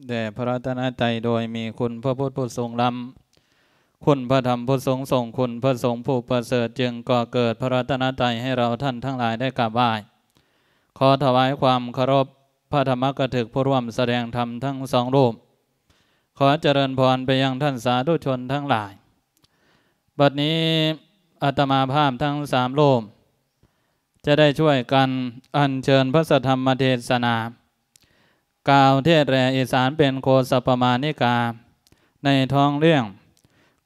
ແດ່ພະລັດຕະນະໄຕ ໂດຍມີຄຸນພະພຸດຜູ້ຊົງລ້ຳ, ຄຸນພະທຳຜູ້ຊົງຊົງ, ຄຸນພະສົງຜູ້ປະເສີດ, ຈຶ່ງກໍ່ເກີດພະລັດຕະນະໄຕໃຫ້ເຮົາທ່ານທັງຫຼາຍໄດ້ກາບໄຫວ້. ຂໍຖວາຍຄວາມເຄົາລົບພະທຳມະກະຖືກຜູ້ຮ່ວມສະແດງທຳທັງສອງຮູບ. ຂໍຈະເລີນພອນໄປຍັງທ່ານສາທຸຊົນທັງຫຼາຍ. ບັດນີ້ອາດຕະມາພາບທັງສາມຮູບ ຈະໄດ້ຊ່ວຍກັນອັນເຊີນພະສັດທຳມະເທດສະໜາ ກ່າວເທດແຫຼອີສານເປັນໂຄສະປະມານິກາ ໃນທ້ອງເລື່ອງ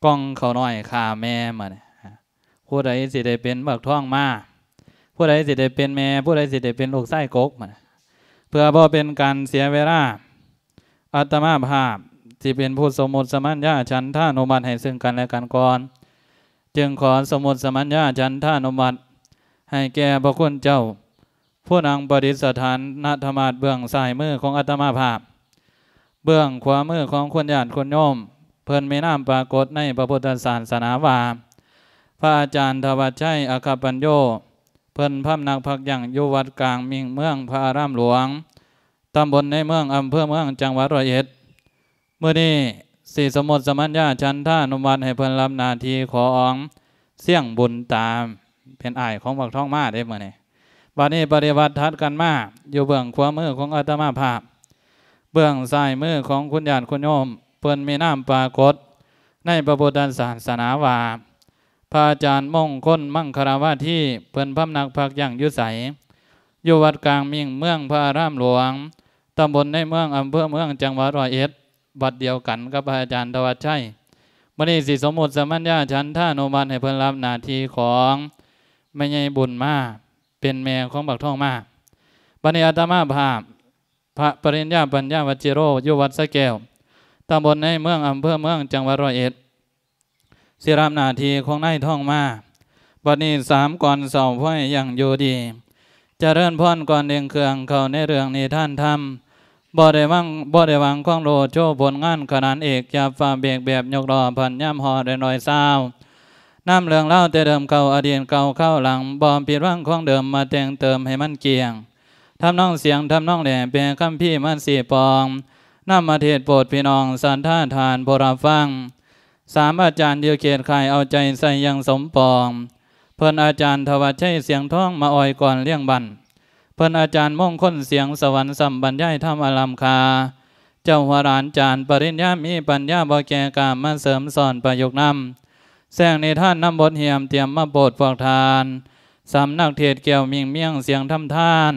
ກ່ອງເຂົ້ານ້ອຍຂ້າແມ່. ມື້ນີ້ ຜູ້ໃດຊິໄດ້ເປັນບັກທອງມາ, ຜູ້ໃດຊິໄດ້ເປັນແມ່, ຜູ້ໃດຊິໄດ້ເປັນລູກຊາຍກົກ. ເພື່ອບໍ່ເປັນການເສຍເວລາ, ອາດຕະມາພາບຊິເປັນຜູ້ສົມມຸດສະມັນຍາ ສັນທານຸມັດໃຫ້ເຊິ່ງກັນແລະກັນກ່ອນ. ຈຶ່ງຂໍສົມມຸດສະມັນຍາ ສັນທານຸມັດໃຫ້ແກ່ພະຄຸນເຈົ້າ ຜູ້ນັ່ງປະດິດສະຖານນະທະມາດເບື້ອງຊ້າຍມືຂອງອາດຕະມາພາບ, ເບື້ອງຂວາມືຂອງຄຸນຍາດຄຸນໂຍມ, ເພິ່ນມີນາມປາກົດໃນພະພຸດທະສາສະໜາວ່າ ພະອາຈານທະວັດໄຊ ອັກຂະປັນໂຍ, ເພິ່ນພຳນັກພັກຢັ້ງຢູ່ວັດກາງມິ່ງ ເມືອງພະອາຣາມຫຼວງ, ຕຳບົນໃນເມືອງ, ອຳເພີເມືອງ, ຈັງຫວັດຮ້ອຍເອັດ. ມື້ນີ້ຊິສົມມຸດສະມັນຍາ ສັນທານຸມັດໃຫ້ເພິ່ນຮັບໜ້າທີ່ຂອງຊຽງບຸນຕາ ເປັນອ້າຍຂອງບັກທອງມາເດ້ມື້ນີ້. ບັດນີ້ປະຕິບັດຖັດກັນມາ ຢູ່ເບື້ອງຂວາມືຂອງອາດຕະມາພາບ, ເບື້ອງຊ້າຍມືຂອງຄຸນຍາດຄຸນໂຍມ, ເພິ່ນມີນາມປາກົດໃນພະພຸດທະສາສະໜາວ່າ ພະອາຈານມົງຄົນ ມັງຄະລາວາທີ, ເພິ່ນພຳນັກພັກຢັ້ງຢູ່ໃສ? ຢູ່ວັດກາງມິ່ງ ເມືອງພະອາຣາມຫຼວງ, ຕຳບົນໃນເມືອງ, ອຳເພີເມືອງ, ຈັງຫວັດຮ້ອຍເອັດ, ວັດດຽວກັນກັບພະອາຈານທະວັດໄຊ. ມື້ນີ້ຊິສົມມຸດສະມັນຍາ ສັນທານຸມັດໃຫ້ເພິ່ນຮັບໜ້າທີ່ຂອງແມ່ໃຫຍ່ບຸນມາ ເປັນແມ່ຂອງບັກທອງມາ. ບັດນີ້ອາດຕະມາພາບ ພະປະລິນຍາ ປັນຍາວັດຈິໂຣ ຢູ່ວັດສະແກ້ວ, ຕຳບົນໃນເມືອງ, ອຳເພີເມືອງ, ຈັງຫວັດຮ້ອຍເອັດ, ຊິຮັບໜ້າທີ່ຂອງນາຍທອງມາ. ບັດນີ້ສາມກ່ອນເຊົາ ຂໍໃຫ້ຢັ້ງຢູ່ດີ ຈະເລີນພອນກ່ອນເລັ່ງເຄື່ອງເຂົ້າໃນເລື່ອງນິທານທຳ. ບໍ່ໄດ້ຫວັງ, ບໍ່ໄດ້ຫວັງຂອງໂລດໂຊຜົນງານຂະໜານເອກ, ຢ່າຟ້າວເບກແບບຍົກລໍ້ພັນຍາມຮອດແລະຮ້ອຍຊາວ. ນຳເລື່ອງລາວແຕ່ເດີມເກົ່າ, ອະດີດເກົ່າຄາວຫຼັງ, ບໍ່ຜິດຫວັງຂອງເດີມ, ມາແຕ່ງເຕີມໃຫ້ມັນກ້ຽງ. ທຳນອງສຽງ, ທຳນອງແຫຼ, ແປຄຳພີມາຊີ້ປອງ, ນຳມາເທດໂປດພີ່ນ້ອງສັດທາທ່ານຜູ້ຮັບຟັງ. ສາມອາຈານຢູ່ເຂດຄ້າຍ ເອົາໃຈໃສ່ຢ່າງສົມປອງ. ເພິ່ນອາຈານທະວັດໄຊ ສຽງທອງ ມາອ້ອຍກ່ອນລ້ຽງບັ້ນ. ເພິ່ນອາຈານມົງຄົນ ສຽງສະຫວັນ ຊ້ຳບັນຍາຍທຳອັນລ້ຳຄ່າ. ເຈົ້າຫົວຫຼານຈານປະລິນຍາ ມີປັນຍາບໍ່ແກ່ກ້າ ມາເສີມສອນປະຍຸກນຳ. ແຊງນິທານນຳບົດຮຽມ ຕຽມມາໂປດພວກທ່ານ. ສຳນັກເທດແກ້ວມິ່ງມຽງ ສຽງທຳທານ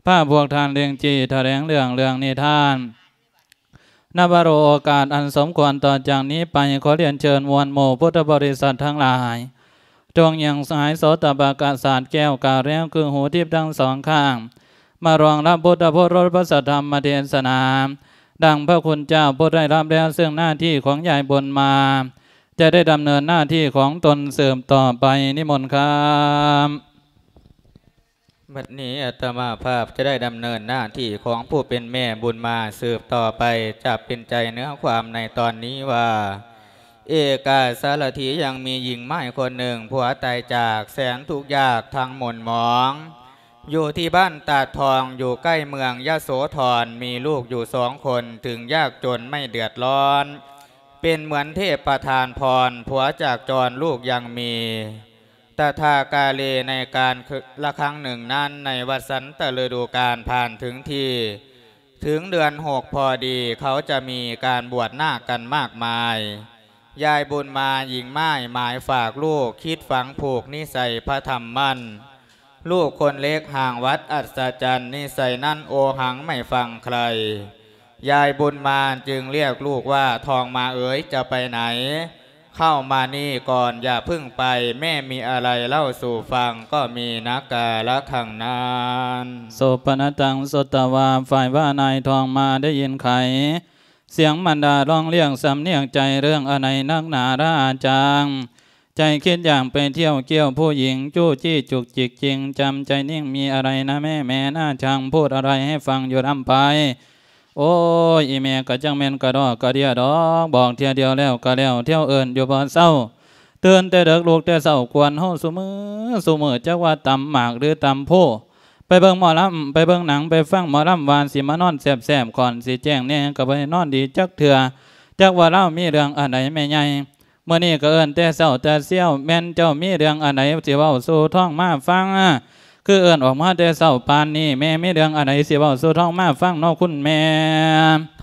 ພາພວກທ່ານເລັ່ງຈີ່ ຖະແຫຼງເລື່ອງ ເລື່ອງນິທານ. ນະວະໂລກາດອັນສົມຄວນຕໍ່ຈາກນີ້ໄປ, ຂໍລຽນເຊີນມວນໝູ່ພຸດທະບໍລິສັດທັງຫຼາຍ, ຈົ່ງຍຽງສາຍໂສຕະປະກະສາດແກ້ວກາແລວ ຄືຫູທິບທັງສອງຂ້າງ, ມາລອງຮັບພຸດທະໂອລົດພະສັດທຳມະເທດສະໜາ, ດັ່ງພະຄຸນເຈົ້າຜູ້ໄດ້ຮັບແລ້ວ ເຊິ່ງໜ້າທີ່ຂອງຍາຍບຸນມາ ຈະໄດ້ດຳເນີນໜ້າທີ່ຂອງຕົນສືບຕໍ່ໄປ. ນິມົນຄັບ. ບັດນີ້ອາດຕະມາພາບຈະໄດ້ດຳເນີນໜ້າທີ່ຂອງຜູ້ເປັນແມ່ບຸນມາສືບຕໍ່ໄປ, ຈະເປັນໃຈເນື້ອຄວາມໃນຕອນນີ້ວ່າ ເອກາສາລະຖີ ຍັງມີຍິງໝ້າຍຄົນໜຶ່ງ ຜົວຕາຍຈາກ ແສນທຸກຍາກທັງໝົນໝອງ ຢູ່ທີ່ບ້ານຕາດທອງ ຢູ່ໃກ້ເມືອງຍະໂສທອນ, ມີລູກຢູ່ສອງຄົນ ເຖິງຍາກຈົນໄມ່ເດືອດຮ້ອນ ເປັນເໝືອນເທບປະທານພອນ, ຜົວຈາກຈອນລູກຍັງມີ. ຕະຖາກາເລໃນການລະຄັ້ງໜຶ່ງນັ້ນ ໃນວັດສັນຕະລະດູການຜ່ານເຖິງທີ່ ເຖິງເດືອນຫົກພໍດີ ເຂົາຈະມີການບວດນາກກັນມາກມາຍ. ຍາຍບຸນມາຍິງໝ້າຍ ໝາຍຝາກລູກ ຄິດຝັງຜູກນິໄສພະທຳໝັ້ນ. ລູກຄົນເລັກຮ່າງວັດອັດສະຈັນ ນິໄສນັ້ນໂອຫັງໄມ່ຟັງໃຄ. ຍາຍບຸນມາຈຶ່ງລຽກລູກວ່າ ທອງມາເອີຍ ຈະໄປໃຫນ? ເຂົ້າມານີ້ກ່ອນ ຢ່າເພິ່ງໄປ, ແມ່ມີອະໄລເລົ່າສູ່ຟັງ ກໍມີນະກາລະຄັ້ງນັ້ນ. ໂສປະນະຕັງ ສຸດຕະວາ ຝ່າຍວ່ານາຍທອງມາໄດ້ຍິນໄຄ ສຽງມັນດາຮ້ອງລຽກສຳນຽກໃຈ ເລື່ອງອະໄນນັກໜາລະອາຈາງ ໃຈຄິດຢາກໄປທ່ຽວກ່ຽວຜູ້ຍິງ ຈູ້ຈີ້ຈຸກຈິກຈິງ ຈຳໃຈນິ່ງ ມີອະໄລນະແມ່ ແມ່ນາຊ່າງ ພູດອະໄລໃຫ້ຟັງຢູ່ນຳໄປ. ໂອ້ຍ ອີແມ່ກະຈັ່ງແມ່ນກະດອກກະເດຍດອກ ບອກເທື່ອດຽວແລ້ວກະແລ້ວ ທ່ຽວເອີ້ນຢູ່ບໍ່ເຊົາ ຕື່ນແຕ່ເດິກລຸກແຕ່ເຊົ້າ ກວນເຮົາຊຸມື້ຊຸມື້ ຈັກວ່າຕຳໝາກຫຼືຕຳໂພ ໄປເບິ່ງໝໍລຳ ໄປເບິ່ງໜັງ ໄປຟັງໝໍລຳ ວ່າຊິມານອນແຊບໆ ກ່ອນຊິແຈ້ງແດ່ ກໍບໍ່ໄດ້ນອນດີຈັກເທື່ອ. ຈັກວ່າລາວມີເລື່ອງອັນໃດແມ່ໃຫຍ່? ມື້ນີ້ກໍເອີ້ນແຕ່ເຊົ້າແຕ່ຊຽວ ແມ່ນເຈົ້າມີເລື່ອງອັນໃດຊິເວົ້າສູ່ທ້ອງມາຟັງ? ຄືເອີ້ນອອກມາແຕ່ເຊົ້າປານນີ້ ແມ່ມີເລື່ອງອັນໃດຊິເວົ້າສູ່ທ້ອງມາຟັງເນາະຄຸນແມ່?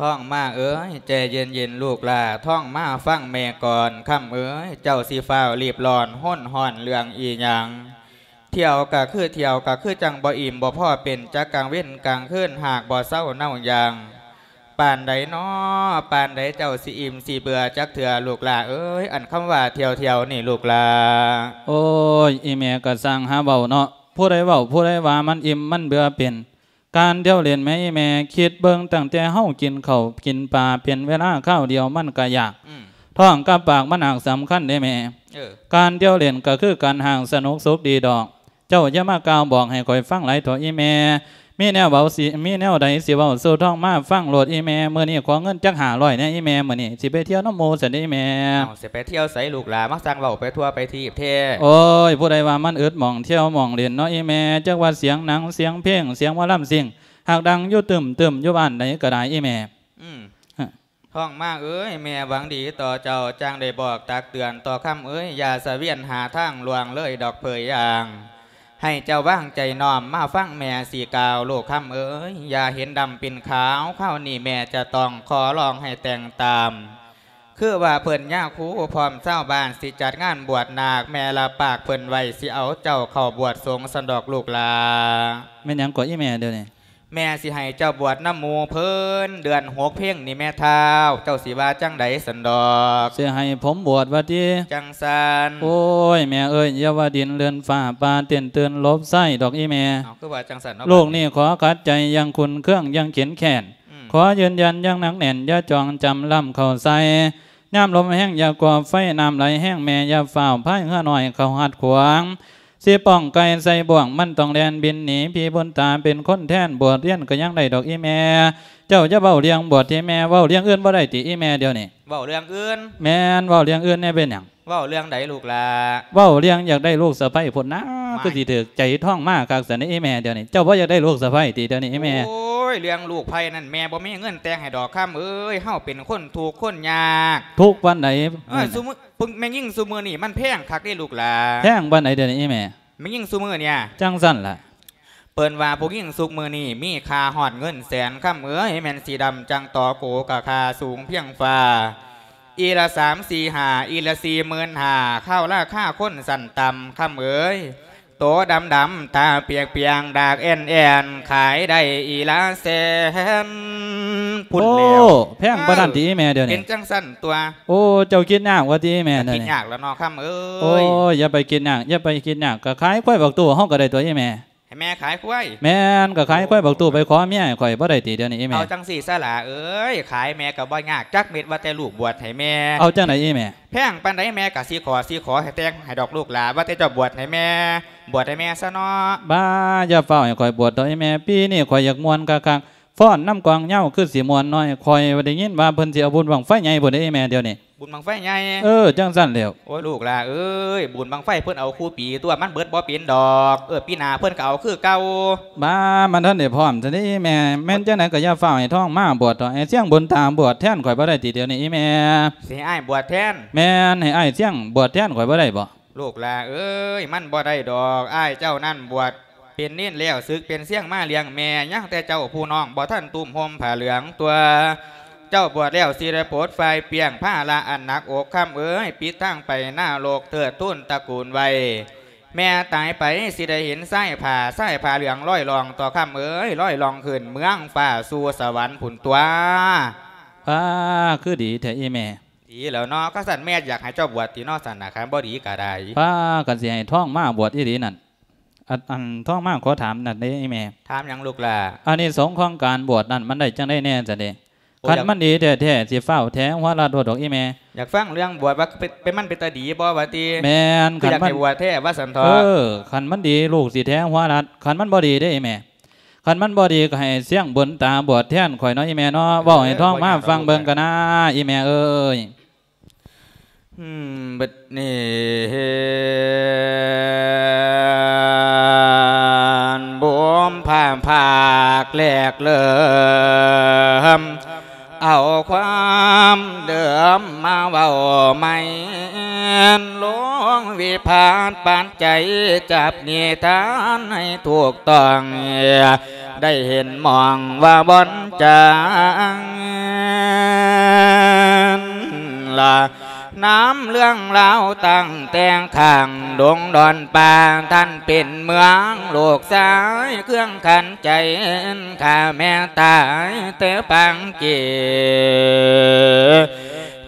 ທ້ອງມາເອີຍ ໃຈເຢັນໆ ລູກຫຼ້າ ທ້ອງມາຟັງແມ່ກ່ອນ. ຄຳເອີຍ ເຈົ້າຊິຟ້າວຣີບຮ້ອນຮົນຮ້ອນເລື່ອງອີ່ຫຍັງ? ທ່ຽວກະຄືທ່ຽວ ກະຄືຈັ່ງບໍ່ອີ່ມບໍ່ພໍເປັນ ຈັກກາງເວັນກາງຄືນ ຫາກບໍ່ເຊົາເນົາຢ່າງ. ປານໃດນໍ ປານໃດເຈົ້າຊິອີ່ມຊິເບື່ອຈັກເທື່ອ ລູກຫຼ້າເອີຍ? ອັນຄຳວ່າທ່ຽວໆ ນີ້ລູກຫຼ້າ. ໂອ້ຍ ອີ່ແມ່ກະຊ່າງຫາເວົ້າເນາະ ຜູ້ໃດເວົ້າຜູ້ໃດວ່າມັນອີ່ມມັນເບື່ອເປັນ ການທ່ຽວຫຼິ້ນແມ່ອີ່ແມ່ ຄິດເບິ່ງຕັ້ງແຕ່ເຮົາກິນເຂົ້າກິນປາເປັນເວລາຄາວດຽວມັນກະຢາກ ອືມ ທ້ອງກັບປາກມັນຫາກສຳຄັນເດ້ແມ່. ເອີ ການທ່ຽວຫຼິ້ນກໍຄືການຫາກສະໜຸກສຸກດີດອກ. ເຈົ້າຢ່າມາກ່າວບອກໃຫ້ຂ້ອຍຟັງຫຼາຍເຖາະອີ່ແມ່. ມີແນວເວົ້າຊິ ມີແນວໃດຊິເວົ້າສູ່ທ້ອງມາຟັງໂລດອີ່ແມ່. ມື້ນີ້ຂໍເງິນຈັກຫ້າຮ້ອຍແດ່ອີ່ແມ່ ມື້ນີ້ຊິໄປທ່ຽວນຳໝູ່ຊັ້ນເດ້ອີ່ແມ່. ເອົ້າ ຊິໄປທ່ຽວໃສລູກຫຼ້າ? ມາຊ່າງເວົ້າໄປທົ່ວໄປທີບແທ້. ໂອ້ຍ ຜູ້ໃດວ່າມັນອຶດໝ່ອງທ່ຽວໝ່ອງຫຼິ້ນເນາະອີ່ແມ່. ຈັກວ່າສຽງໜັງ ສຽງເພງ ສຽງໝໍລຳຊິງ ຫາກດັງຢູ່ຕຶ້ມໆ ຢູ່ບ້ານໃດກໍໄດ້ອີ່ແມ່. ອືມ ທ້ອງມາເອີຍ ແມ່ຫວັງດີຕໍ່ເຈົ້າ ຈັ່ງໄດ້ບອກຕັກເຕືອນຕໍ່ຄຳເອີຍ ຢ່າສະວຽນຫາທາງລ່ວງເລີຍດອກເຜີຍຢ່າງ. ໃຫ້ເຈົ້າວາງໃຈນ້ອມມາຟັງແມ່ຊິກ່າວ ລູກຄຳເອີຍ ຢ່າເຫັນດຳເປັນຂາວ ຄາວນີ້ແມ່ຈະຕ້ອງຂໍຮ້ອງໃຫ້ແຕ່ງຕາມ. ຄືວ່າເພິ່ນຍາຄູພ້ອມຊາວບ້ານ ຊິຈັດງານບວດນາກ ແມ່ລະປາກເພິ່ນໄວ້ ຊິເອົາເຈົ້າເຂົ້າບວດສົງຊັ້ນດອກລູກຫຼ້າ. ແມ່ນຫຍັງເກາະອີ່ແມ່ດຽວນີ້? ແມ່ຊິໃຫ້ເຈົ້າບວດນຳໝູ່ເພິ່ນ ເດືອນຫົກເພັງນີ້ແມ່ທ້າວ ເຈົ້າຊິວ່າຈັ່ງໃດຊັ້ນດອກ? ຊິໃຫ້ຜົມບວດວ່າຕິ? ຈັ່ງຊັ້ນ. ໂອ້ຍ ແມ່ເອີຍ ຢ່າວ່າດິນເລື່ອນຟ້າ ປາເຕັ້ນຕື່ນຫຼົບໃສ່ດອກອີ່ແມ່. ເອົ້າ ຄືວ່າຈັ່ງຊັ້ນເນາະ? ລູກນີ້ຂໍຂັດໃຈຢ່າງຂຸ້ນເຄືອງ ຢ່າງເຂັນແຄ້ນ. ອືມ ຂໍຢືນຢັນຢ່າງໜັກແໜ້ນ ຢ່າຈ່ອງຈຳລ້ຳເຂົ້າໃສ່. ຍາມລົມແຮງຢ່າກໍ່ໄຟ ນ້ຳໄຫຼແຮງແມ່ຢ່າຟ້າວພາຍເຮືອນ້ອຍເຂົ້າຮັດຂວາງ. ຊິປ້ອງໄກ່ໃສ່ບ່ວງ ມັນຕ້ອງແລ່ນບິນໜີ. ພີ່ບຸນຕາເປັນຄົນແທນ ບວດຮຽນກໍຍັງໄດ້ດອກອີ່ແມ່. ເຈົ້າຢ່າເວົ້າເລື່ອງບວດຕິແມ່ ເວົ້າເລື່ອງອື່ນບໍ່ໄດ້ຕິອີ່ແມ່ດຽວນີ້? ເວົ້າເລື່ອງອື່ນ? ແມ່ນ ເວົ້າເລື່ອງອື່ນແດ່. ເປັນຫຍັງ? ເວົ້າເລື່ອງໃດລູກຫຼ້າ? ເວົ້າເລື່ອງຢາກໄດ້ລູກສະໃພ້ພຸ້ນນາ. ຄືຊິຖືກໃຈທ້ອງມາຄັກຊັ້ນເດ້ອີ່ແມ່ດຽວນີ້. ເຈົ້າບໍ່ຢາກໄດ້ລູກສະໃພ້ຕິດຽວນີ້ອີ່ແມ່? ໂອ້ຍ ເລື່ອງລູກໃພ້ນັ້ນ ແມ່ບໍ່ມີເງິນແຕ່ງໃຫ້ດອກຄຳເອີຍ. ເຮົາເປັນຄົນທຸກຄົນຍາກ. ທຸກປານໃດ? ເອີ ແມ່ຍິງຊຸມື້ນີ້ມັນແພງຄັກເດ້ລູກຫຼ້າ. ແພງປານໃດດຽວນີ້ອີ່ແມ່? ແມ່ຍິງຊຸມື້ນີ້ ຈັ່ງຊັ້ນລະ. ເພິ່ນວ່າຜູ້ຍິງຊຸກມື້ນີ້ ມີຄ່າຮອດເງິນແສນ ຄຳເອີຍ. ແມ່ນສີດຳຈັ່ງຕໍໂກ ກໍຄ່າສູງພຽງຟ້າ. ອີ່ລະສາມສີ່ຫ້າ ອີ່ລະສີ່ໝື່ນຫ້າ ເຂົ້າລາຄາຄົນຊັ້ນຕ່ຳ ຄຳເອີຍ. ໂຕດຳໆ ຕາປຽງໆ ດາກແອ່ນໆ ຂາຍໄດ້ອີ່ລະແສນພຸ້ນແລ້ວ. ໂອ້ ແພງປານນັ້ນຕິອີ່ແມ່ດຽວນີ້? ເປັນຈັ່ງຊັ້ນຕົວະ. ໂອ້ ເຈົ້າຄິດຍາກວ່າຕິອີ່ແມ່? ກໍຄິດຍາກແລ້ວເນາະຄຳເອີຍ. ໂອ້ຍ ຢ່າໄປຄິດຍາກ ຢ່າໄປຄິດຍາກ. ກໍຂາຍຄວາຍບັກຕູ້ເຮົາກໍໄດ້ຕົວະອີ່ແມ່. ໃຫ້ແມ່ຂາຍຄວາຍ? ແມ່ນ ກໍຂາຍຄວາຍບັກຕູ້ໄປຂໍເມຍໃຫ້ຂ້ອຍບໍ່ໄດ້ຕິດຽວນີ້ອີ່ແມ່? ເອົາຈັ່ງຊີ້ຊະຫຼ້າເອີຍ ຂາຍແມ່ກໍບໍ່ຍາກຈັກເມັດ ວ່າແຕ່ລູກບວດໃຫ້ແມ່. ເອົາຈັ່ງໃດອີ່ແມ່? ແພງປານໃດແມ່ກໍຊິຂໍ ຊິຂໍໃຫ້ແຕ່ງໃຫ້ດອກລູກຫຼ້າ ວ່າແຕ່ເຈົ້າບວດໃຫ້ແມ່ ບວດໃຫ້ແມ່ຊະເນາະ. ບ້າ ຢ່າຟ້າວໃຫ້ຂ້ອຍບວດດອກອີ່ແມ່ ປີນີ້ຂ້ອຍຢາກມ່ວນຄັກໆ ຟ້ອນນຳກອງຍາວຄືຊິມ່ວນໜ້ອຍ. ຂ້ອຍໄດ້ຍິນວ່າເພິ່ນຊິເອົາບຸນບັ້ງໄຟໃຫຍ່ພຸ້ນເດ້ອີ່ແມ່ດຽວນີ້. ບຸນບັ້ງໄຟໃຫຍ່? ເອີ ຈັ່ງຊັ້ນແລ້ວ. ໂອ້ຍ ລູກຫຼ້າເອີຍ ບຸນບັ້ງໄຟເພິ່ນເອົາຄູ່ປີຕົວະ ມັນເບິດບໍ່ເປັນດອກ. ເອີ ປີໜ້າເພິ່ນກໍເອົາຄືເກົ່າ. ບ້າ ມັນທັນໄດ້ພ້ອມຊັ້ນເດ້ອີ່ແມ່. ແມ່ນຈັ່ງໃດກໍຢ່າຟ້າວໃຫ້ທອງມາບວດເຖາະ ໃຫ້ຊຽງບຸນຕາບວດແທນຂ້ອຍບໍ່ໄດ້ຕິດຽວນີ້ອີ່ແມ່? ຊິໃຫ້ອ້າຍບວດແທນ? ແມ່ນ ໃຫ້ອ້າຍຊຽງບວດແທນຂ້ອຍບໍ່ໄດ້ບໍ່? ລູກຫຼ້າເອີຍ ມັນບໍ່ໄດ້ດອກ. ອ້າຍເຈົ້ານັ້ນບວດເປັນເນນແລ້ວ ສຶກເປັນຊຽງມາລ້ຽງແມ່ ຍັງແຕ່ເຈົ້າຜູ້ນ້ອງ ບໍ່ທັນຕຸ້ມຫົ່ມຜ້າເຫຼືອງຕົວະ. ເຈົ້າບວດແລ້ວຊິໄດ້ປົດປ່ອຍປ່ຽງພາລະອັນໜັກອົກ ຄຳເອີຍ. ປິດທາງໄປນະລົກ ເທີດທູນຕະກູນໄວ້ ແມ່ຕາຍໄປຊິໄດ້ເຫັນຊາຍຜ້າ ຊາຍຜ້າເຫຼືອງລອຍລ່ອງຕົວະ ຄຳເອີຍ. ລອຍລ່ອງຂຶ້ນເມືອງຟ້າສູ່ສະຫວັນພຸ້ນຕົວະ. ປ້າ ຄືດີແທ້ອີ່ແມ່. ດີແລ້ວເນາະ ຄັນຊັ້ນແມ່ຢາກໃຫ້ເຈົ້າບວດຕິເນາະ ຊັ້ນນະ ຄັນບໍ່ດີກໍໄດ້. ປ້າ ຄັນຊິໃຫ້ທອງມາບວດອີ່ຫຼີນັ້ນ ອັນ ອັນ ທອງມາຂໍຖາມນັ້ນເດ້ອີ່ແມ່. ຖາມຫຍັງລູກຫຼ້າ? ອານິສົງຂອງການບວດນັ້ນມັນໄດ້ຈັ່ງໃດແດ່ຊັ້ນເດ? ໂອ້ ຄັນມັນດີແທ້ໆ ຊິຟ້າວແຖຫົວລັດໂລດດອກອີ່ແມ່. ຢາກຟັງເລື່ອງບວດວ່າເປັນ ເປັນ ມັນເປັນຕາດີບໍ່ວ່າຕິ? ແມ່ນ ຄັນມັນ ຢາກໃຫ້ບວດແທ້ວ່າຊັ້ນເຖາະ. ເອີ ຄັນມັນດີລູກຊິແຖຫົວລັດ ຄັນມັນບໍ່ດີເດ້ອີ່ແມ່. ຄັນມັນບໍ່ດີກໍໃຫ້ຊຽງບຸນຕາບວດແທນຂ້ອຍເນາະ ອີ່ແມ່ເນາະ. ເອີ ເວົ້າໃຫ້ທອງມາຟັງເບິ່ງກະນາ ອີ່ແມ່ເອີຍ. ອືມ ບັດນີ້ບຸນ ພາພາກແຫຼກເລີມ ເອົາຄວາມເດີມມາເວົ້າໃໝ່ ຫຼວງວິພັດປັດໄຈ ຈັບນິທານໃຫ້ຖືກຕ້ອງ ໄດ້ເຫັນມອງວ່າບ່ອນຈາງ ລະນຳເລື່ອງລາວຕັ້ງແຕ່ຂ້າງດົງດອນປ່າ ທ່ານເປັນເມືອງ ລູກຊາຍເຄື່ອງຂັນ ໃຈຂ້າແມ່ຕາຍແຕ່ປາງເກ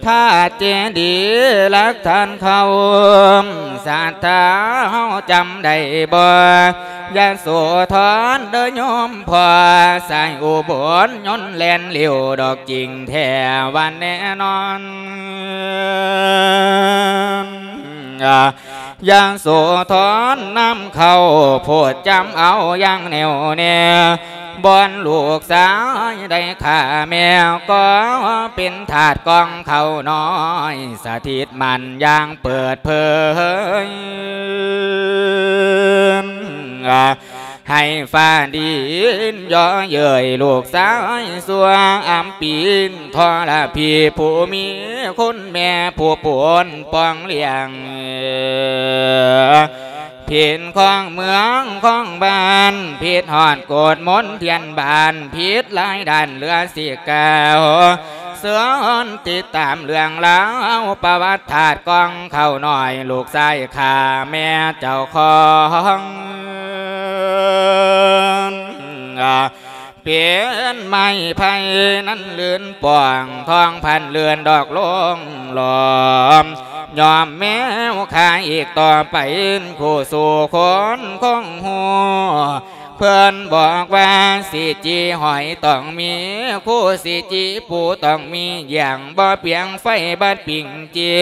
ທາດເຈດີຫຼັກຖານເກົ່າ ສັດທາເຮົາຈຳໄດ້ບໍ່? ຍະໂສທອນເດີໂຍມພໍ່ ສາຍອຸບົນຍົນແລ່ນເຫຼວ ດອກຈິງແທ້ວ່າແນ່ນອນ ຍະໂສທອນນຳເຂົ້າ ໂພດຈຳເອົາຢ່າງແໜວແນ່ ບ່ອນລູກຊາຍໄດ້ຂ້າແມ່ ກໍເປັນທາດກອງເຂົ້ານ້ອຍ ສະຖິດໝັ້ນຢ່າງເປີດເຜີຍ ໃຫ້ຟ້າດິນເຍາະເຍີ້ຍ ລູກຊາຍຊົ່ວອຳປີນ ທໍລະພີຜູ້ມີຄຸນແມ່ ຜູ້ປົນປ້ອງລ້ຽງ ເພນຂອງເມືອງຂອງບ້ານ ຜິດຮອດກົດມົນທຽນບ້ານ ຜິດຫຼາຍດ້ານເຫຼືອຊິກ່າວ ເຊີນຕິດຕາມເລື່ອງລາວ ປະຫວັດທາດກອງເຂົ້ານ້ອຍ ລູກຊາຍຂ້າແມ່ເຈົ້າຂອງ ເປັນໄມ້ໄຜ່ນັ້ນລື່ນປ່ອງ ທອງພັນເລື່ອນດອກລົງຫຼອມ ຍອມແມວຂ້າອີກຕໍ່ໄປ ຄູ່ສູ່ຄົນຄົງຮູ້ ເພິ່ນບອກວ່າຊິຈີຫອຍຕ້ອງມີ ຄູ່ຊິຈີປູຕ້ອງມີ ຢ່າງບໍ່ປຽງໄຟບັດປິງຈີ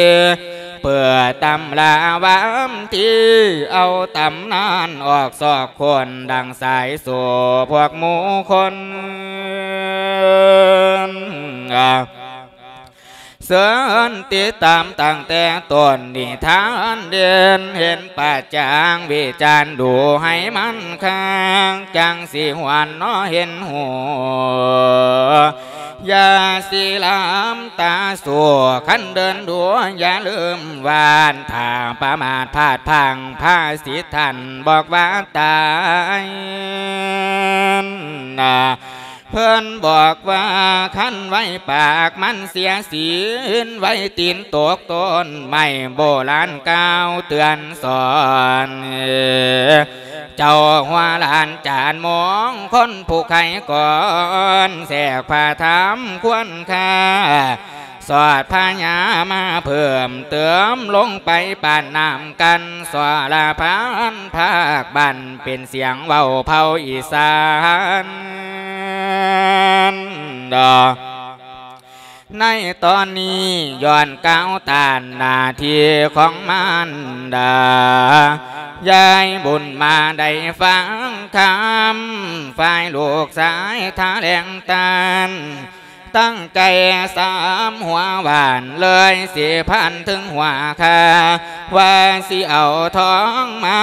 ເປີດຕຳລາວຳທີ ເອົາຕຳນານອອກຊອກຄົ້ນ ດັ່ງສາຍໂສ້ພວກໝູ່ຄົນ ເຊີນຕິດຕາມຕັ້ງແຕ່ຕົ້ນນິທານເດັ່ນ ເຫັນປະຈັງວິຈານດູໃຫ້ມັນຄັກ ຈັ່ງຊິຫວນເນາະເຫັນຮູ້ ຢ່າຊິລຳຕາສູ້ ຄັນເດີນດູຢ່າລືມວານ ຖ້າປະໝາດພາດພລັ້ງພາສິດທ່ານບອກວ່າຕາຍນະ ເພິ່ນບອກວ່າຄັນໄວ້ປາກມັນເສຍສິນ ໄວ້ຕີນຕົກຕົ້ນໄມ້ ໂບລານກ່າວເຕືອນສອນ ເຈົ້າຫົວຫຼານຈານມອງຄົນຜູ້ໄຄກ່ອນ ແຊກພະທຳຄວນຄ່າ ສອດພະຍາມາເພີ່ມເຕີມ ລົງໄປປານນ້ຳກັນ ສອລະພັນພາກບ້ານ ເປັນສຽງເວົ້າເຜົ່າອີສານ ດອກ ໃນຕອນນີ້ຍ້ອນກ່າວຕ້ານໜ້າທີ່ຂອງມານດາ ຍາຍບຸນມາໄດ້ຟັງຄຳ ຝ່າຍລູກຊາຍຖະແຫຼງຕ້ານ ຕັ້ງໃຈສາມຫົວຫວານ ເລີຍຊິພັນເຖິງຫົວຄາ ວ່າຊິເອົາທອງມາ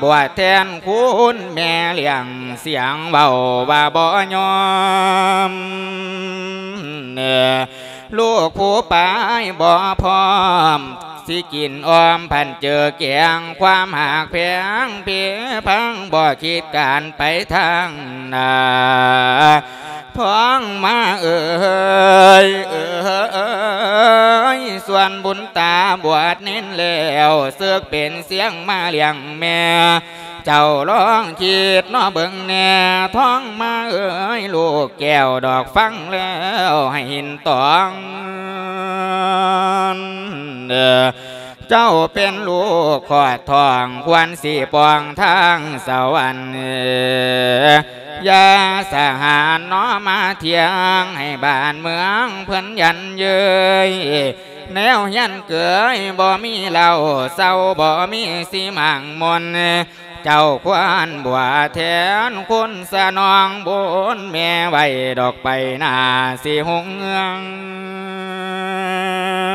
ບວດແທນຄຸນແມ່ລ້ຽງ ສຽງເວົ້າວ່າບໍ່ຍອມ ລູກຜູ້ປາຍບໍ່ພ້ອມ ຊິກິນອ້ອມພັນເຈີແກງ ຄວາມຮັກແພງເພພັງ ບໍ່ຄິດການໄປທາງໜ້າ ພ້ອງມາເອີຍ ເອີຍ ສ່ວນບຸນຕາບວດເນນແລ້ວ ເສິກເປັນສຽງມາລ້ຽງແມ່ ເຈົ້າລອງຄິດເນາະເບິ່ງແດ່ ທອງມາເອີຍ ລູກແກ້ວດອກ ຟັງແລ້ວໃຫ້ເຫັນຕອງ ເຈົ້າເປັນລູກຄອດທ້ອງ ຄວນຊິປ່ອງທາງສະຫວັນ ຢ່າສະຫານເນາະມາທຽງ ໃຫ້ບ້ານເມືອງເພິ່ນຢັນເຍີຍ ແນວຮຽນເກີຍບໍ່ມີເລົ່າເຊົາ ບໍ່ມີສີໝາງມົນ ເຈົ້າຄວນບວດແທນຄຸນສະໜອງບຸນແມ່ໄວ້ດອກໄປໜ້າຊິຮຸ່ງເຮືອງ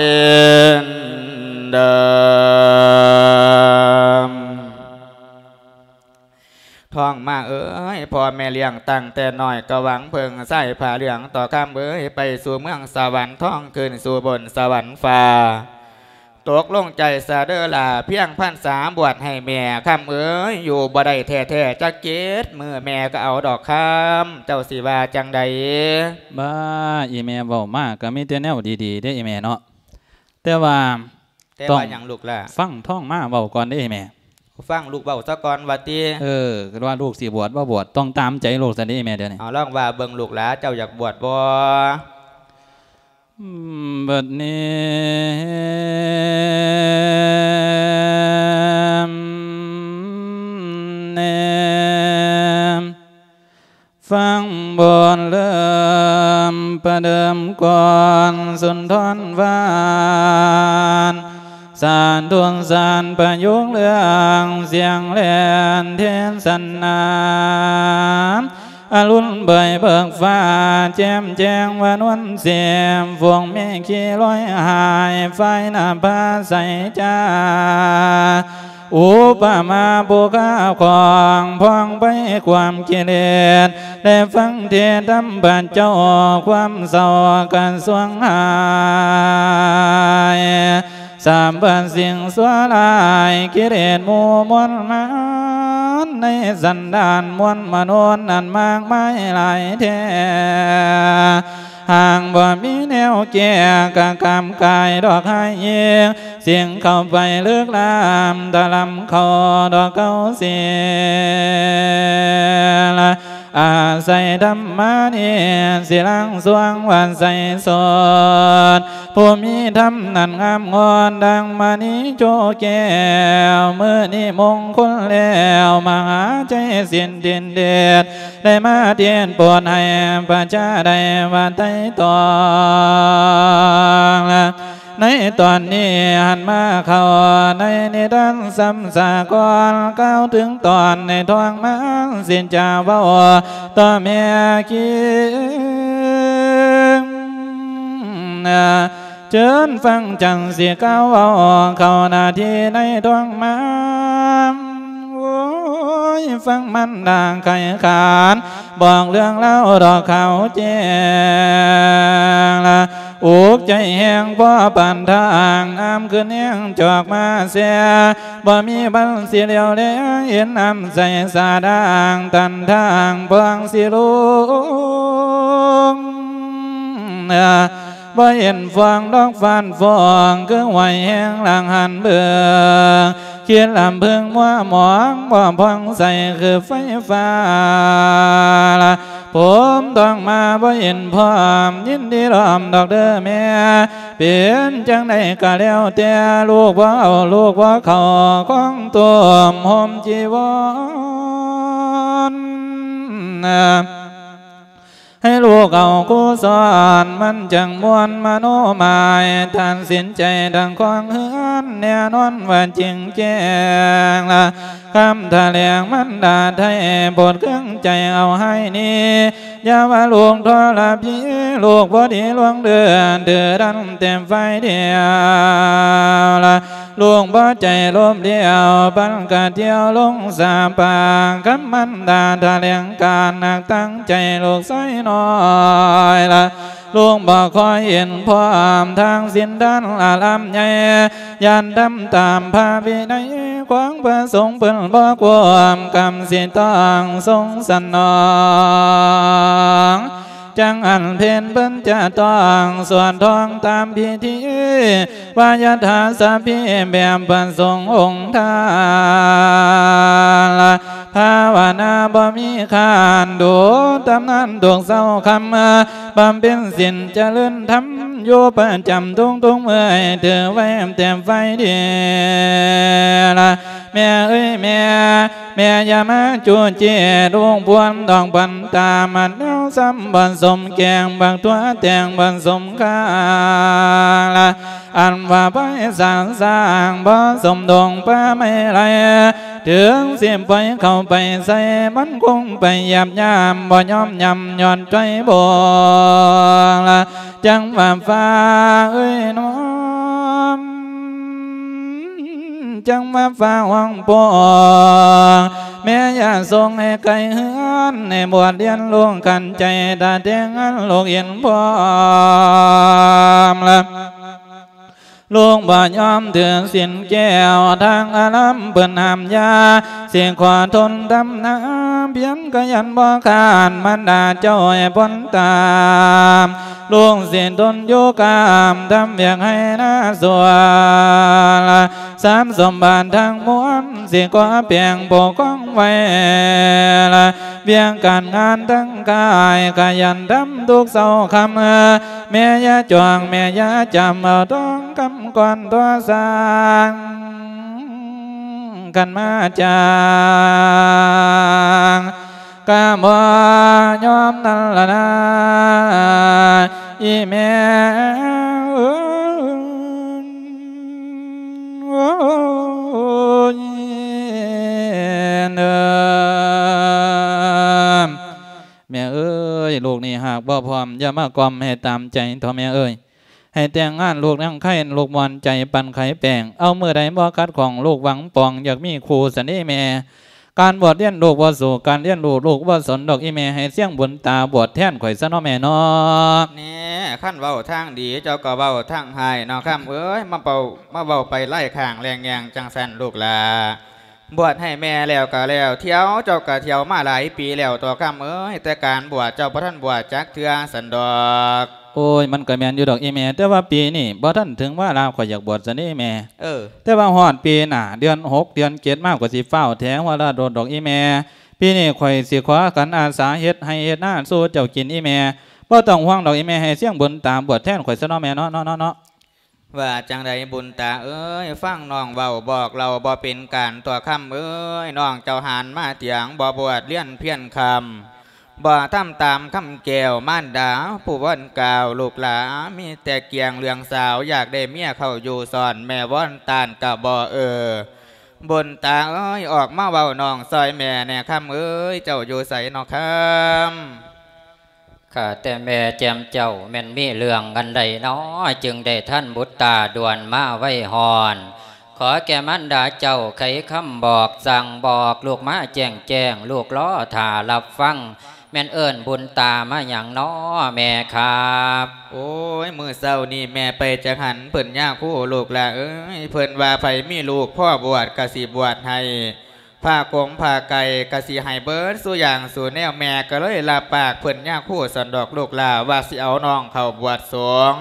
ຍ ເດີມ ທອງມາເອີຍ ພໍ່ແມ່ລ້ຽງຕັ້ງແຕ່ນ້ອຍ ກໍຫວັງເພິ່ງໃຊ້ຜ້າເຫຼືອງ ຕໍ່ຄຳເອີຍ ໄປສູ່ເມືອງສະຫວັນ ທອງຂຶ້ນສູ່ບົນສະຫວັນຟ້າ ຕົກລົງໃຈຊະເດີຫຼ້າ ພຽງພັນສາບວດໃຫ້ແມ່ ຄຳເອີຍ ຢູ່ບໍ່ໄດ້ແທ້ໆ ຈັກເຈັດມື້ແມ່ກໍເອົາດອກ ຄຳ ເຈົ້າຊິວ່າຈັ່ງໃດ? ບ້າ ອີ່ແມ່ເວົ້າມາກໍມີແຕ່ແນວດີໆເດ້ ອີ່ແມ່ເນາະ ແຕ່ວ່າ ແຕ່ວ່າຫຍັງລູກຫຼ້າ? ຕ້ອງຟັງທອງມາເວົ້າກ່ອນເດ້ແມ່. ຟັງລູກເວົ້າຊະກ່ອນວ່າຕິ? ເອີ ວ່າລູກຊິບວດບໍ່ບວດ ຕ້ອງຕາມໃຈລູກຊັ້ນເດ້ແມ່ດຽວນີ້. ເອົາ ລອງວ່າເບິ່ງລູກຫຼ້າ ເຈົ້າຢາກບວດບໍ່? ອືມ ບັດນີ້ ແນມ ຟັງບົດເລີ່ມປະເດີມກ່ອນ ສຸນທອນຫວານ ສານທົນສານປະໂຍກເລື່ອງ ສຽງແລ່ນເທດສະໜາ ອະລຸນເບີຍເບີກຟ້າ ແຈ່ມແຈ້ງວ່ານວນເສມ ຟວງເມກຂີ່ລອຍຫາຍ ຝ້າຍໜ້າຜາໃສຈ້າ ອຸປະມາຜູ້ຄ້າຂອງ ຜ່ອງໄພຄວາມກິເລດ ໄດ້ຟັງເທດນຳພະເຈົ້າ ຄວາມເສົ້າກະຊວງຫາຍ ສຳພັດສິ່ງຊົ່ວຮ້າຍ ກິເລດໝູ່ມົນມານ ໃນສັນດານມວນມະນຸດນັ້ນມາກມາຍຫຼາຍແທ້ ຫາກບໍ່ມີແນວແກ້ ກະກຳກາຍດອກຮ້າຍເອງ ສິ່ງເຂົ້າໄປເລິກລ້ຳ ຕະລຳເຂົ້າດອກເກົ່າເສຍລະ ອາໄສທຳມານີ້ ຊິລ້າງຊ່ວງວັດໄຊສົດ ຜູ້ມີທຳນັ້ນງາມງອນ ດັ່ງມະນີໂຈແກ້ວ ມື້ນີ້ມົງຄຸນແລ້ວ ມະຫາໄຊສິນທິນເດດ ໄດ້ມາເທດໂປດໃຫ້ປະຊາໄດ້ວ່າໄຕ່ຕອງ ໃນຕອນນີ້ຫັນມາເຂົ້າໃນນິທານສຳສາກອນ ກ່າວເຖິງຕອນໃນທ້ອງມານ ຊິຈະເວົ້າຕໍ່ແມ່ຄິງ ເຊີນຟັງຈັນຊິກ່າວເວົ້າ ເຂົ້າໜ້າທີ່ໃນທ້ອງມານ ໂອ້ຍ ຟັງມັນນາງໄຂຂານ ບອກເລື່ອງລາວດອກຂາວແຈ້ງລະ ອຸກໃຈແຮງພໍປານທາງ ນ້ຳຂຶ້ນແຮງຈອກມາແຊ ບໍ່ມີວັນຊິຫຼຽວແລ ເຫັນນ້ຳໃສສາດາງ ຕັນທາງພອງຊິລົງ ບໍ່ເຫັນຟອງດອກຟາດຟອງ ຄືຫ້ວຍແຮງລາງຫັນເບິ່ງ ຄິດລຳເພິງມົວໝອງ ບໍ່ຜ່ອງໃສຄືໄຟຟ້າລະ ຜົມຕ້ອງມາບໍ່ເຫັນພ້ອມ ຍິນດີລ້ອມດອກເດີແມ່ ເປັນຈັ່ງໃດກໍແລ້ວແຕ່ ລູກບໍ່ເອົາ ລູກບໍ່ເຂົ້າ ຄອງໂຕມຫົ່ມຈີວອນ ໃຫ້ລູກເອົາຄູສອນ ມັນຈັ່ງມ່ວນມະໂນໝາຍ ຕັດສິນໃຈທັງຄອງເຮືອນ ແນ່ນອນວ່າຈິງແຈ້ງລະ ຄຳຖະແຫຼງມັນດາໄທ ໂປດເຄື່ອງໃຈເອົາໃຫ້ນີ້ ຢ່າວ່າລູກທໍລະພີ ລູກບໍ່ດີລວງເດີນ ຖືດັນແຕ່ຝ່າຍດຽວລະ ລູກບໍ່ໃຈລົມດຽວ ປັນກະດຽວລົງສາປາງ ຄຳມັນດາຖະແຫຼງການ ໜັກຕັ້ງໃຈລູກຊາຍນ້ອຍລະ ລູກບໍ່ຄ່ອຍເຫັນພ້ອມ ທາງສິນທານອາລາມໃຫຍ່ ຢ້ານທຳຕາມພະວິໄນ ຂອງພະສົງເພິ່ນບໍ່ກວມ ກຳສິຕ້ອງຊົງສະໜອງ ຈັ່ງອັນເພັນເພິ່ນຈະຕ້ອງສວດທ່ອງຕາມພິທີ ວາຍະຖາສະພີແບບພະສົງອົງທ່ານ ພາວະນາບໍ່ມີຄ້ານ ດູຕຳນານທຸກເຊົ້າຄ່ຳ ບຳເພັນສິນຈະເລີນທຳ ຢູ່ປະຈຳທຸກໆມື້ ຖືໄວ້ແຕ່ໄຟເດລະ ແມ່ເອີຍແມ່ ແມ່ຢ່າມາຈູ້ຈີ້ ລູກພວນດອກບັນຕາ ມັນແນວຊ້ຳບໍ່ສົມແກງ ບັກຕົວແຕງບໍ່ສົມຄ່າລະ ອັນວ່າໄປສາງສ້າງ ບໍ່ສົມດົງປ່າໄມ້ໄລ່ ເຖິງຊິປ່ອຍເຂົ້າໄປໃສ່ ມັນຄົງໄປຫຍາບຫຍາມ ບໍ່ຍອມຫຍຳຍ້ອນໃຈບໍ່ລະ ຈັ່ງວ່າຟ້າເອີຍນ້ອງ ຈັ່ງວ່າຟ້າຮ້ອງໂປ່ງ ແມ່ຢ່າສົ່ງໃຫ້ໄກເຮືອນ ໃຫ້ບວດຮຽນລູກຂັນໃຈ ຖ້າແຕ່ງງານລູກເຫັນພ້ອມລະ ລູກບໍ່ຍອມຖືສິນແກ້ວ ທາງອາລາມເພິ່ນຫ້າມຢ່າ ຊິຂໍທົນທຳນາ ພຽງກະຍັນບໍ່ຂານ ມານດາເຈົ້າໃຫ້ພົ້ນຕາມ ລູກຊິທົນຢູ່ກາມ ທຳວຽກໄຮ່ນາສວນ ຊັບສົມບັດທັງມວນ ຊິຂໍແປງປົກຄອງໄວ້ລະ ວຽກການງານທັງກາຍ ຂະຫຍັນທຳທຸກເຊົ້າຄ່ຳ ແມ່ຢ່າຈ້ອງ ແມ່ຢ່າຈຳ ເອົາທອງຄຳກ່ອນຕໍ່ສ້າງ ຄັນມາຈ້າງ ກະບໍ່ຍອມນັ້ນລະນາ ອີ່ແມ່ເອີຍ ແມ່ເອີຍ ລູກນີ້ຫາກບໍ່ພ້ອມ ຢ່າມາກ່ອມໃຫ້ຕາມໃຈເຖາະແມ່ເອີຍ. ໃຫ້ແຕ່ງງານລູກນາງໄຄ ລູກມ່ວນໃຈປັນໄຂແປ້ງ ເອົາມື້ໃດບໍ່ຂັດຂ້ອງ ລູກຫວັງປອງ ຢາກມີຄູ່ສັນເດແມ່ ການບວດຮຽນລູກບໍ່ສູ້ ການຮຽນຮູ້ລູກບໍ່ສົນດອກອີ່ແມ່ ໃຫ້ສຽງບຸນຕາບວດແທນຂ້ອຍຊະເນາະແມ່ເນາະ. ແນ່ ຄັນເວົ້າທາງດີ ເຈົ້າກໍເວົ້າທາງຮ້າຍເນາະ ຄຳເອີຍ ມາເວົ້າ ມາເວົ້າໄປໄລ່ຂ້າງແລງແຍງຈັ່ງຊັ້ນລູກຫຼ້າ. ບວດໃຫ້ແມ່ແລ້ວກໍແລ້ວ ທ່ຽວເຈົ້າກໍທ່ຽວມາຫຼາຍປີແລ້ວຕົວະ ຄຳເອີຍ ແຕ່ການບວດເຈົ້າບໍ່ທັນບວດຈັກເທື່ອຊັ້ນດອກ. ໂອ້ຍ ມັນກໍແມ່ນຢູ່ດອກອີ່ແມ່ ແຕ່ວ່າປີນີ້ບໍ່ທັນເຖິງວາລະຂ້ອຍຢາກບວດຊັ້ນເດແມ່. ເອີ ແຕ່ວ່າຮອດປີໜ້າ ເດືອນຫົກ ເດືອນເຈັດມາ ຂ້ອຍຊິຟ້າວແຖວາລະໂດດດອກອີ່ແມ່. ປີນີ້ຂ້ອຍຊິຂໍຂັນອາສາເຮັດໄຮ່ເຮັດນາສູ່ເຈົ້າກິນອີ່ແມ່. ບໍ່ຕ້ອງຫ່ວງດອກອີ່ແມ່ ໃຫ້ສຽງບຸນຕາບວດແທນຂ້ອຍຊະເນາະແມ່ເນາະ ເນາະ ເນາະ ເນາະ. ວ່າຈັ່ງໃດບຸນຕາເອີຍ ຟັງນ້ອງເວົ້າບອກເລົ່າບໍ່ເປັນການຕົວະ ຄຳເອີຍ ນ້ອງເຈົ້າຫັນມາຕຽງ ບໍ່ບວດຮຽນພຽນຄຳ ບໍ່ທຳຕາມຄຳແກ້ວມານດາຜູ້ວອນກ່າວ ລູກຫຼ້າມີແຕ່ກຽງເລື່ອງສາວ ຢາກໄດ້ເມຍເຂົ້າຢູ່ສອນ ແມ່ວອນຕ້ານກະບໍ່ເອີ. ບຸນຕາເອີຍ ອອກມາເວົ້ານ້ອງຊ່ອຍແມ່ແດ່ ຄຳເອີຍ ເຈົ້າຢູ່ໃສເນາະ ຄຳ. ຂ້າແຕ່ແມ່ແຈ່ມເຈົ້າ ແມ່ນມີເລື່ອງອັນໃດນໍ ຈຶ່ງໄດ້ທັນບຸດຕາດ່ວນມາໄວຮອນ ຂໍ ຂໍແກ່ມານດາເຈົ້າໄຂຄຳບອກ ສັ່ງບອກລູກມາແຈ້ງແຈ້ງ ລູກລໍຖ້າຮັບຟັງ ແມ່ນເອີ້ນບຸນຕາມາຫຍັງນໍແມ່ຄັບ? ໂອ້ຍ ມື້ເຊົ້ານີ້ແມ່ໄປຈັກຫັນເພິ່ນຍາຄູ ລູກຫຼ້າເອີຍ ເພິ່ນວ່າໃຜມີລູກພໍບວດກະຊິບວດໃຫ້ ຜ້າກົງຜ້າໄກກະຊິໃຫ້ເບິດສູ່ຢ່າງສູ່ແນວ ແມ່ກະເລີຍຮັບປາກເພິ່ນຍາຄູຊັ້ນດອກລູກຫຼ້າ ວ່າຊິເອົານ້ອງເຂົ້າບວດສົງ.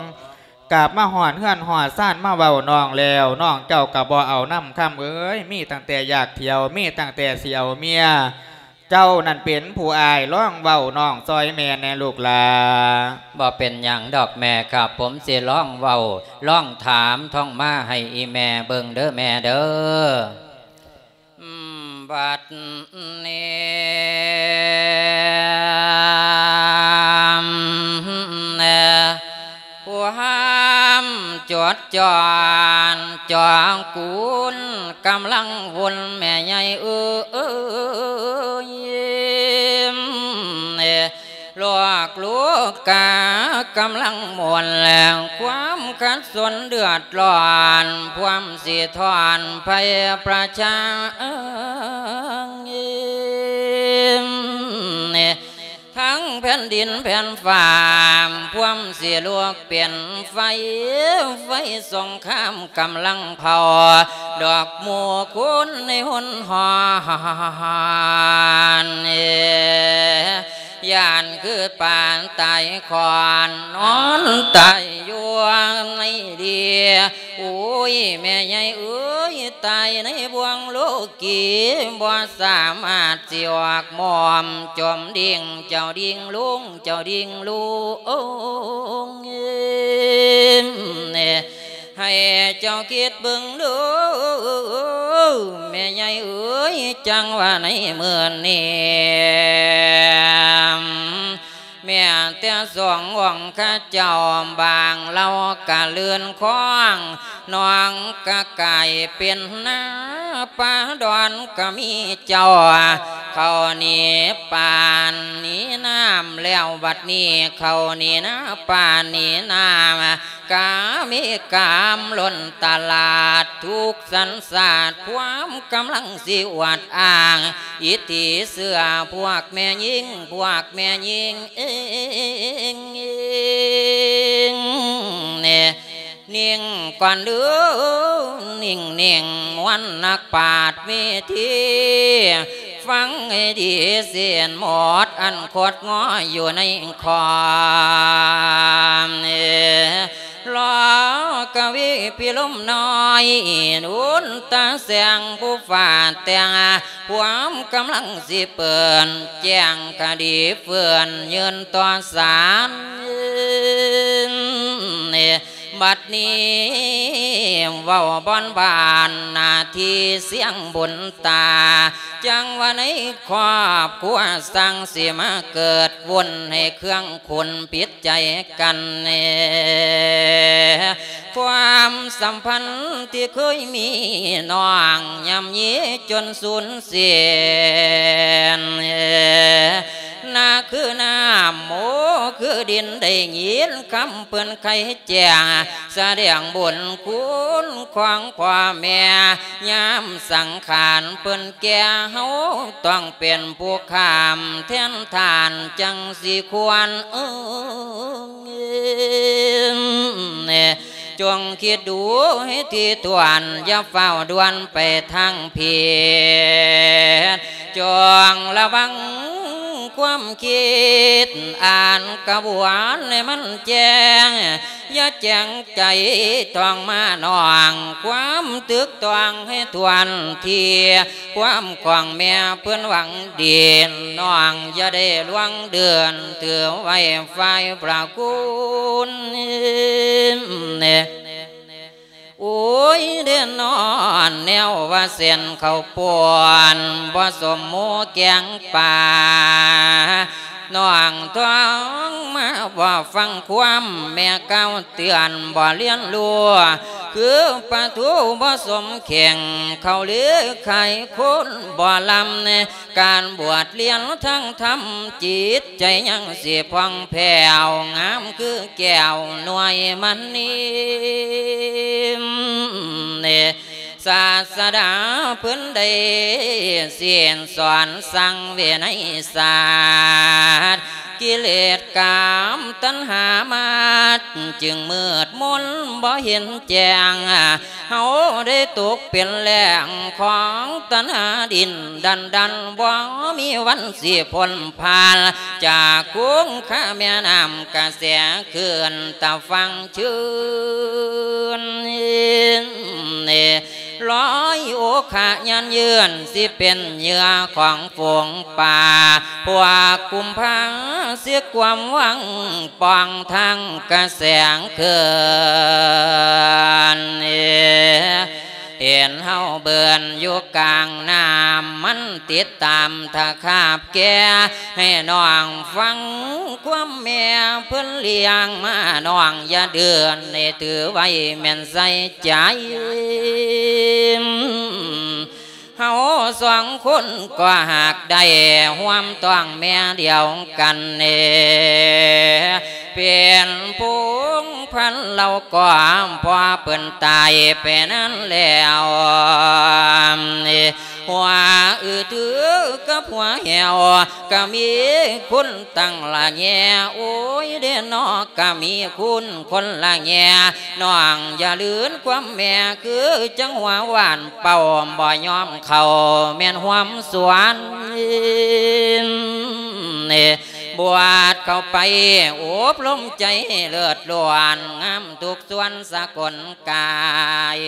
ກາບມາຮອດເຮືອນຮອດຊານມາເວົ້ານ້ອງແລ້ວ ນ້ອງເຈົ້າກະບໍ່ເອົານຳຄຳເອີຍ ມີຕັ້ງແຕ່ຢາກທ່ຽວ ມີຕັ້ງແຕ່ຊິເອົາເມຍ ເຈົ້ານັ້ນເປັນຜູ້ອ້າຍ ລອງເວົ້ານ້ອງຊ່ອຍແມ່ແດ່ລູກຫຼ້າ. ບໍ່ເປັນຫຍັງດອກແມ່ຄັບ ຜົມຊິລອງເວົ້າ ລອງຖາມທ່ອງມາໃຫ້ອີ່ແມ່ເບິ່ງເດີແມ່ເດີ. ບັດນີ້ ຄວາມຈົດຈ້ອນຈອງກຸນກຳລັງວົນ ແມ່ໃຫຍ່ເອີຍ ລວກລູກກາກຳລັງມ່ວນ ແລງຄວາມຂັດສົນເດືອດຮ້ອນ ພວມຊິທອນໄພປະຊາ ທັງແຜ່ນດິນແຜ່ນຟ້າ ພວມຊິລຸກເປັນໄຟ ໄຟສົງຄາມກຳລັງເຜົາ ດອກໝູ່ຄຸນໃນຫົນຫອນ ຢ້ານຄືປານຕາຍຂອນ ນອນຕາຍຢູ່ໃນເດ. ໂອ້ຍ ແມ່ໃຫຍ່ເອີຍ ຕາຍໃນບ່ວງໂລກີ ບໍ່ສາມາດຊິອອກໝອມ ຈົ່ມດິງເຈົ້າດິງລຸງ ເຈົ້າດິງລຸງ ໃຫ້ເຈົ້າຄິດເບິ່ງເດີ ແມ່ໃຫຍ່ເອີຍ ຈັ່ງວ່າໃນມື້ນີ້ ແມ່ນແຕ່ສອງອົງເຂົາເຈົ້າ ບາງເຫຼົ່າກະເລື່ອນຄອງ ໜອງກະກາຍເປັນນາ ປ່າດອນກະມີເຈົ້າ ເຂົ້າໜີປ່າໜີນ້ຳ ແລ້ວບັດນີ້ເຂົ້າໜີນາ ປ່າໜີນ້ຳ ກາມີກາມລົ້ນຕະຫຼາດ ທຸກສັນຊາດ ພວມກຳລັງຊິອວດອ້າງ ອິດທິເຊື່ອພວກແມ່ຍິງ ພວກແມ່ຍິງເອງ ນິ່ງກ່ອນເດີ ນິ່ງໆ ມ່ວນນັກປາດວິທີ ຟັງໃຫ້ດີ ເສັ້ນໝົດອັນຄົດງໍຢູ່ໃນຄອມ ລໍກະວີພິລົມນ້ອຍ ນຸນຕາແສງຜູ້ຟ້າແຕ່ງ ພວມກຳລັງຊິເປີດ ແຈ້ງຄະດີເຟື່ອນຍື່ນຕໍ່ສານ ບັດນີ້ເວົ້າບ່ອນບານໜ້າທີ່ສຽງບຸນຕາ ຈັ່ງວ່າໃນຄອບຄົວຊ່າງຊິມາເກີດວຸ້ນ ໃຫ້ເຄືອງຂຸນຜິດໃຈກັນແນ່ ຄວາມສຳພັນທີ່ເຄີຍມີ ນ້ອງຍ່ຳຢີຈົນສູນເສຍ ໜ້າຄືນ້ຳ ໂອ ຄືດິນ ໄດ້ຍິນຄຳເພິ່ນໄຂແຈ້ງ ສະແດງບຸນຄຸນຂອງພໍ່ແມ່ ຍາມສັງຂານເພິ່ນແກ່ ເຮົາຕ້ອງເປັນຜູ້ຂ້າມແທນທ່ານ ຈັ່ງຊິຄວນ ເອີ ຈົ່ງຄິດດູໃຫ້ຖີ່ຖ້ວນ ຢ່າຟ້າວດ່ວນໄປທາງຜິດ ຈົ່ງລະວັງຄວາມຄິດ ອ່ານກະບວນໃຫ້ມັນແຈ້ງ ຢ່າແຈ້ງໃຈທ່ອງມານ້ອງ ຄວາມຖືກຕ້ອງໃຫ້ຖ້ວນທີ ຄວາມຂອງແມ່ເພິ່ນຫວັງດີ ນ້ອງຢ່າໄດ້ລ່ວງເດີນ ຖືໄວ້ຝ່າຍພະຄຸນ ໂອຍ ເດນອນ ແນວວ່າເສັ້ນເຂົ້າປ່ນ ບໍ່ສົມໝູ່ແກງປາ ນ້ອງທ້ອງມາບໍ່ຟັງຄວາມແມ່ກ່າວເຕືອນ ບໍ່ລຽນຮູ້ ຄືປາທູບໍ່ສົມເຄັ່ງ ເຂົ້າຫຼືໄຂ່ຄົນບໍ່ລຳ ການບວດລຽນທາງທຳ ຈິດໃຈຍັງຊິຜ່ອງແຜ້ວ ງາມຄືແກ້ວໜ່ວຍມະນີ ເນ ສາດສະດາເພິ່ນໄດ້ສິ້ນສອນສັ່ງວິໄນສາດ ກິເລດກາມຕັນຫາມາດ ຈຶ່ງມືດມົນບໍ່ເຫັນແຈ້ງ ເຮົາໄດ້ຕົກເປັນແລ້ງຂອງຕັນຫາດິນດັນດັນ ບໍ່ມີວັນຊິພົ້ນຜ່ານ ຈາກຂົງຄາແມ່ນ້ຳກະແສ ຄືນຕາຝັ່ງຊື່ນ ລອຍໂອຄະຍານເຢືອນ ຊິເປັນເຫຍື່ອຂອງຝູງປາ ພວກກຸມພາຊິກວມວັງ ປ່ອງທາງກະແສງຄືນ ເຫັນເຮົາເບິ່ນຢູ່ກາງນ້ຳ ມັນຕິດຕາມຕະຂາບແກ່ ໃຫ້ນ້ອງຟັງຄວາມແມ່ເພິ່ນລ້ຽງມາ ນ້ອງຢ່າເດືອນ ໃຫ້ຖືໄວ້ແມ່ນໃສ່ໃຈ ເຮົາສອງຄົນກໍຫາກໄດ້ຮ່ວມທ້ອງແມ່ດຽວກັນເດ ເປັນພົງພັນເຫຼົ່າກໍພໍເພິ່ນຕາຍໄປນັ້ນແລ້ວ ຫົວອືຖືກັບຫົວແຫ້ວ ກະມີຄຸນຕັ້ງລະແຍ ໂອ້ຍເດເນາະ ກະມີຄຸນຄົນລະແຍ ນ້ອງຢ່າລືນຄວາມແມ່ ຄືຈັງຫົວຫວ່ານເປົ່າ ບໍ່ຍອມເຂົ້າແມ່ນຮ່ວມສວນ ບວດເຂົ້າໄປອົບລົມໃຈເລີດລ້ວນ ງາມທຸກສ່ວນສະກົນກາຍ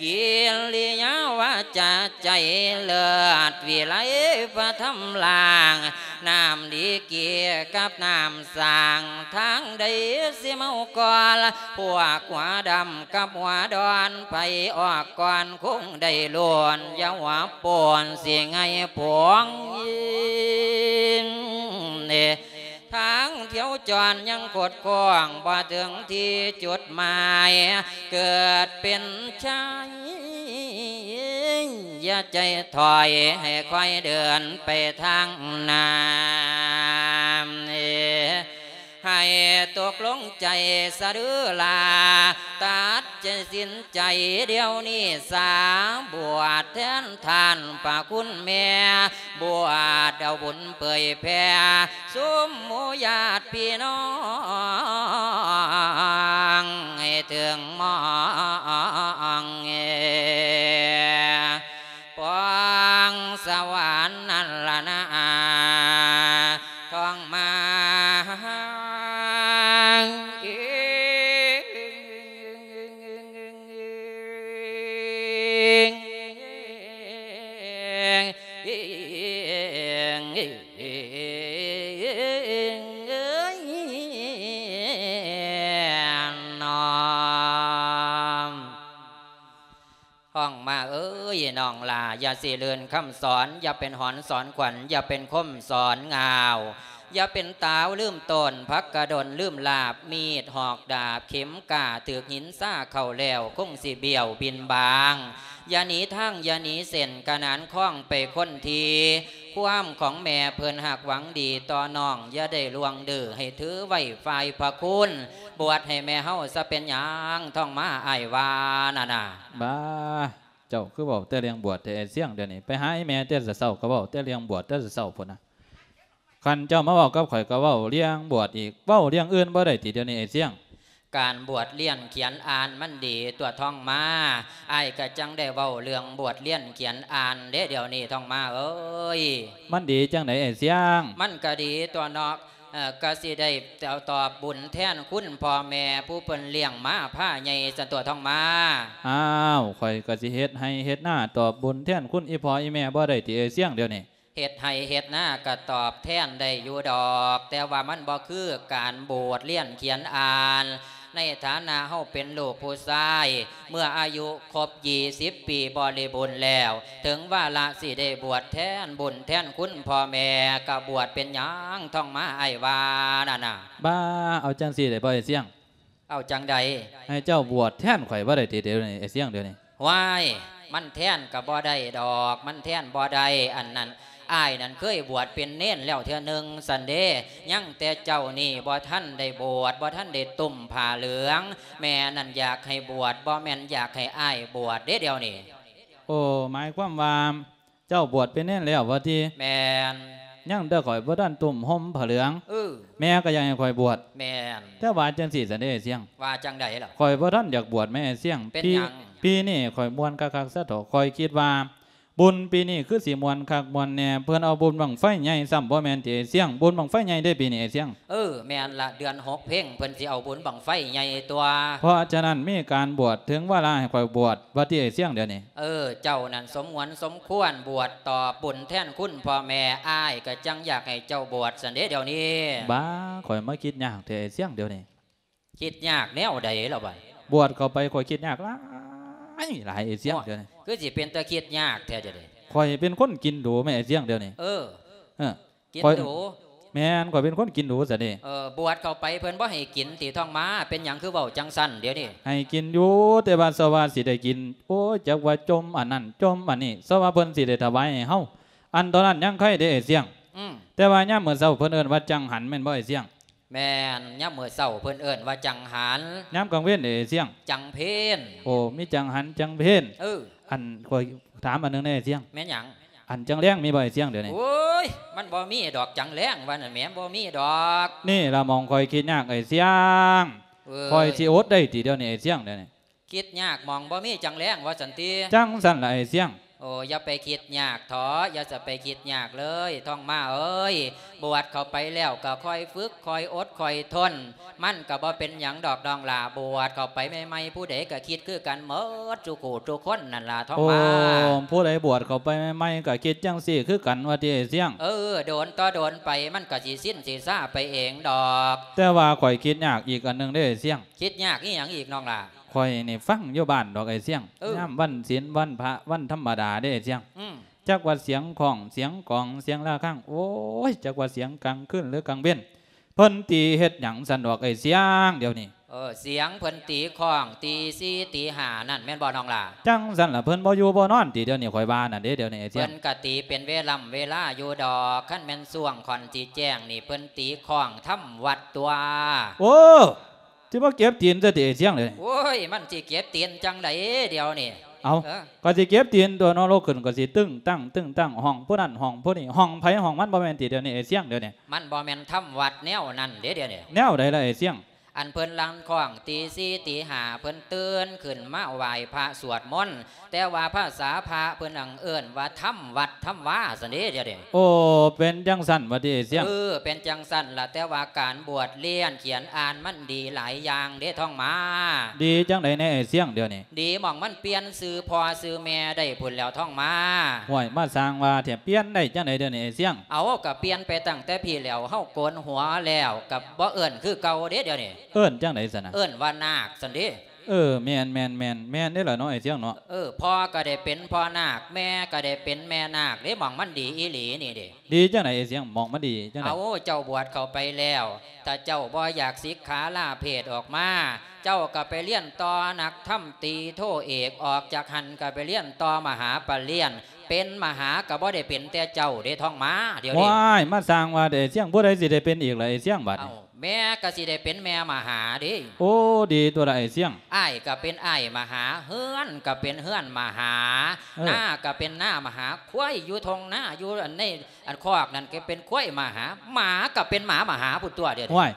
ກິລິຍາວາຈາໃຈເລີດວິໄລ ພະທຳລ່າງ ນ້ຳດີເກກັບນ້ຳສ້າງ ທາງໃດຊິເມົາກ່ອນ ພວກຫົວດຳກັບຫົວດອນ ໃຜອອກກ່ອນຄົງໄດ້ລ້ວນ ຢ່າຫົວໂປ່ນຊິໄຫງ່ພວງ ທາງຖຽວຈອນຍັງຄົດຄ້ອງ ບໍ່ເຖິງທີ່ຈຸດໝາຍ ເກີດເປັນຊາຍ ຢ່າໃຈຖອຍ ໃຫ້ຄ່ອຍເດີນໄປທາງໜ້າ ໃຫ້ຕົກລົງໃຈສະເດີລາ ຕັດໃຈສິນໃຈດຽວນີ້ສາ ບວດແທນທ່ານພະຄຸນແມ່ ບວດເອົາບຸນເຜີຍແຜ່ ຊຸມໝູ່ຍາດພີ່ນ້ອງ ໃຫ້ເຖິງໝ່ອງ ປອງສະຫວານນັ້ນລະນາ ທ້ອງມາ. ນ້ອງ ນ້ອງມາເອີຍ ນ້ອງຫຼ້າ ຢ່າຊິລື່ນຄຳສອນ ຢ່າເປັນຫອນສອນຂວັນ ຢ່າເປັນຄົມສອນງາວ ຢ່າເປັນຕາວລືມຕົ້ນ ຜັກກະດົນລືມລາບ ມີດຫອກດາບ ເຂັມກ້າຖືກຫີນຊາເຂົ້າແລ້ວ ຄົງຊິບ້ຽວບິນບາງ ຢ່າໜີທາງ ຢ່າໜີເສັ້ນ ຂະໜານຄອງໄປຄົນທີ ຄວາມຂອງແມ່ເພິ່ນຮັກຫວັງດີຕໍ່ນ້ອງ ຢ່າໄດ້ລ່ວງດື້ ໃຫ້ຖືໄວ້ຝ່າຍພະຄຸນ ບວດໃຫ້ແມ່ເຮົາຊະເປັນຫຍັງ ທ້ອງມາ ອ້າຍວ່ານັ້ນນະ. ບາ ເຈົ້າຄືເວົ້າແຕ່ເລື່ອງບວດແທ້ ອ້າຍຊຽງ ດຽວນີ້ ໄປຫາອີ່ແມ່ແຕ່ເຊົ້າກໍເວົ້າແຕ່ເລື່ອງບວດແຕ່ເຊົ້າພຸ້ນນະ. ຄັນເຈົ້າມາເວົ້າກັບຂ້ອຍກໍເວົ້າເລື່ອງບວດອີກ ເວົ້າເລື່ອງອື່ນບໍ່ໄດ້ຕິ ດຽວນີ້ ອ້າຍຊຽງ? ການບວດລຽນຂຽນອ່ານມັນດີຕົວະ ທ້ອງມາ ອ້າຍກະຈັ່ງໄດ້ເວົ້າເລື່ອງບວດລຽນຂຽນອ່ານເດ້ ດຽວນີ້ ທ້ອງມາເອີຍ. ມັນດີຈັ່ງໃດ ອ້າຍຊຽງ? ມັນກະດີຕົວະເນາະ ເອີ ກະຊິໄດ້ຕອບບຸນແທນຄຸນພໍ່ແມ່ ຜູ້ເພິ່ນລ້ຽງມາພາໃຫຍ່ຊັ້ນຕົວະ ທ້ອງມາ. ອ້າວ ຂ້ອຍກະຊິເຮັດໄຮ່ເຮັດນາຕອບບຸນແທນຄຸນອີ່ພໍ່ອີ່ແມ່ບໍ່ໄດ້ຕິ ອ້າຍຊຽງ ດຽວນີ້? ເຮັດໄຮ່ເຮັດນາກະຕອບແທນໄດ້ຢູ່ດອກ ແຕ່ວ່າມັນບໍ່ຄືການບວດລຽນຂຽນອ່ານ. ໃນຖານະເຮົາເປັນລູກຜູ້ຊາຍ ເມື່ອອາຍຸຄົບຊາວປີບໍລິບູນແລ້ວ ເຖິງວາລະຊິໄດ້ບວດແທນບຸນແທນຄຸນພໍ່ແມ່ ກະບວດເປັນຫຍັງ ທ້ອງມາ ອ້າຍວ່ານັ້ນນະ. ບາ ເອົາຈັ່ງຊີ້ໄດ້ບໍ່ ອ້າຍຊຽງ? ເອົາຈັ່ງໃດ? ໃຫ້ເຈົ້າບວດແທນຂ້ອຍບໍ່ໄດ້ຕິ ດຽວນີ້ ອ້າຍຊຽງ ດຽວນີ້? ຫວ້າຍ ມັນແທນກໍບໍ່ໄດ້ດອກ ມັນແທນບໍ່ໄດ້. ອັນນັ້ນ ອ້າຍນັ້ນເຄີຍບວດເປັນເນນແລ້ວເທື່ອໜຶ່ງຊັ້ນເດ້ ຍັງແຕ່ເຈົ້ານີ້ບໍ່ທັນໄດ້ບວດ ບໍ່ທັນໄດ້ຕຸ້ມຜ້າເຫຼືອງ. ແມ່ນັ້ນຢາກໃຫ້ບວດ ບໍ່ແມ່ນຢາກໃຫ້ອ້າຍບວດເດ້ດຽວນີ້. ໂອ້ ໝາຍຄວາມວ່າ ເຈົ້າບວດເປັນເນນແລ້ວວ່າຕິ? ແມ່ນ. ຍັງແຕ່ຂ້ອຍບໍ່ທັນຕຸ້ມຫົ່ມຜ້າເຫຼືອງ. ເອີ. ແມ່ກໍຢາກໃຫ້ຂ້ອຍບວດ. ແມ່ນ. ແຕ່ວ່າຈັ່ງຊີ້ຊັ້ນເດ້ອ້າຍຊຽງ. ວ່າຈັ່ງໃດລະ? ຂ້ອຍບໍ່ທັນຢາກບວດແມ່ອ້າຍຊຽງ. ເປັນຫຍັງ? ປີ ປີນີ້ຂ້ອຍມ່ວນຄັກໆຊະເຖາະ. ຂ້ອຍຄິດວ່າບຸນປີນີ້ຄືຊິມ່ວນຄັກມ່ວນແນ່. ເພິ່ນເອົາບຸນບັ້ງໄຟໃຫຍ່ຊ້ຳບໍ່ແມ່ນຕິອ້າຍຊຽງ? ບຸນບັ້ງໄຟໃຫຍ່ເດ້ປີນີ້ອ້າຍຊຽງ. ເອີ ແມ່ນລະ ເດືອນຫົກເພັງເພິ່ນຊິເອົາບຸນບັ້ງໄຟໃຫຍ່ຕົວະ. ເພາະສະນັ້ນມີການບວດ ເຖິງວາລະໃຫ້ຂ້ອຍບວດວ່າຕິອ້າຍຊຽງດຽວນີ້. ເອີ ເຈົ້ານັ້ນສົມຫວນສົມຄວນບວດຕອບບຸນແທນຄຸນພໍ່ແມ່. ອ້າຍກໍຈັ່ງຢາກໃຫ້ເຈົ້າບວດຊັ້ນເດ້ດຽວນີ້. ບ້າ ຂ້ອຍມາຄິດຍາກແທ້ອ້າຍຊຽງດຽວນີ້. ຄິດຍາກແນວໃດລະບາດ? ບວດເຂົ້າໄປຂ້ອຍຄິດຍາກຫຼາຍ ຫຼາຍອ້າຍຊຽງ. ໂອ້ຍ ດຽວນີ້ ຄືຊິເປັນຕາຄິດຍາກແທ້ດຽວນີ້. ຂ້ອຍເປັນຄົນກິນດູແມ່ອ້າຍຊຽງດຽວນີ້. ເອີ ເອີ. ກິນດູ. ແມ່ນ ຂ້ອຍເປັນຄົນກິນດູຊະເດ້. ເອີ ບວດເຂົ້າໄປເພິ່ນບໍ່ໃຫ້ກິນຕິທ້ອງມາ? ເປັນຫຍັງຄືເວົ້າຈັ່ງຊັ້ນດຽວນີ້? ໃຫ້ກິນຢູ່ ແຕ່ວ່າສະວ່າຊິໄດ້ກິນ ໂອ້ຍ ຈັກວ່າຈົ່ມອັນນັ້ນຈົ່ມອັນນີ້ ສະວ່າເພິ່ນຊິໄດ້ຖວາຍໃຫ້ເຮົາ ອັນຕອນນັ້ນຍັງໄຄເດ້ອ້າຍຊຽງ. ອືມ. ແຕ່ວ່າຍາມມື້ເຊົ້າເພິ່ນເອີ້ນວ່າຈັງຫັນແມ່ນບໍ່ອ້າຍຊຽງ? ແມ່ນ ຍາມມື້ເຊົ້າເພິ່ນເອີ້ນວ່າຈັງຫັນ. ຍາມກາງເວັນເດ້ອ້າຍຊຽງ? ຈັງເພັນ. ໂອ້ ມີຈັງຫັນຈັງເພັນ. ເອີ. ອັນ ຂ້ອຍຖາມອັນໜຶ່ງແດ່ອ້າຍຊຽງ. ແມ່ນຫຍັງ? ອັນຈັງແລງມີບໍ່ອ້າຍຊຽງດຽວນີ້? ໂອ້ຍ ມັນບໍ່ມີດອກ ຈັງແລງວ່ານັ້ນແໝ ບໍ່ມີດອກ. ນີ້ລະໝ່ອງຂ້ອຍຄິດຍາກອ້າຍຊຽງ. ເອີຍ ຂ້ອຍຊິອົດໄດ້ຕິດຽວນີ້ອ້າຍຊຽງດຽວນີ້? ຄິດຍາກໝ່ອງບໍ່ມີຈັງແລງວ່າຊັ້ນຕິ? ຈັ່ງຊັ້ນລະອ້າຍຊຽງ. ໂອ້ ຢ່າໄປຄິດຍາກເຖາະ ຢ່າສະໄປຄິດຍາກເລີຍ ທ້ອງມາເອີຍ. ບວດເຂົ້າໄປແລ້ວກໍຄ່ອຍຝຶກ ຄ່ອຍອົດ ຄ່ອຍທົນ ມັນກໍບໍ່ເປັນຫຍັງດອກນ້ອງຫຼ້າ. ບວດເຂົ້າໄປໃໝ່ໆ ຜູ້ໃດກໍຄິດຄືກັນໝົດ ທຸກຜູ້ທຸກຄົນນັ້ນລະ ທ້ອງມາ. ໂອ້ ຜູ້ໃດບວດເຂົ້າໄປໃໝ່ໆ ກໍຄິດຈັ່ງຊີ້ຄືກັນວ່າຕິອ້າຍຊຽງ? ເອີ ໂດນຕໍ່ໂດນໄປ ມັນກໍຊິຊິນຊິຊາໄປເອງດອກ. ແຕ່ວ່າຂ້ອຍຄິດຍາກອີກອັນໜຶ່ງເດ້ອ້າຍຊຽງ. ຄິດຍາກອີຫຍັງອີກນ້ອງຫຼ້າ? ຂ້ອຍນີ້ຟັງຢູ່ບ້ານດອກອ້າຍຊຽງ. ເອີ ຍາມວັນສິນວັນພະ ວັນທຳມະດາເດ້ອ້າຍຊຽງ. ອືມ. ຈັກວ່າສຽງຂ້ອງ ສຽງກອງ ສຽງລະຄັງ ໂອ້ຍ ຈັກວ່າສຽງກາງຄືນ ຫຼື ກາງເວັນ ເພິ່ນຕີເຮັດຫຍັງຊັ້ນດອກອ້າຍຊຽງດຽວນີ້? ເອີ ສຽງເພິ່ນຕີຂ້ອງ ຕີສີ່ ຕີຫ້າ ນັ້ນແມ່ນບໍ່ນ້ອງຫຼ້າ? ຈັ່ງຊັ້ນລະ ເພິ່ນບໍ່ຢູ່ບໍ່ນອນຕິດຽວນີ້ ຂ້ອຍວ່ານັ້ນເດ້ດຽວນີ້ອ້າຍຊຽງ. ເພິ່ນກະຕີເປັນເວລຳເວລາຢູ່ດອກ ຄັນແມ່ນຊ່ວງຂ້ອນຊິແຈ້ງນີ້ ເພິ່ນຕີຂ້ອງທຳວັດຕົວະ. ໂອ້ ຊິມາເກັບຕີນຊະຕິອ້າຍຊຽງເດ. ໂອ້ຍ ມັນຊິເກັບຕີນຈັ່ງໃດດຽວນີ້? ເອົ້າ ເອີ ກໍຊິເກັບຕີນຕົວະເນາະ ລຸກຂຶ້ນກໍຊິຕຶ້ງຕັ້ງຕຶ້ງຕັ້ງ ຫ້ອງຜູ້ນັ້ນຫ້ອງຜູ້ນີ້ ຫ້ອງໃຜຫ້ອງມັນບໍ່ແມ່ນຕິດຽວນີ້ອ້າຍຊຽງດຽວນີ້? ມັນບໍ່ແມ່ນທຳວັດແນວນັ້ນເດ້ດຽວນີ້. ແນວໃດລະອ້າຍຊຽງ? ອັນເພິ່ນລັນຄ້ອງຕີສີ່ຕີຫ້າ ເພິ່ນຕື່ນຂຶ້ນມາໄຫວ້ພະສວດມົນ ແຕ່ວ່າພາສາພະເພິ່ນຫັ້ນເອີ້ນວ່າທຳວັດທຳວາຊັ້ນເດ້ດຽວນີ້. ໂອ້ ເປັນຈັ່ງຊັ້ນວ່າຕິອ້າຍຊຽງ? ເອີ ເປັນຈັ່ງຊັ້ນລະ ແຕ່ວ່າການບວດລຽນຂຽນອ່ານມັນດີຫຼາຍຢ່າງເດ້ທ້ອງມາ. ດີຈັ່ງໃດແດ່ອ້າຍຊຽງດຽວນີ້? ດີໝ່ອງມັນປ່ຽນຊື່ພໍ່ຊື່ແມ່ໄດ້ພຸ້ນແລ້ວທ້ອງມາ. ຫ້ວຍ ມາສ້າງວ່າແທ້ ປ່ຽນໄດ້ຈັ່ງໃດດຽວນີ້ອ້າຍຊຽງ? ເອົ້າ ກະປ່ຽນໄປຕັ້ງແຕ່ພີ້ແລ້ວ ເຮົາໂກນຫົວແລ້ວ ກະບໍ່ເອີ້ນຄືເກົ່າເດ້ດຽວນີ້. ເອີ້ນຈັ່ງໃດຊັ້ນນະ? ເອີ້ນວ່ານາກຊັ້ນເດ້. ເອີ ແມ່ນໆໆ ແມ່ນເດ້ລະເນາະອ້າຍຊຽງເນາະ. ເອີ ພໍ່ກໍໄດ້ເປັນພໍ່ນາກ ແມ່ກໍໄດ້ເປັນແມ່ນາກເດ້ ໝ່ອງມັນດີອີ່ຫຼີນີ້ເດ້. ດີຈັ່ງໃດອ້າຍຊຽງ? ໝ່ອງມັນດີຈັ່ງໃດ? ເອົາ ເຈົ້າບວດເຂົ້າໄປແລ້ວ ຖ້າເຈົ້າບໍ່ຢາກສິກຂາລາເພດອອກມາ ເຈົ້າກໍໄປລຽນຕໍ່ນັກທຳຕີໂທເອກ ອອກຈາກຫັ້ນກໍໄປລຽນຕໍ່ມະຫາປະລຽນ ເປັນມະຫາກໍບໍ່ໄດ້ເປັນແຕ່ເຈົ້າເດ້ທ້ອງມາດຽວນີ້. ວ້າຍ ມາສ້າງວ່າແຕ່ອ້າຍຊຽງ ຜູ້ໃດຊິໄດ້ເປັນອີກລະອ້າຍຊຽງບາດນີ້? ເອົ້າ ແມ່ກໍຊິໄດ້ເປັນແມ່ມະຫາເດ້. ໂອ້ ດີຕົວລະອ້າຍຊຽງ. ອ້າຍກໍເປັນອ້າຍມະຫາ ເຮືອນກໍເປັນເຮືອນມະຫາ ເອີ ນາກໍເປັນນາມະຫາ ຄວາຍຢູ່ທົ່ງນາ ຢູ່ອັນໃນອັນຄອກນັ້ນກໍເປັນຄວາຍມະຫາ ໝາກໍເປັນໝາມະຫາພຸ້ນຕົວະດຽວນີ້. ໂອ້ຍ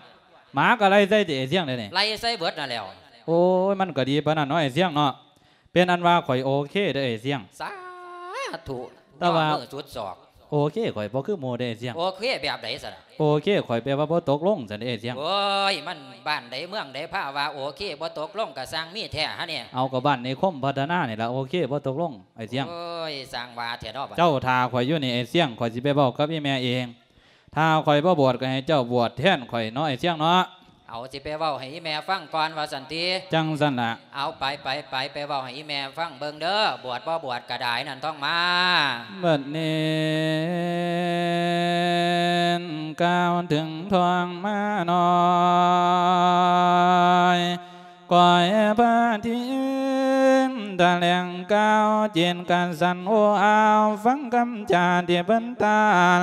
ໝາກໍໄລ່ໃສ່ຕິອ້າຍຊຽງດຽວນີ້? ໄລ່ໃສ່ເບິດນັ້ນແຫຼ້ວ. ໂອ້ຍ ມັນກໍດີປານນັ້ນເນາະອ້າຍຊຽງເນາະ. ເປັນອັນວ່າຂ້ອຍໂອເຄເດີອ້າຍຊຽງ. ສາທຸ. ແຕ່ວ່າ ຍອດມືສຸດສອກ. ໂອເຄ ຂ້ອຍບໍ່ຄືໝູ່ເດ້ອ້າຍຊຽງ. ໂອເຄແບບໃດຊັ້ນ? ໂອເຄ ຂ້ອຍແປວ່າບໍ່ຕົກລົງຊັ້ນເດ້ອ້າຍຊຽງ. ໂອ້ຍ ມັນບ້ານໃດເມືອງໃດພາວ່າໂອເຄ ບໍ່ຕົກລົງກະຊ່າງມີແທ້ຫັ້ນນີ້. ເອົາ ກໍບ້ານນິຄົມພັດທະນານີ້ລະ ໂອເຄ ບໍ່ຕົກລົງອ້າຍຊຽງ. ໂອ້ຍ ຊ່າງວ່າແທ້ເນາະ. ເຈົ້າຖ້າຂ້ອຍຢູ່ນີ້ອ້າຍຊຽງ ຂ້ອຍຊິໄປເວົ້າກັບອີ່ແມ່ເອງ. ຖ້າຂ້ອຍບໍ່ບວດກໍໃຫ້ເຈົ້າບວດແທນຂ້ອຍເນາະອ້າຍຊຽງເນາະ. ເອົາ ຊິໄປເວົ້າໃຫ້ອີ່ແມ່ຟັງກ່ອນວ່າຊັ້ນຕິ. ຈັ່ງຊັ້ນລະ. ເອົາ ໄປ ໄປ ໄປ ໄປເວົ້າໃຫ້ອີ່ແມ່ຟັງເບິ່ງເດີ ບວດບໍ່ບວດກະດາຍນັ້ນທ້ອງມາ. ບັດນີ້ກ່າວເຖິງທ້ອງມານ້ອຍ ກ້ອຍພະທິນ ແຫຼງກ່າວຈິດກະສັ່ນໂອ້ອາວ ຟັງຄຳຈາທີ່ເພິ່ນຕ້ານ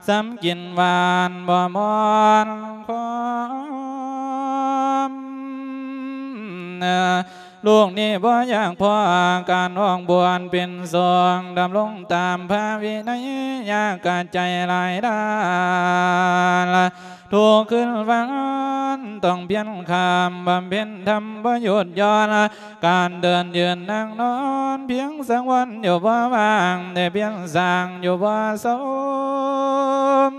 ຊ້ຳກິນຫວານບໍ່ມ່ອນຄວາມ. ລູກນີ້ບໍ່ຢາກພໍການອອກບວດເປັນສົງ ດຳລົງຕາມພະວິໄນ ຢາກກະໃຈຫຼາຍດານ ທຸກຄືນວັນຕ້ອງພຽນຂ້າມ ບຳເພັນທຳບໍ່ຢຸດຢ່ອນ ການເດີນຢືນນັ່ງນອນ ພຽງສັງວອນຢູ່ບໍ່ວ່າງ ແຕ່ພຽນສ້າງຢູ່ບໍ່ສົມ.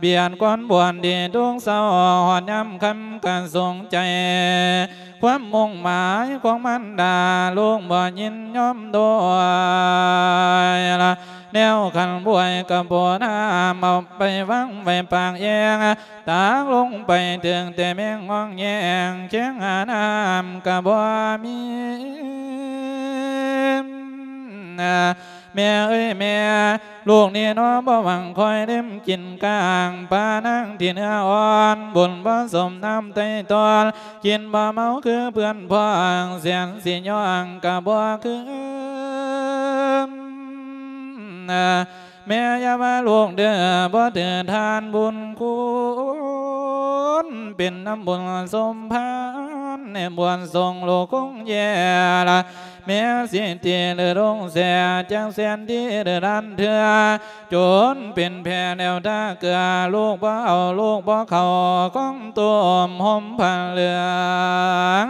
ບຽດກ່ອນບວດດີທຸກເຊົ້າ ຮອດຍາມຄ່ຳກະສົງໃຈ ຄວາມມຸ່ງໝາຍຂອງມານດາ ລູກບໍ່ຍິນຍອມດ້ວຍລະ ແນວຂັນບວຍກະບໍ່ນຳ ເອົາໄປວາງໄວ້ປາກແອ່ງ ຕັກລົງໄປເຖິງແຕ່ແມງງອງແຍງ ແຄງຫານ້ຳກະບໍ່ມີ ແມ່ເອີຍແມ່ ລູກນີ້ໜໍ່ບໍ່ຫວັງຄອຍເລັມກິນກ້າງ ປານາງທີ່ເນື້ອອ່ອນ ບຸນບໍ່ສົມນ້ຳໄຕ່ຕອນ ກິນບໍ່ເມົາຄືເພື່ອນພ້ອງ ແສນຊິຍ້ອງກະບໍ່ຄືນ. ແມ່ຢ່າວ່າລູກເດີ ບໍ່ຖືທານບຸນຄຸນ ເປັນນຳບຸນສົມພານ ໃນບວດສົງລູກຄົງແຍ່ລະ ແມ່ສິຕິຫຼືລົງແສ ຈັກແສນທີຫຼືລ້ານເທື່ອ ຈົນເປັນແຜ່ແລ້ວທ່າເກືອ ລູກບໍ່ເອົາ ລູກບໍ່ເຂົ້າຂອງຕົ້ມຫົ່ມຜ້າເຫຼືອງ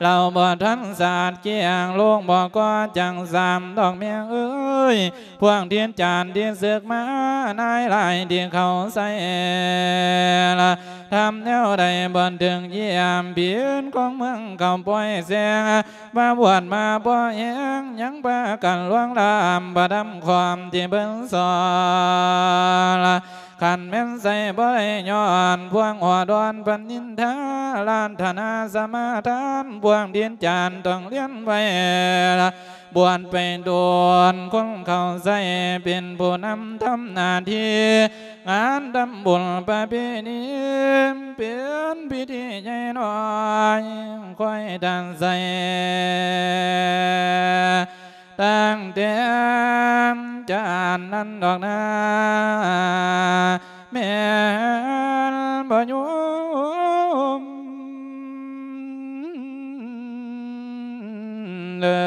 ເຫຼົ່າບໍ່ທັນສາດກ້ຽງ ລູກບໍ່ກໍ່ຈັກຊ້ຳດອກແມ່ເອີຍ ພວກທິດຈານທີ່ເສິກມາ ນາຍຫຼາຍທີ່ເຂົ້າໃສ່ລະ ທຳແນວໃດບໍ່ເຖິງຢ້ຽມ ຜິດຂອງເມືອງເຂົາປ່ອຍແສງ ມາບວດມາບໍ່ແຮງ ຍັງພາກັນລ່ວງລ້ຳ ພະທຳຄວາມທີ່ເພິ່ນສອນລະ ຄັນແມ່ນໃສ່ບໍ່ໄດ້ຍ້ອນ ພວກຫົວດອນພັນນິນທາ ລາດຖະນາສະມາທານ ພວກດິນຈານຕ້ອງລຽນໄວ້ລະ ບວດໄປໂດນ ຄົນເຂົ້າໃສ່ເປັນຜູ້ນຳທຳໜ້າທີ່ ງານທຳບຸນປະເພນີ ເປັນພິທີໃຫຍ່ນ້ອຍ ຄອຍທ່ານໃສ່ ຕັ້ງແຕ່ຈານນັ້ນດອກນາ ແມ່ນບໍ່ຍອມເລີ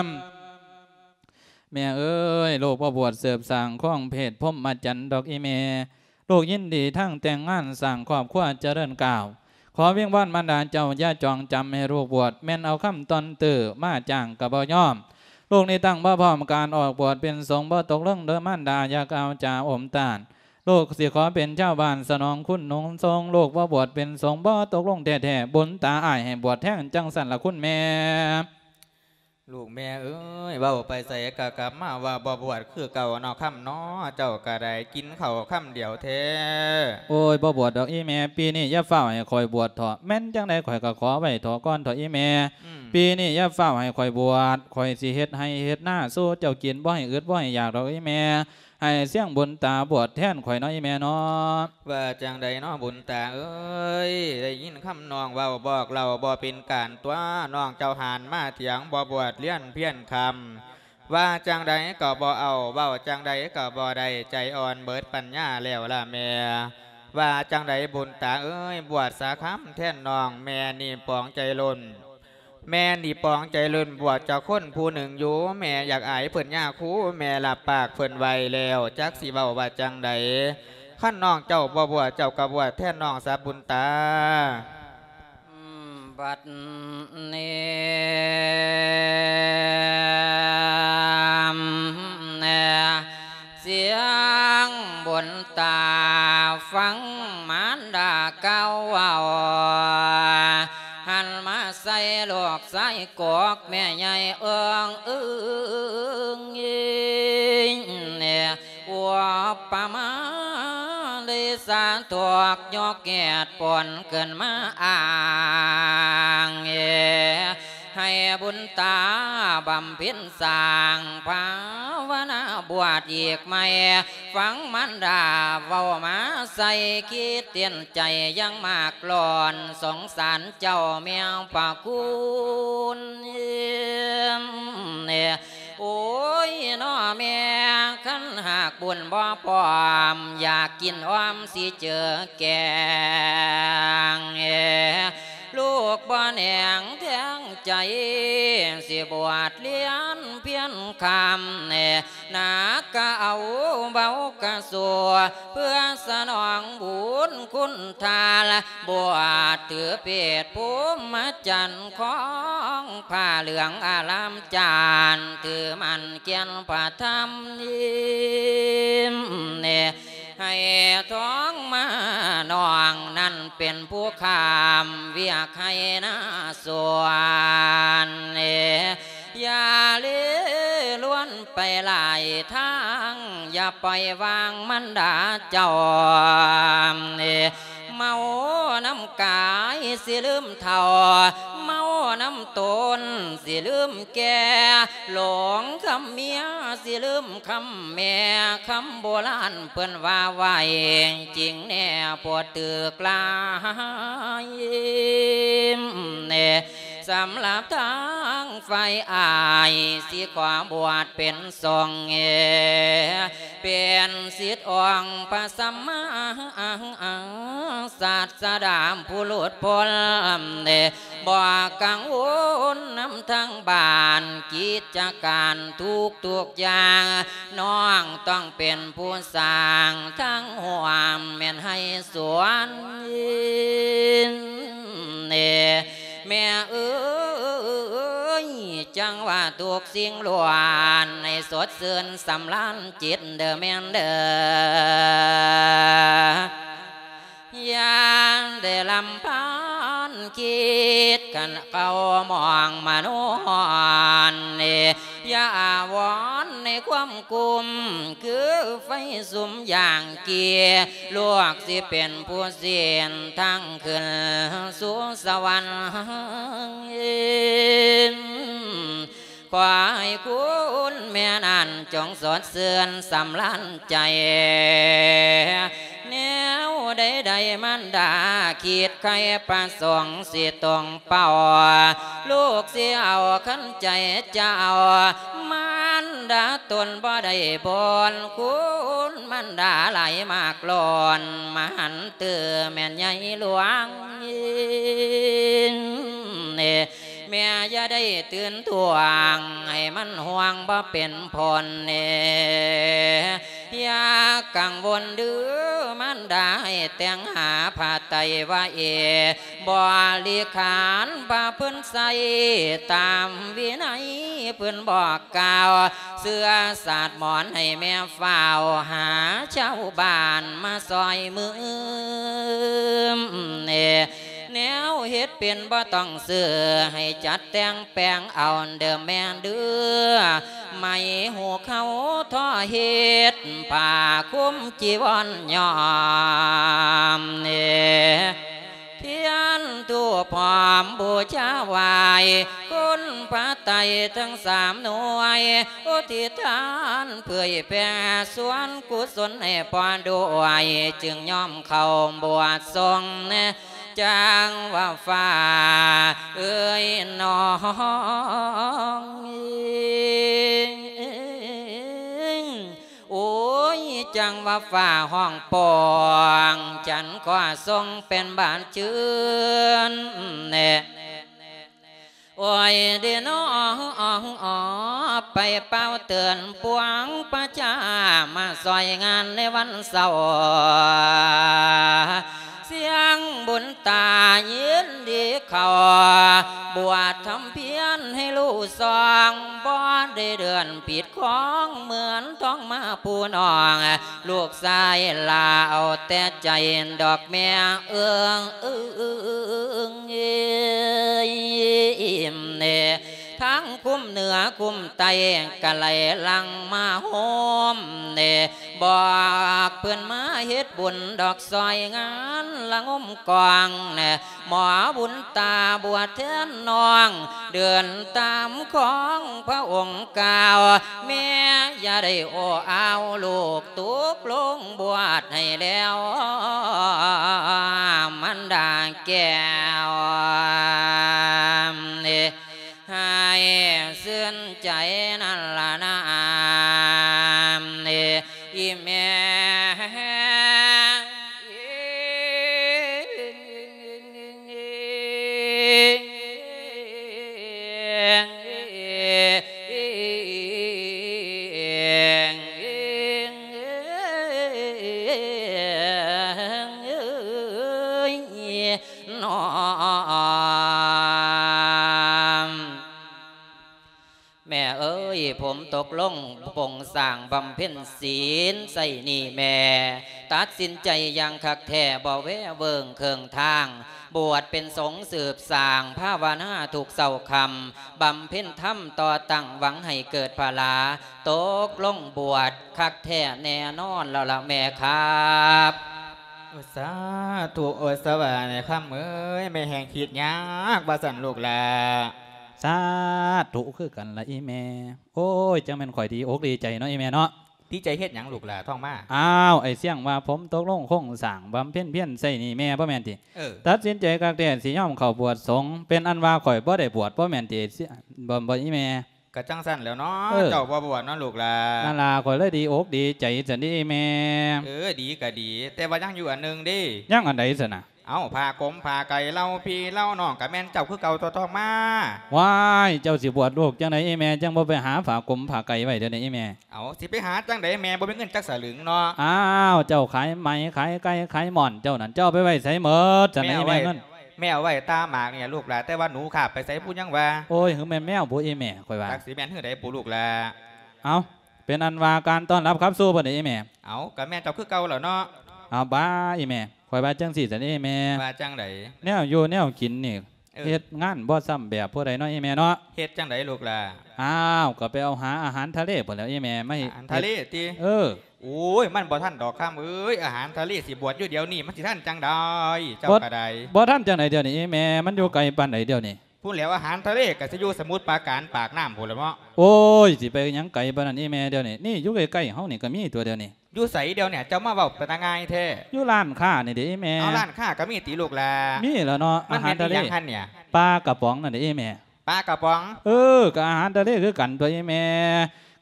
ມ. ແມ່ເອີຍ ລູກບໍ່ບວດເສີບສ້າງຄອງເພດພົມມະຈັນດອກອີ່ແມ່ ລູກຍິນດີທັງແຕ່ງງານສ້າງຄອບຄົວຈະເລີນກ້າວ ຂໍວິງວອນມານດາເຈົ້າຢ່າຈອງຈຳໃຫ້ລູກບວດ ແມ່ນເອົາຄຳຕ່ອນຕື້ມາຈ້າງກະບໍ່ຍອມ ລູກນີ້ຕັ້ງບໍ່ພ້ອມການອອກບວດເປັນສົງ ບໍ່ຕົກລົງເດີມານດາ ຢ່າກ່າວຈາອົມຕ້ານ ລູກຊິຂໍເປັນຊາວບ້ານສະໜອງຄຸນໜູນຊົງ ລູກບໍ່ບວດເປັນສົງ ບໍ່ຕົກລົງແທ້ໆ ບຸນຕາອ້າຍໃຫ້ບວດແທນ ຈັ່ງຊັ້ນລະຄຸນແມ່. ລູກແມ່ເອີຍ ເວົ້າໄປໃສກະກັບມາວ່າບໍ່ບວດຄືເກົ່າເນາະ ຄຳເນາະ ເຈົ້າກະໄດ້ກິນເຂົ້າຄຳດຽວແທ້. ໂອ້ຍ ບໍ່ບວດດອກອີ່ແມ່ ປີນີ້ຢ່າຟ້າວໃຫ້ຂ້ອຍບວດເຖາະ ແມ່ນຈັ່ງໃດຂ້ອຍກະຂໍໄວ້ເຖາະກ່ອນເຖາະອີ່ແມ່ ອືມ ປີນີ້ຢ່າຟ້າວໃຫ້ຂ້ອຍບວດ ຂ້ອຍຊິເຮັດໄຮ່ເຮັດນາສູ່ເຈົ້າກິນ ບໍ່ໃຫ້ອຶດບໍ່ໃຫ້ຢາກດອກອີ່ແມ່ ໃຫ້ຊຽງບຸນຕາບວດແທນຂ້ອຍເນາະອີ່ແມ່ເນາະ. ວ່າຈັ່ງໃດເນາະບຸນຕາເອີຍ ໄດ້ຍິນຄຳນ້ອງເວົ້າບອກເລົ່າບໍ່ເປັນການຕົວະ ນ້ອງເຈົ້າຫັນມາຖຽງບໍ່ບວດລຽນພຽນຄຳ ວ່າຈັ່ງໃດກໍບໍ່ເອົາ ເວົ້າຈັ່ງໃດກໍບໍ່ໄດ້ ໃຈອ່ອນເບີດປັນຍາແລ້ວລະແມ່. ວ່າຈັ່ງໃດບຸນຕາເອີຍ ບວດສາຄຳແທນນ້ອງ ແມ່ນີ້ປອງໃຈລົ້ນ ແມ່ນີ້ປອງໃຈລົ້ນບວດເຈົ້າຄົນຜູ້ໜຶ່ງຢູ່ ແມ່ຢາກອາຍເພິ່ນຍາຄູ ແມ່ຮັບປາກເພິ່ນໄວ້ແລ້ວ ຈັກຊິເວົ້າວ່າຈັ່ງໃດ ຄັນນ້ອງເຈົ້າບໍ່ບວດ ເຈົ້າກໍບວດແທນນ້ອງຊະບຸນຕາ. ບັດນີ້ ສຽງບຸນຕາຟັງມານດາກ່າວເວົ້າ ຫັນມາໃສ່ລູກຊາຍກອກແມ່ໃຫຍ່ເອີງອຶງ ອຸປະມາລິສາ ຖອກຍົກແກດປ່ອນຂຶ້ນມາອ້າງ ໃຫ້ບຸນຕາບຳເພັນສ້າງພາວະນາບວດອີກໃໝ່. ຟັງມານດາເວົ້າມາໃສ່ ຄິດເຕັນໃຈຍັງມາກລ້ອນ ສົງສານເຈົ້າແມ່ພະຄຸນ. ໂອ້ຍ ນ້ອແມ່ ຄັນຫາກບຸນບໍ່ພ້ອມ ຢາກກິນອ້ອມຊິເຈີແກງ ລູກບໍ່ແໜງແທງໃຈ ຊິບວດລຽນພຽນຄຳ ໜັກກະເອົາເບົາກະສູ້ ເພື່ອສະໜອງບຸນຄຸນທານ ບວດຖືເພດພູມມະຈັນ ຄອງຜ້າເຫຼືອງອາລາມຈານ ຖືໝັ້ນແກ່ນພະທຳນິມ ໃຫ້ທອງມານ້ອງນັ້ນເປັນຜູ້ຂ້າມວຽກໄຮ່ນາສວນ ຢ່າເລລວນໄປຫຼາຍທາງ ຢ່າປ່ອຍວາງມານດາເຈົ້າ ເມົານຳກາຍຊິລືມເຖົ້າ ເມົານຳຕົນຊິລືມແກ່ ຫຼົງຄຳເມຍຊິລືມຄຳແມ່ ຄຳໂບລານເພິ່ນວ່າໄວ້ ຈິງແນ່ໂພດຖືກຫຼາຍ ສຳລັບທາງຝ່າຍອ້າຍ ຊິຂໍບວດເປັນສົງ ເປັນສິດອົງພະສຳມາສາສດາຜູ້ຫຼຸດພົ້ນ ບໍ່ກັງວົນນຳທາງບ້ານ ກິດຈະການທຸກໆຢ່າງ ນ້ອງຕ້ອງເປັນຜູ້ສ້າງທາງຮ່ວມ ແມ່ນໄຮ່ສວນ ແມ່ເອີຍ ຈັ່ງວ່າທຸກສິ່ງລ້ວນ ໃຫ້ສົດຊື່ນສຳລານຈິດເດີແມ່ນເດີ ຢ່າໄດ້ລຳພານຄິດ ຄັນເຂົາມອງມະໂນຮອນ ຢ່າອາວອນໃນຄວາມກຸມ ຄືໄຟສຸມຢ່າງກີ ລູກຊິເປັນຜູ້ຊີ້ນທາງຂຶ້ນສູ່ສະຫວັນ ຂໍໃຫ້ຄຸນແມ່ນັ້ນຈົ່ງສົດຊື່ນສຳລານໃຈ ແນວໃດໆມານດາຄິດໄຄປະສົງຊິຕົງ ເປົ້າ ລູກຊິເອົາຄັນໃຈເຈົ້າ ມານດາຕົນບໍ່ໄດ້ບົນ ຄຸນມານດາຫຼາຍມາກລ້ອນ ມະຫັນຕື່ແມ່ນໃຫຍ່ຫຼວງ ແມ່ຢ່າໄດ້ຕື່ນທວງ ໃຫ້ມັນຫ່ວງບໍ່ເປັນຜົນ ແມ່ ຢ່າກັງວົນເດີມານດາ ໃຫ້ແຕ່ງຫາຜ້າໄຕວາເອ ບໍລິຂານພະເພິ່ນໃສ່ ຕາມວິໄນເພິ່ນບອກກ່າວ ເຊື້ອຊາດໝອນໃຫ້ແມ່ຟ້າວ ຫາຊາວບ້ານມາຊ່ອຍມື ແນວເຮັດເປັນບໍ່ຕ້ອງຊື້ ໃຫ້ຈັດແຕ່ງແປງເອົາເດີແມ່ເດີ ໄໝຫູກເຂົາທໍເຮັດ ຜ້າຄຸມຈີວອນຍ້ອມ ທຽນທູບຫອມບູຊາໄຫວ້ ຄຸນພະໄຕທັງສາມໜ່ວຍ ອຸທິດທານເຜີຍແຜ່ສ່ວນກຸສົນໃຫ້ພໍ່ດ້ວຍ ຈຶ່ງຍອມເຂົ້າບວດສົງ ຈັ່ງວ່າຟ້າເອີຍນ້ອງ ໂອ້ຍ ຈັ່ງວ່າຟ້າຮ້ອງປ່ອງ ຈັນກໍຊົງເປັນບານຊື່ນແນ່ ໂອ້ຍເດນ້ອ ໄປເປົ່າເຕືອນປວງປະຊາ ມາຊ່ອຍງານໃນວັນເສົາ ສຽງບຸນຕາຍິນດີເຂົ້າ ບວດທຳພຽນໃຫ້ລູກສອງ ບໍ່ໄດ້ເດືອນຜິດຂອງ ເໝືອນທອງມາຜູ້ນ້ອງ ລູກຊາຍຫຼ້າເອົາແຕ່ໃຈ ດອກແມ່ເອີງເອີງເອີງ ທັງຄຸ້ມເໜືອຄຸ້ມໃຕ້ ກະໄຫຼຫຼັ່ງມາໂຮມເດ ບອກເພິ່ນມາເຮັດບຸນດອກ ຊ່ອຍງານລະງົມກອງແນ່ ໝໍບຸນຕາບວດແທນນ້ອງ ເດີນຕາມຂອງພະອົງກ່າວ ແມ່ຢ່າໄດ້ໂອ້ອາວ ລູກຕົກລົງບວດໃຫ້ແລ້ວ ມັນດາແກ້ວ ໃຫ້ຊື່ນໃຈນັ້ນລະນາ ອີ່ແມ່. ແມ່ເອີຍ ຜົມຕົກລົງປົງສ້າງບຳເພັນສິນໄຊນີ້ແມ່ ຕັດສິນໃຈຢ່າງຄັກແທ້ ບໍ່ແວເວີງເຄິ່ງທາງ ບວດເປັນສົງສືບສ້າງ ພາວະນາທຸກເຊົ້າຄ່ຳ ບຳເພັນທຳຕໍ່ຕັ້ງ ຫວັງໃຫ້ເກີດພະລາ ຕົກລົງບວດຄັກແທ້ແນ່ນອນແລ້ວລະແມ່ຄັບ. ໂອ້ ສາທຸ ໂອ້ ສະບາຍແມ່ຄຳເອີຍ ແມ່ແຮ່ງຄິດຍາກວ່າຊັ້ນລູກຫຼ້າ. ສາທຸຄືກັນລະອີ່ແມ່. ໂອ້ຍ ຈັ່ງແມ່ນຂ້ອຍດີອົກດີໃຈເນາະອີ່ແມ່ເນາະ. ດີໃຈເຮັດຫຍັງລູກຫຼ້າ ທ້ອງມາ? ອ້າວ ໄອ້ຊຽງວ່າຜົມຕົກລົງຄົງສ້າງບຳເພັນພຽນໃສ່ນີ້ແມ່ບໍ່ແມ່ນຕິ? ເອີ ຕັດສິນໃຈຄັກແທ້ ຊິຍອມເຂົ້າບວດສົງ ເປັນອັນວ່າຂ້ອຍບໍ່ໄດ້ບວດບໍ່ແມ່ນຕິ? ບໍ່ ບໍ່ອີ່ແມ່. ກະຈັ່ງຊັ້ນແຫຼ້ວເນາະ ເອີ ເຈົ້າບໍ່ບວດເນາະລູກຫຼ້າ. ນັ້ນລະ ຂ້ອຍເລີຍດີອົກດີໃຈຊັ້ນເດອີ່ແມ່. ເອີ ດີກະດີ ແຕ່ວ່າຍັງຢູ່ອັນໜຶ່ງເດ. ຍັງອັນໃດຊັ້ນນະ? ເອົ້າ ຜ້າກົມຜ້າໄກເຫຼົ່າພີ່ເຫຼົ່ານ້ອງ ກະແມ່ນເຈົ້າຄືເກົ່າຕົວະ ທ້ອງມາ. ວ້າຍ ເຈົ້າຊິບວດລູກຈັ່ງໃດອີ່ແມ່ ຈັ່ງບໍ່ໄປຫາຜ້າກົມຜ້າໄກໄວ້ດຽວນີ້ອີ່ແມ່? ເອົ້າ ຊິໄປຫາຈັ່ງໃດ ແມ່ບໍ່ມີເງິນຈັກສະຫຼຶງເນາະ. ອ້າວ ເຈົ້າຂາຍໄໝ ຂາຍໄກ່ ຂາຍໝ້ອນເຈົ້ານັ້ນ ເຈົ້າເອົາໄປໄວ້ໃສໝົດຊັ້ນນະອີ່ແມ່ ເງິນ? ແມ່ເອົາໄວ້ຕາໝາກນີ້ລະລູກຫຼ້າ ແຕ່ວ່າໜູຄາບໄປໃສບໍ່ຍັງວ່າ. ໂອ້ຍ ຫືອແມ່ນແມວບໍ່ອີ່ແມ່ ຂ້ອຍວ່າ. ຈັກຊິແມ່ນຫືອໃດບຸລູກຫຼ້າ. ເອົ້າ ເປັນອັນວ່າການຕ້ອນຮັບຂັບສູ່ເພິ່ນນີ້ອີ່ແມ່. ເອົ້າ ກະແມ່ນເຈົ້າຄືເກົ່າແຫຼ້ວເນາະ. ເອົາ ບາອີ່ແມ່ ຂ້ອຍວ່າຈັ່ງຊີ້ຊັ້ນເດອີ່ແມ່. ວ່າຈັ່ງໃດ? ແນວຢູ່ແນວກິນນີ້ ເອີ ເຮັດງານບໍ່ຊ້ຳແບບຜູ້ໃດເນາະອີ່ແມ່ເນາະ. ເຮັດຈັ່ງໃດລູກຫຼ້າ? ອ້າວ ກະໄປເອົາຫາອາຫານທະເລພຸ້ນແຫຼ້ວອີ່ແມ່ ມາເຮັດ. ອາຫານທະເລຕິ? ເອີ. ໂອ້ຍ ມັນບໍ່ທັນດອກຄຳເອີຍ ອາຫານທະເລຊິບວດຢູ່ດຽວນີ້ ມັນຊິທັນຈັ່ງໃດ ເຈົ້າກະໄດ້. ບໍ່ທັນຈັ່ງໃດດຽວນີ້ອີ່ແມ່ ມັນຢູ່ໄກປານໃດດຽວນີ້? ພຸ້ນແຫຼ້ວ ອາຫານທະເລກະຊິຢູ່ສະໝຸດປາການ ປາກນ້ຳພຸ້ນແຫຼະເນາະ. ໂອ້ຍ ຊິໄປຫຍັງໄກປານນັ້ນອີ່ແມ່ ດຽວນີ້ ນີ້ຢູ່ໃກ້ໆເຮົານີ້ກະມີຕົວະດຽວນີ້. ຢູ່ໃສດຽວນີ້ ເຈົ້າມາເວົ້າເປັນຕາງ່າຍແທ້? ຢູ່ຮ້ານຄ້ານີ້ເດອີ່ແມ່. ເອົາ ຮ້ານຄ້າກະມີຕິລູກຫຼ້າ? ມີແຫຼະເນາະ ອາຫານທະເລ. ປາກະປ໋ອງນັ້ນເດອີ່ແມ່. ປາກະປ໋ອງ? ເອີ ກະອາຫານທະເລຄືກັນຕົວະອີ່ແມ່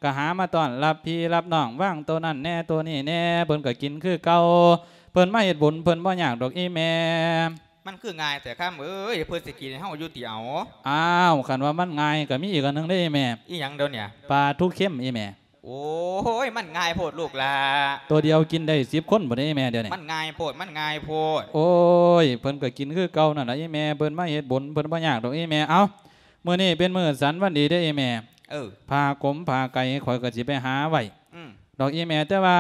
ກະຫາມາຕ້ອນຮັບພີ່ຮັບນ້ອງ ວາງໂຕນັ້ນແນ່ໂຕນີ້ແນ່ ເພິ່ນກະກິນຄືເກົ່າ ເພິ່ນມາເຮັດບຸນ ເພິ່ນບໍ່ຍາກດອກອີ່ແມ່. ມັນຄືງ່າຍແທ້ຄຳເອີຍ ເພິ່ນຊິກິນໃຫ້ເຮົາຢູ່ຕິເອົາ? ອ້າວ ຄັນວ່າມັນງ່າຍກະມີອີກອັນໜຶ່ງເດ້ອີ່ແມ່. ອີ່ຫຍັງດຽວນີ້? ປາທູເຄັມອີ່ແມ່. ໂອ້ຍ ມັນງ່າຍໂພດລູກຫຼ້າ ໂຕດຽວກິນໄດ້ສິບຄົນພຸ້ນເດ້ອີ່ແມ່ດຽວນີ້. ມັນງ່າຍໂພດ ມັນງ່າຍໂພດ. ໂອ້ຍ ເພິ່ນກະກິນຄືເກົ່ານັ້ນລະອີ່ແມ່ ເພິ່ນມາເຮັດບຸນ ເພິ່ນບໍ່ຍາກດອກອີ່ແມ່. ເອົ້າ ມື້ນີ້ເປັນມື້ສັນວັນດີເດ້ອີ່ແມ່. ເອີ ຜ້າກົມຜ້າໄກຂ້ອຍກະຊິໄປຫາໄວ້ ອືມ ດອກອີ່ແມ່ ແຕ່ວ່າ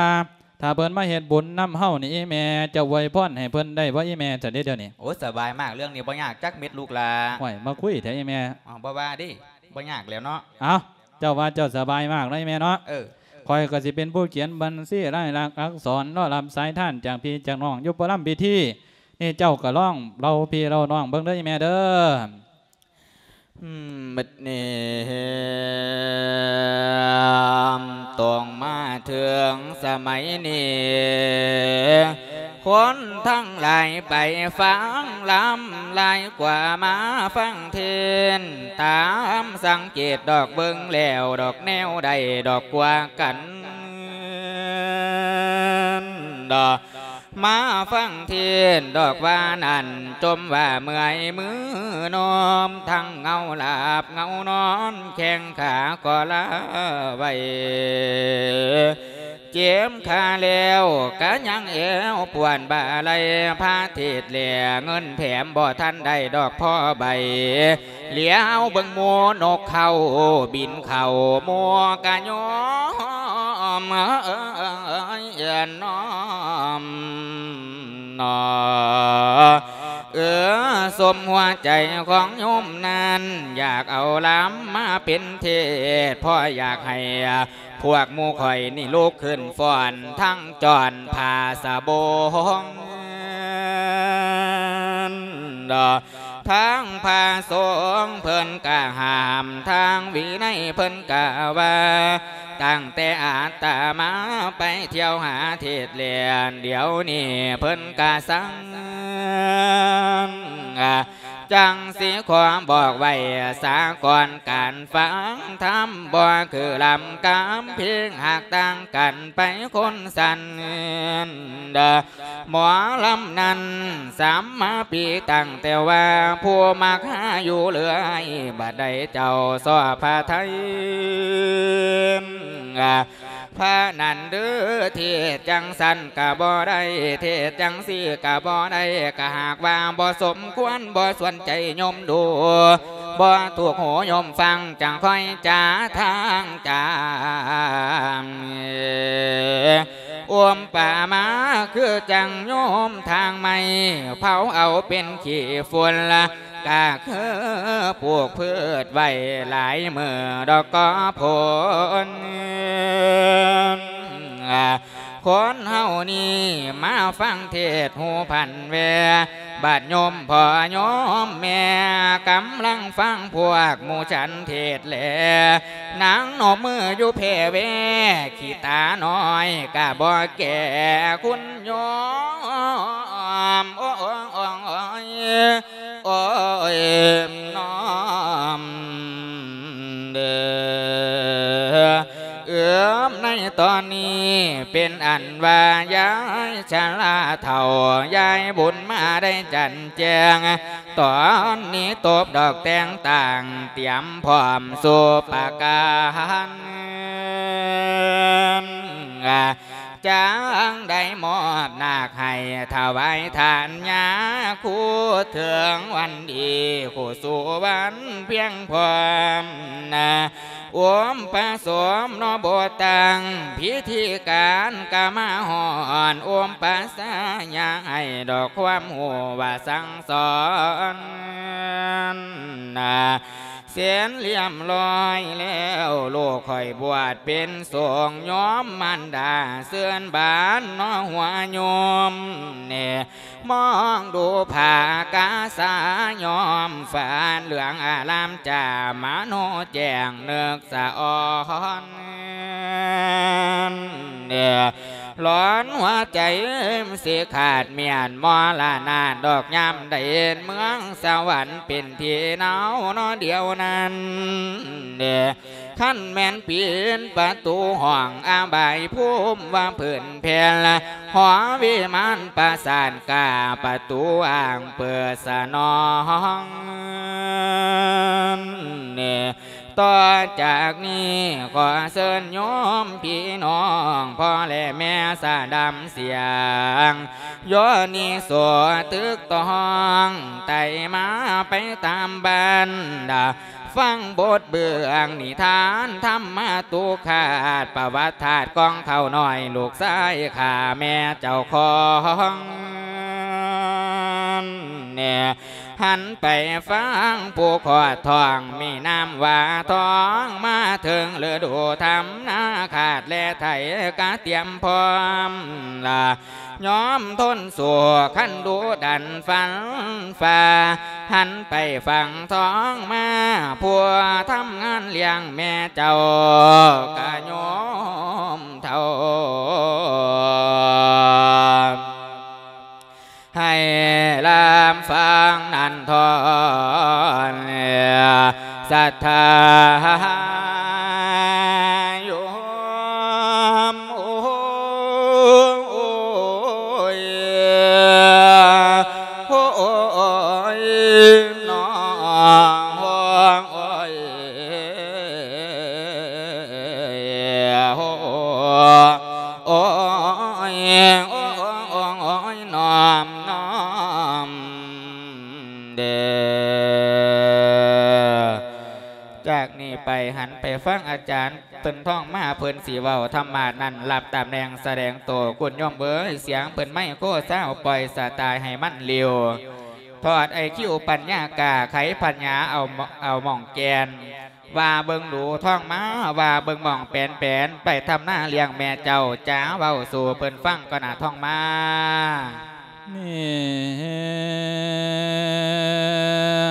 ຖ້າເພິ່ນມາເຮັດບຸນນຳເຮົານີ້ອີ່ແມ່ ເຈົ້າອວຍພອນໃຫ້ເພິ່ນໄດ້ບໍ່ອີ່ແມ່ ຊັ້ນເດດຽວນີ້? ໂອ້ ສະບາຍມາກ ເລື່ອງນີ້ບໍ່ຍາກຈັກເມັດລູກຫຼ້າ. ໂອ້ຍ ມາຄຸຍແທ້ອີ່ແມ່. ເອົ້າ ບໍ່ວ່າເດ້ ບໍ່ຍາກແລ້ວເນາະ. ເອົ້າ ເຈົ້າວ່າເຈົ້າສະບາຍມາກເນາະອີ່ແມ່ເນາະ. ເອີ ຂ້ອຍກະຊິເປັນຜູ້ຂຽນບັນຊີລາຍລັກອັກສອນ ລໍຮັບສາຍທານຈາກພີ່ຈາກນ້ອງຢູ່ປະລຳພິທີ. ນີ້ເຈົ້າກະລອງເລົ່າພີ່ເລົ່ານ້ອງເບິ່ງເດີອີ່ແມ່ເດີ. ອືມ ບັດນີ້ ຕ້ອງມາເຖິງສະໄໝນີ້ ຄົນທັງຫຼາຍໄປຟັງລຳ ຫຼາຍກວ່າມາຟັງເທດນ ຕາມສັງເກດດອກ ເບິ່ງແລ້ວດອກ ແນວໃດດອກກວ່າກັນດອກ ມາຟັງເທດນດອກວ່ານັ້ນ ຈົ່ມວ່າເມື່ອຍມືນອມ ທັງເງົາຫຼາບເງົານອນ ແຂ້ງຂາກໍລາໄວ້ ເຈັບຂາແລ້ວກະຍັງແອວປວດບ່າໄຫຼ່ ພາເທດແລະເງິນແຖມ ບໍ່ທັນໄດ້ດອກພໍໃບ ຫຼຽວເບິ່ງໝູ່ນົກເຂົາບິນເຂົ້າ ໝູ່ກະຍອມນອມ ເອີ ສົມຫົວໃຈຂອງໂຍມນັ້ນ ຢາກເອົາລຳມາເປັນເທດ ເພາະຢາກໃຫ້ພວກໝູ່ຂ້ອຍນີ້ລຸກຂຶ້ນຟ້ອນ ທັງຈ້ອນຜ້າສະບົງ ທາງພະສົງເພິ່ນກະຫ້າມ ທາງວິໄນເພິ່ນກະວ່າ ຕັ້ງແຕ່ອາດຕະມາໄປທ່ຽວຫາເທດແລ້ວ ດຽວນີ້ເພິ່ນກະສັ່ງ ຈັ່ງຊິຂໍບອກໄວ້ສາກ່ອນ ການຟັງທຳບໍ່ຄືລຳກຳເພງ ຫາກຕ່າງກັນໄປຄົນຊັ້ນ ເດີ ໝໍລຳນັ້ນສຳມະປີ ຕັ້ງແຕ່ວ່າຜູ້ມັກຫາຢູ່ເລື້ອຍ ບັດໃດເຈົ້າຊອບພະໄທ ພະນັ້ນເດີ ເທດຈັ່ງຊັ້ນກະບໍ່ໄດ້ ເທດຈັ່ງຊີ້ກະບໍ່ໄດ້ ກະຫາກວ່າບໍ່ສົມຄວນ ບໍ່ຊວນໃຈໂຍມດູ ບໍ່ຖືກຫູໂຍມຟັງ ຈັ່ງຄ່ອຍຈາທາງຈາ ອຸປະມາຄືຈັ່ງໂຍມທາງໄມ້ ເຜົາເອົາເປັນຂີ້ຝຸ່ນລະ ກະຄືປູກພືດໄວ້ຫຼາຍມື້ດອກກໍຜົນ ຄົນເຮົານີ້ມາຟັງເທດຫູພັນແວ ບາດໂຍມພໍ່ໂຍມແມ່ ກຳລັງຟັງພວກໝູ່ສັນເທດແລ ນາງນົບມືຢູ່ແຜ່ແວ ຂີ້ຕານ້ອຍກະບໍ່ແກ່ ຄຸນໂຍມ ໂອ້ຍ ໂອ້ຍ ໂອ້ຍ ໂອ້ຍ ນ້ອມເດີ ເອີມ ໃນຕອນນີ້ເປັນອັນວ່າຍາຍຊະລາເຖົ້າ ຍາຍບຸນມາໄດ້ຈັນແຈ້ງ ຕອນນີ້ຕົບດອກແຕ່ງຕ່າງ ຕຽມພ້ອມສູ່ປະການ ຈັ່ງໄດ້ມອບນາກໃຫ້ຖວາຍທານຍາຄູ ເຖິງວັນດີຄູ່ສູ່ວັນພຽງພ້ອມນາ ອຸມປະສົມເນາະ ບົດຕັ້ງພິທີການກະມາຮອດ ອຸມປະສາຍາໃຫ້ດອກຄວາມຮູ້ວ່າສັ່ງສອນນາ ເສັນລຽບລ້ອຍແລ້ວ ລູກຂ້ອຍບວດເປັນສົງ ຍອມມານດາເຊີນບານເນາະ ຫົວໂຍມແນ່ ມອງດູຜ້າກາສາຍ້ອມຝານ ເຫຼືອງອາລາມຈ້າມະໂນແຈ້ງນຶກສະອອນ ຫຼອນຫົວໃຈຊິຂາດ ມຽນມໍລະນາດອກຍາມໃດ ເມືອງສະຫວັນເປັນທີ່ໜາວເນາະດຽວນັ້ນ ຄັນແມ່ນປີນປະຕູຫ້ອງອາບາຍພູມວ່າພື້ນແຜ່ນລະ ຫໍວິມານປາສາດກ້າປະຕູອ່າງເປີດສະໜອງ ຕໍ່ຈາກນີ້ຂໍເຊີນໂຍມພີ່ນ້ອງ ພໍ່ແລະແມ່ສະດຳສຽງ ໂຍນິໂສຕຶກຕອງ ໄຕ່ມາໄປຕາມບັນດາ ຟັງບົດເບື້ອງນິທານທຳມະຕຸຄາດ ປະຫວັດທາດກອງເຂົ້ານ້ອຍ ລູກຊາຍຂ້າແມ່ເຈົ້າຂອງ ແນ່ ຫັນໄປຟັງຜູ້ຄອດທ້ອງ ມີນາມວ່າທອງ ມາເຖິງລະດູທຳນາ ຄາດແລະໄຖກະຕຽມພ້ອມລະ ຍອມທົນສູ້ຄັນດຸດັນຟັນຟ້າ ຫັນໄປຝັ່ງທອງມາ ຜູ້ທຳງານລ້ຽງແມ່ເຈົ້າກະໂຍມເຖົ້າ ໃຫ້ລຳຟັງນັນທອນ ສັດທາໂຍມ ໂອ້ຍ ໂອ້ຍ ນ້ອງ ໂອ້ຍ ໂອ້ຍ ໂອ້ຍ ໂອ້ຍ ນ້ອມ ນ້ອມເດີ. ຈາກນີ້ໄປຫັນໄປຟັງອາຈານເພິ່ນທ້ອງມາ ເພິ່ນຊິເວົ້າທຳມະນັ້ນ ຮັບຕຳແໜ່ງສະແດງໂຕ ຄຸນໂຍມເອີຍ ສຽງເພິ່ນໄມໂຄຊາວ ປ່ອຍສະຕາຍໃຫ້ມັນເລວ. ທອດໄອຄິວປັນຍາກາ ໄຂພັນຍາເອົາ ເອົາໝ່ອງແກ່ນ ວ່າເບິ່ງດູທ້ອງມາ ວ່າເບິ່ງໝ່ອງແປນແປນ ໄປທຳນາລ້ຽງແມ່ເຈົ້າ ຈາເວົ້າສູ່ເພິ່ນຟັງກ່ອນນະທ້ອງມາ. ເນ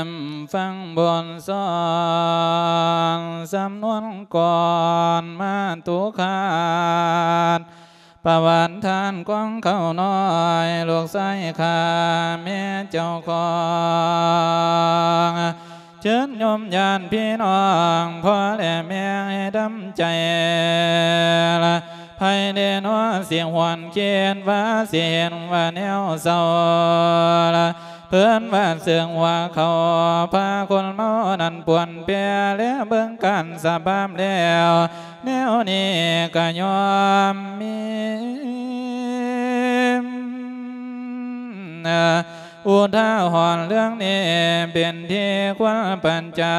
ມຟັງບົດສອນ ສຳນວນກ່ອນມາຕຸຄາດ ປະຫວັດທ່ານກອງເຂົ້ານ້ອຍ ລູກຊາຍຂ້າແມ່ເຈົ້າຂອງ ເຊີນໂຍມຍາດພີ່ນ້ອງ ພໍ່ແລະແມ່ໃຫ້ດຳໃຈລະ ໃຜແດ່ນໍຊິຫວນຄິດວ່າ ຊິເຫັນວ່າແນວເສົ້າລະ ເພິ່ນວ່າເຊິ່ງວ່າເຂົາ ພາຄົນເມົານັ້ນປວນແປ ແລເບິ່ງການສະພາບແລ້ວ ແນວນີ້ກະຍອມມີ ອຸທາຫອນເລື່ອງນີ້ເປັນທີ່ຄວນປະຈັ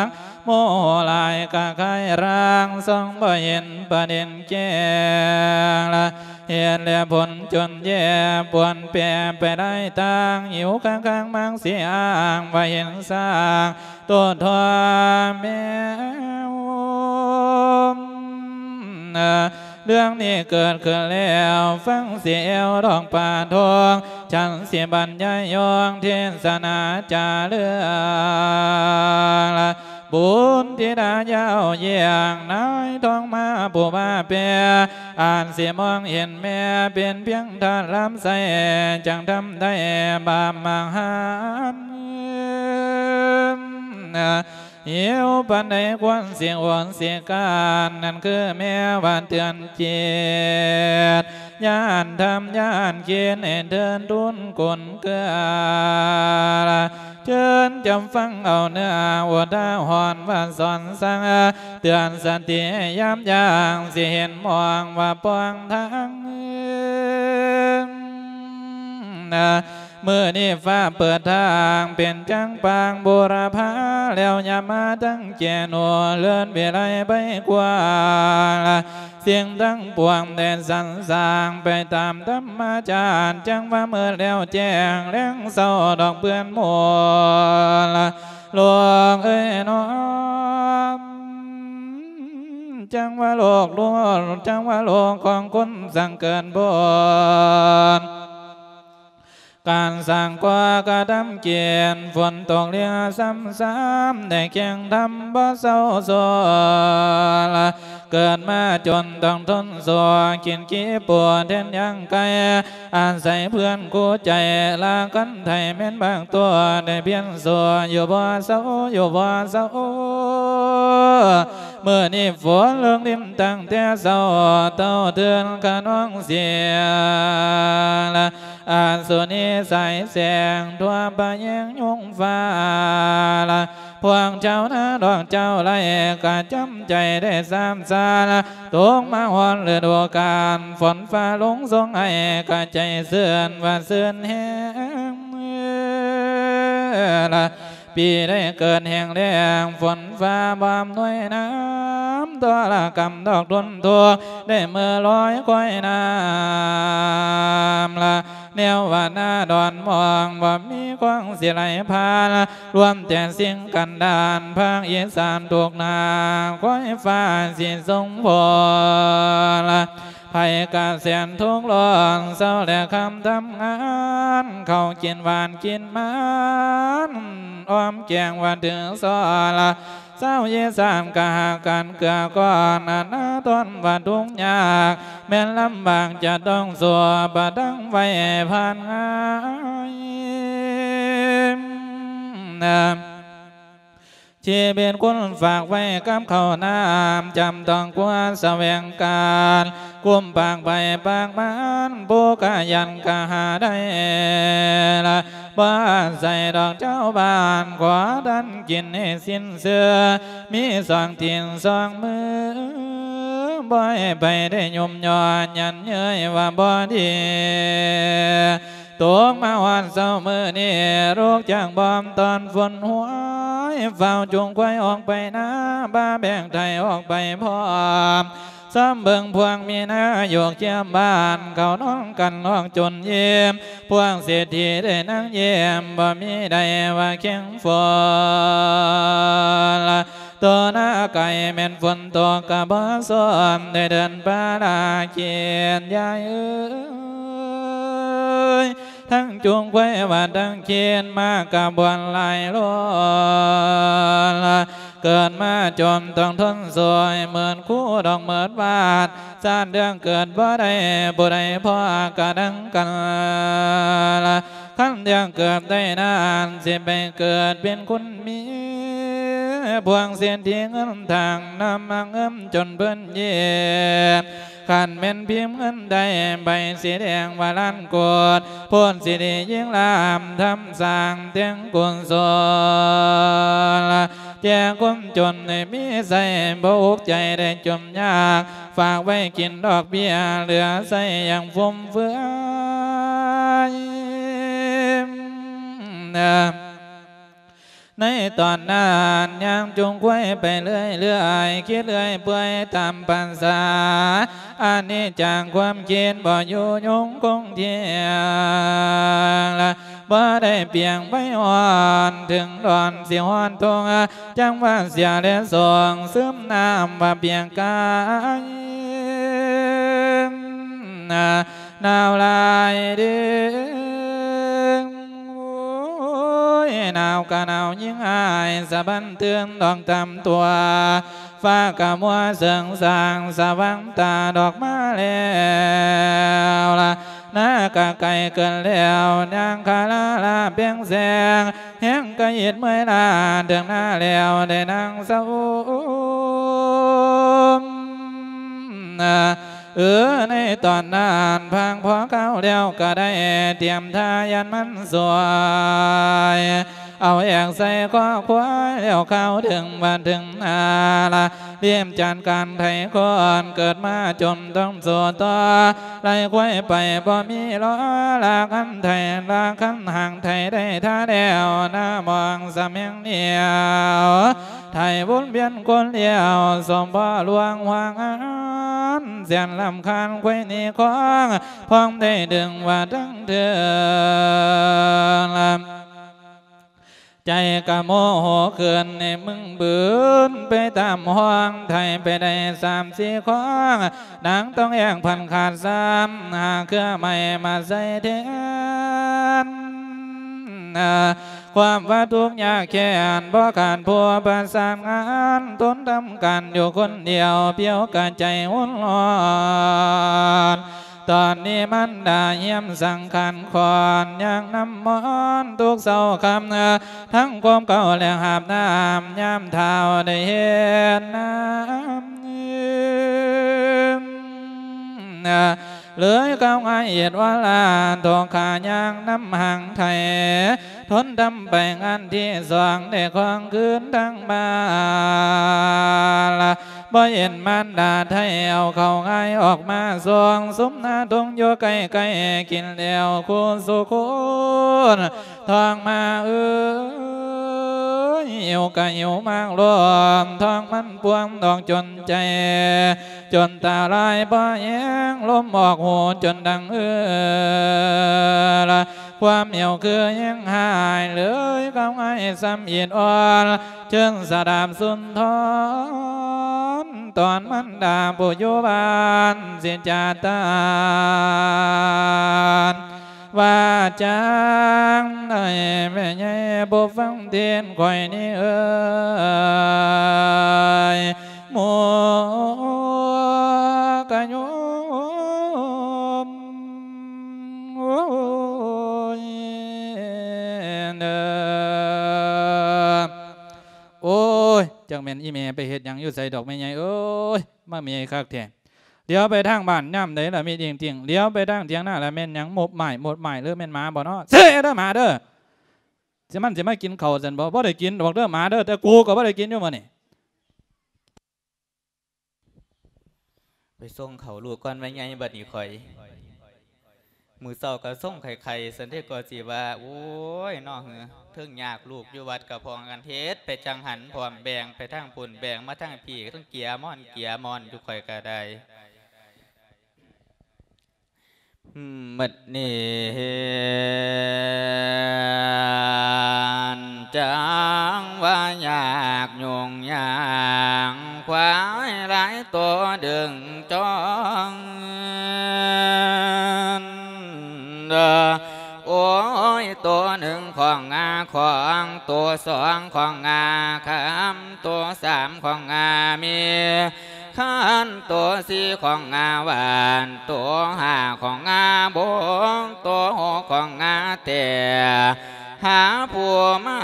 ກ ໂມໂຫຫຼາຍກະຄາຍຮ່າງ ສ່ອງບໍ່ເຫັນປະເດັນແຈ້ງລະ ເຫດແລະຜົນຈົນແຍ່ ປວນແປໄປໄດ້ຕ່າງ ຫິວກະກາງມັກຊິອ້າງ ວ່າເຫັນສ້າງໂຕທໍ່ແມ່ ເລື່ອງນີ້ເກີດຂຶ້ນແລ້ວ ຟັງຊິແອວດອກປາທອງ ສັນຊິບັນຍາຍຍອງ ເທດສະໜາຈາເລື່ອງລະ ບຸນທິດາຍາວຢ້ຽງ ນາຍທອງມາຜູ້ວ່າແປ ອາດຊິມອງເຫັນແມ່ ເປັນພຽງທາດລຳໄສ້ ຈັ່ງທຳໄດ້ບາບມະຫານ ຫິວປານໃດຄວນຊິຫວນຊິການ ນັ້ນຄືແມ່ວ່າເຕືອນຈິດ ຢ້ານທຳຢ້ານຄິດໃຫ້ເທີນທຸນກຸນເກືອ ເຊີນຈຳຟັງເອົາເນື້ອອຸທາຫອນວ່າສອນສັ່ງ ເຕືອນສະຕິໃຫ້ຍາມຢ່າງ ຊິເຫັນມອງວ່າປ່ອງທາງ ມື້ນີ້ຟ້າເປີດທາງ ເປັນຈັງປາງບູລະພາ ແລ້ວຍາມມາທັງແກ່ໜູເລີນວິໄລໄພກວ້າງ ສິ່ງທັງປວງໄດ້ສັນສ້າງ ໄປຕາມທຳມະຊາດ ຈັ່ງວ່າມື້ແລ້ວແຈ້ງ ແລງເຊົ້າດອກເພື່ອນໝູ່ ໂລກເອີຍນ້ອງ ຈັ່ງວ່າໂລກ ໂລກ ຈັ່ງວ່າໂລກຂອງຄົນສັງເກີດບົນ ການສ້າງກໍ່ກະທຳກິນ ຝົນຕົກເຫຼືອຊ້ຳໆ ໄດ້ແຂ່ງທຳບໍ່ເຊົາໂຊລະ ເກີດມາຈົນຕ້ອງທົນສູ້ ກິນຂີ້ປູແທນຍ່າງໄກ່ ອາໄສເພື່ອນຄູ່ໃຈ ລາກັນໄທແມ່ນບາງຕົວ ໄດ້ພຽນສູ້ຢູ່ບໍ່ເຊົາ ຢູ່ບໍ່ເຊົາ ມື້ນີ້ຝົນເລິງລິມຕັ້ງແຕ່ເຊົ້າ ເຕົ້າເທີນຂະນອງສຽງລະ ອາສຸນີສາຍແສງ ທົ່ວປະແຍງຍົງຟ້າລະ ພວກເຈົ້ານາດອກເຈົ້າໄລ່ ກະຈຳໃຈໄດ້ຊ້ຳຊາລະ ຕົກມາຮອດລະດູການ ຝົນຟ້າລົງສົ່ງໃຫ້ ກະໃຈຊື່ນວ່າຊື່ນແຮງ ລະ ປີໄດ້ເກີດແຫ້ງແລ້ງ ຝົນຟ້າບໍ່ອຳນວຍນ້ຳ ທໍລະກຳດອກທົນທຸກ ໄດ້ເມືອລອຍຄອຍນ້ຳລະ ແນວວ່າໜ້າດອນມອງ ບໍ່ມີຄວາງຊິໄຫຼຜ່ານ ລວມແຕ່ສິ່ງກັນດານ ພາກອີສານທຸກໜ້າ ຄວາຍຟ້າຊິສົ່ງຝົນລະ ໃຜກະແສນທຸກຮ້ອນ ເຊົ້າແລະຄ່ຳທຳງານ ເຂົ້າກິນຫວານກິນມັນ ອ້ອມແກງວ່າຖືສອນລະ ຊາວອີສານກະຫາກກັນເກື້ອກ້ອນ ອະນາທົນວ່າທຸກຍາກ ແມ່ນລຳບາກຈະຕ້ອງສູ້ ປະທັງໄວ້ຜ່ານງ່າຍ ຊີວິດຄົນຝາກໄວ້ກັບເຂົ້ານ້ຳ ຈຳຕ້ອງຄວ້າສະແຫວງການ ກຸມປາກໃຜປາກມັນ ຜູ້ກະຢັນກະຫາໄດ້ລະ ບໍ່ອາໄສດອກເຈົ້າບ້ານ ຂໍທ່ານກິນໃຫ້ສິ້ນເຊື່ອ ມີສອງຕີນສອງມື ບໍ່ໃຫ້ໃຜໄດ້ຍຸ່ມຍໍ້ນຢັນເຍີ້ຍວ່າບໍ່ດີ. ຕົກມາຮອດເຊົ້າມື້ນີ້ ລຸກຈາກບ່ອນຕອນຝົນຫ້ວຍ ຟ້າວຈູງຄວາຍອອກໄປນາ ບາແບກໄຖອອກໄປພ້ອມ ຊອມເບິ່ງພວກມີນາຢູ່ຄຽມບ້ານ ເຂົານອນກັນຮ້ອງຈົນອີ່ມ ພວກເສດຖີໄດ້ນັ່ງຍິ້ມ ບໍ່ມີໃດວ່າເຄັ່ງຝົນ. ໂຕນາໄກ່ແມ່ນຝົນຕົກກະບໍ່ສົນ ໄດ້ເດີນປ່າລາກຽນ ຍາຍເອີຍ ທັງຈູງຄວາຍວ່າທັງຄຽນ ມາກະບວນຫຼາຍໂລນ. ເກີດມາຈົນຕ້ອງທົນໂສຍ ເໝືອນຄູດອກເໝືອນວາດ ຊາດເລື່ອງເກີດບໍ່ໄດ້ ຜູ້ໃດພໍກະດັງກັນ. ຄັນຢາກເກີດໄດ້ນານ ຊິໄປເກີດເປັນຄຸນເມຍ ພວກເສດຖີເງິນຖັງ ນຳມາເງິມຈົນເພິ່ນເຢັບ. ຄັນແມ່ນພິມເງິນໄດ້ ໃບສີແດງວ່າລ້ານໂກດ ໂພດສິລິຍິ່ງລາບ ທຳສ້າງແຕ່ງກຸສົນ ແຈກຄົນຈົນໃຫ້ມີໃຊ້ ບໍ່ອຸກໃຈໄດ້ຈົມຍາກ ຝາກໄວ້ກິນດອກເບ້ຍ ເຫຼືອໃຊ້ຢ່າງຟຸມເຟືອຍ. ໃນຕອນນັ້ນ ຍ່າງຈູງຄວາຍໄປເລື້ອຍໆ ຄິດເລື້ອຍເປື່ອຍຕາມປາສາ ອັນນີ້ຈາກຄວາມຄິດບໍ່ຢູ່ຍົງຄົງທ່ຽງ ບໍ່ໄດ້ປຽງໄປຮອດ ເຖິງດອນຊິຮອດທົ່ງ ຈັ່ງວ່າເສຍແລະສອງ ຊຶມນ້ຳວ່າປຽກກາຍ ໜາວຫຼາຍເດີ້ ໂອ້ຍ ໜາວກະໜາວຍິ່ງອ້າຍ ສະບັ້ນຕື່ນດອກຕາມຕົວ ຟ້າກະມົວເສີງສາງ ສະຫວ່າງຕາດອກມາແລ້ວລະ ນາກະໃກ້ເກີນແລ້ວ ນາງຄາລາລາແປງແສງ ແຮງກະອິດເມື່ອຍລ້າ ເຖິງນາແລ້ວໄດ້ນັ່ງເຊົາ ເອີ ໃນຕອນນັ້ນ ພາງພໍເຂົ້າແລ້ວກະໄດ້ຕຽມທ່າຢ້ານມັນສວຍ ເອົາແອກໃສ່ຄໍຄວາຍ ແລ້ວຂ່າວເຖິງບ້ານເຖິງນາລະ ລຽບຈັດການໄຖຄອນ ເກີດມາຈົນຕ້ອງສູ້ຕໍ່ ໄລ່ຄວາຍໄປບໍ່ມີລໍ ລາຄັນໄຖ ລາຄັນຫາງໄຖໄດ້ທ່າແລ້ວ ນາມອງສະແມງໜຽວ ໄຖວົນວຽນຄົນດຽວ ສົມພໍລວງຫວາງອານ ແສນລຳຄານຄວາຍໜີຄອງ ພ້ອມໄດ້ດຶງວ່າທັງເທິງ ໃຈກະໂມໂຫຂຶ້ນ ໃຫ້ມຶງບືນໄປຕາມຫ້ອງ ໄຖໄປໄດ້ສາມສີ່ຄອງ ນາງຕ້ອງແອງພັນຂາດຊ້ຳ ຫາເຄືອໄມ້ມາໃສ່ແທນ ຄວາມວ່າທຸກຍາກແຄ້ນ ບໍ່ຂາດຜູ້ປະສານງານ ທົນທຳການຢູ່ຄົນດຽວ ພຽວກະໃຈຮຸນຮ້ອນ ຕອນນີ້ມັນດາຮຽມສັງຂານຂອນ ຍ່າງນຳມອນທຸກເຊົ້າຄ່ຳ ທັງຄວາມເກົ່າແລະຫາບນ້ຳ ຍາມທ້າວໄດ້ເຮັດນາ ເລີຍກ້າວງ່າຍເອດວາລາ ທອກຂາຍ່າງນຳຫາງໄຖ ທົນທຳໄປງານທີສອງ ໄດ້ຄອງຄືນທາງບ້ານ ບໍ່ເຫັນມານດາໄທ ເອົາເຂົ້າງາຍອອກມາສົ່ງ ຊຸມນາທົ່ງຢູ່ໃກ້ໆ ກິນແລ້ວຄູ່ສູ່ຄົນ ທ້ອງມາເອີຍ ຫິວກະຫິວມາກລອມ ທ້ອງມັນພວມອອກຈົນໃຈ ຈົນຕາລາຍບໍ່ແຮງ ລົມອອກຫູຈົນດັງເອີລະ ຄວາມຫິວຄືແຮງຫາຍ ເລີຍເຂົ້າໃຫ້ຊ້ຳອິດອ່ອນ ເຊີນສະດາບສຸນທອນ ຕອນມັນດາຜູ້ຢູ່ບ້ານ ຊິຈາຕານ ວ່າຈັ່ງໃດແມ່ໃຫຍ່ບໍ່ຟັງເທດຂ້ອຍນີ້ເອີຍ ໝູ່ກະໂຍມ ໂອ້ຍ ເດີ ໂອ້ຍ ຈັກແມ່ນອີແມ່ໄປເຮັດຫຍັງຢູ່ໃສດອກແມ່ໃຫຍ່ເອີຍ ມາແມ່ໃຫຍ່ຄັກແທ້. ຫຼຽວໄປທາງບ້ານຍາມໃດລະມີຕິ່ງໆ ຫຼຽວໄປທາງຖຽງນາລະແມ່ນຫຍັງ ໝົບໝ້າຍ ໝົບໝ້າຍ ຫຼືແມ່ນໝາບໍ່ເນາະ? ເຊເດີໝາເດີ ຊິມັນຊິມາກິນເຂົ້າຊັ້ນບໍ່? ບໍ່ໄດ້ກິນດອກເດີໝາເດີ ແຕ່ກູກໍບໍ່ໄດ້ກິນຢູ່ມື້ນີ້. ໄປສົ່ງເຂົ້າລູກກ່ອນແມ່ໃຫຍ່ ບັດນີ້ຂ້ອຍ ມື້ເຊົ້າກໍຊົງໄຂ້ໆ ຊັ້ນເດ ກໍຊິວ່າ ໂອ້ຍ ເນາະ ເຮີ ເທິງຍາກ ລູກຢູ່ວັດກໍພ້ອມກັນເຮັດໄປຈັ່ງຫັ້ນ ພ້ອມແບ່ງໄປທາງພຸ້ນ ແບ່ງມາທາງພີ້ ເທິງເກຍມອນເກຍມອນຢູ່ ຂ້ອຍກໍໄດ້. ບັດນີ້ ຈັ່ງວ່າຍາກຫຍຸ້ງຍາງ ຄວາຍຫຼາຍໂຕດຶງຈ້ອງ ໂອ້ຍ ໂຕໜຶ່ງຂອງງາຂອງ ໂຕສອງຂອງງາຄຳ ໂຕສາມຂອງງາມີ ຄັນໂຕສີ່ຂອງງາຫວານ ໂຕຫ້າຂອງງາບົງ ໂຕຫົກຂອງງາແຕ່ ຫາຜູ້ມາ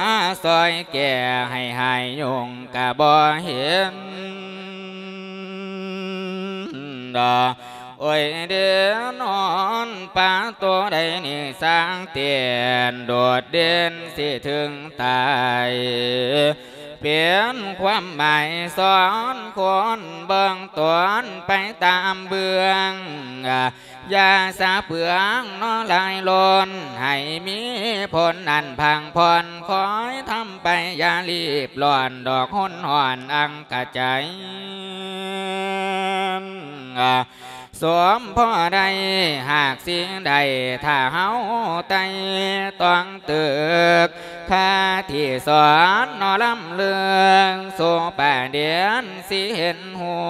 ຊ່ອຍແກ້ໃຫ້ຫາຍຫຍຸ້ງກະບໍ່ເຫັນດອກ ໂອ້ຍ ເດນອນປາໂຕໃດນີ້ຊ່າງເຕັ້ນໂດດເດັ່ນຊິເຖິງຕາຍ ເປັນຄວາມໝາຍສອນຄົນເບິ່ງຕົນໄປຕາມເບື້ອງ ຢ່າສະເປືອງເນາະຫຼາຍລົ້ນ ໃຫ້ມີຜົນອັນພັງຜ່ອນ ຄອຍທຳໄປຢ່າລີບຮ້ອນ ດອກຫົນຫອນອັງກະໃຈ ສົມພໍໄດ້ຫາກສິ່ງໃດ ຖ້າເຮົາໄຕ່ຕ້ອງຕຶກ ຄາທີ່ສອນເນາະລຳເລື່ອງ ສູ່ປະເດັນຊິເຫັນຮູ້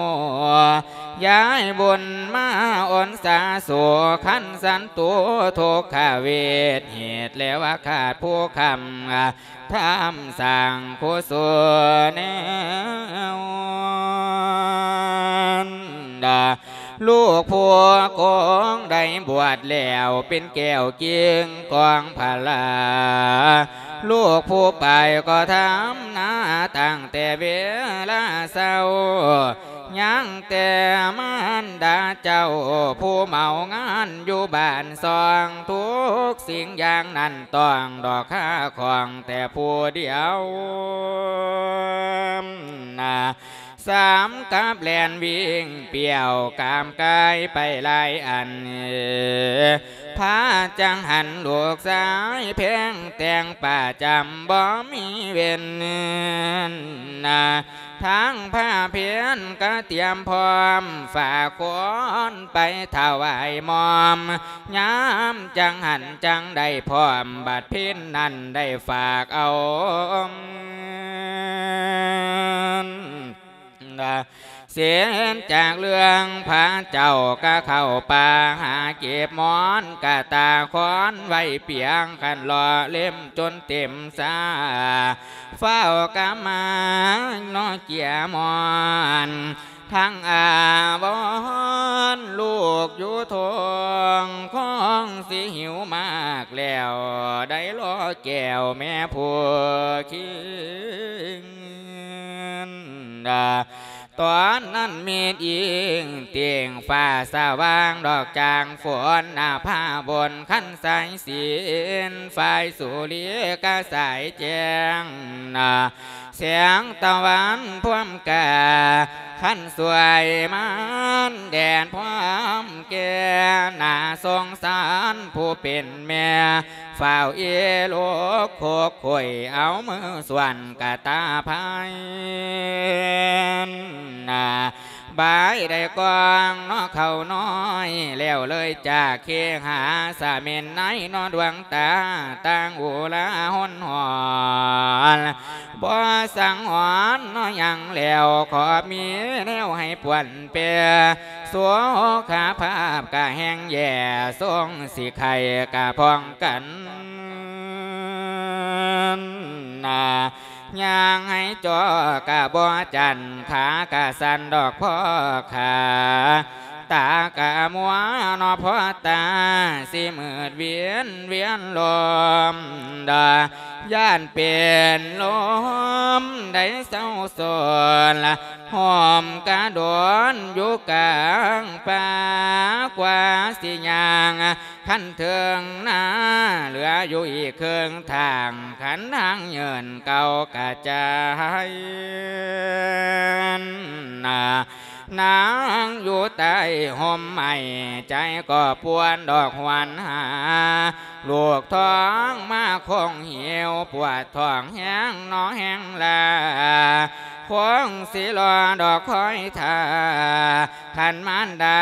ຍາຍບຸນມາອົນສາສູ່ ຄັນສັນຕຸທຸກຂະເວດ ເຫດແລວ່າຂາດຜູ້ຄ້ຳ ທຳສ້າງກຸສົນແນວ ລູກຜູ້ກົງໄດ້ບວດແລ້ວ ເປັນແກ້ວກິ່ງກອງພະລາ ລູກຜູ້ໄປກໍທຳນາຕັ້ງແຕ່ເວລາເຊົ້າ ຍັງແຕ່ມານດາເຈົ້າ ຜູ້ເມົາງານຢູ່ບ້ານຊ່ອງ ທຸກສິ່ງຢ່າງນັ້ນຕ້ອງດອກຄາຂອງແຕ່ຜູ້ດຽວ ນາ ສາມກັບແລ່ນວິ່ງປ່ຽວ ກາມກາຍໄປຫຼາຍອັນ ພາຈັງຫັນລູກຊາຍແພງແຕ່ງປະຈຳ ບໍ່ມີເວັ້ນ ນາ ທາງພາເພັນກະຕຽມພ້ອມ ຝາກຄົນໄປຖວາຍໝ້ອມ ຍາມຈັງຫັນຈັ່ງໄດ້ພ້ອມ ບັດເພັນນັ້ນໄດ້ຝາກເອົາ ເສັດຈາກເລື່ອງພະເຈົ້າກະເຂົ້າປ່າຫາເກັບໝອນກະຕາຄອນໄວ້ປຽງ ຄັນຫຼໍ່ເຫຼັ້ມຈົນເຕັມສາ ຟ້າວກະມາເນາະເກຍໝອນ ທັງອາວອນລູກຢູ່ທ້ອງ ຄອງຊິຫິວມາກແລ້ວ ໄດ້ລໍແກ້ວແມ່ຜູ້ຄິງ ຕອນນັ້ນມີດອີງຕຽງ ຟ້າສະຫວ່າງດອກຈາງຝົນ ນາພາບົນຄັນສາຍສິນ ຝ້າຍສຸລິກະສາຍແຈ້ງ ນາ ແສງຕາວັນພວມກາ ຄັນສວຍມານແດດພວມແກ່ ໜ້າສົງສານຜູ້ເປັນແມ່ ຟ້າວເອໂລກໂຄກໂຄຍ ເອົາມືສ່ວນກະຕາພາຍ ນາ ບາຍໄດ້ກອງເນາະເຂົ້ານ້ອຍ ແລ້ວເລີຍຈາກເຄຫາສະເໝັນໃນເນາະ ດວງຕາຕ່າງອຸລາຫົນຫອນ ບໍ່ສັງຫອນເນາະຫຍັງແລ້ວ ຂໍມີແນວໃຫ້ປ່ວນແປ ສຸຂະພາບກະແຮ່ງແຍ່ ຊົງຊິໄຂ້ກະພ້ອງກັນ ນາ ຍ່າງໃຫ້ຈໍກະບໍ່ຈັນ ຂາກະສັ່ນດອກພໍ່ຂາ ຕາກະມົວເນາະພໍ່ຕາ ຊິມືດວຽນວຽນລົມດາ ຢ້ານເປັນລົມໄດ້ເສົ້າໂສນ ຫົ່ມກະດົນຢູ່ກາງປ່າ ກວ່າຊິຍ່າງ ຄັນເຖິງນາ ເຫຼືອຢູ່ອີກເຄິ່ງທາງ ຄັນທາງເຫຍິນເກົ່າກະຈາຍ ນາ ນາງຢູ່ໃຕ້ຮົ່ມໄມ້ ໃຈກໍປວນດອກຫວນຫາ ລູກທ້ອງມາຄົງຫິວ ປວດທ້ອງແຮງໜໍແຮງລາ ຄົງຊິລໍດອກຄອຍຖ້າ ທ່ານມານດາ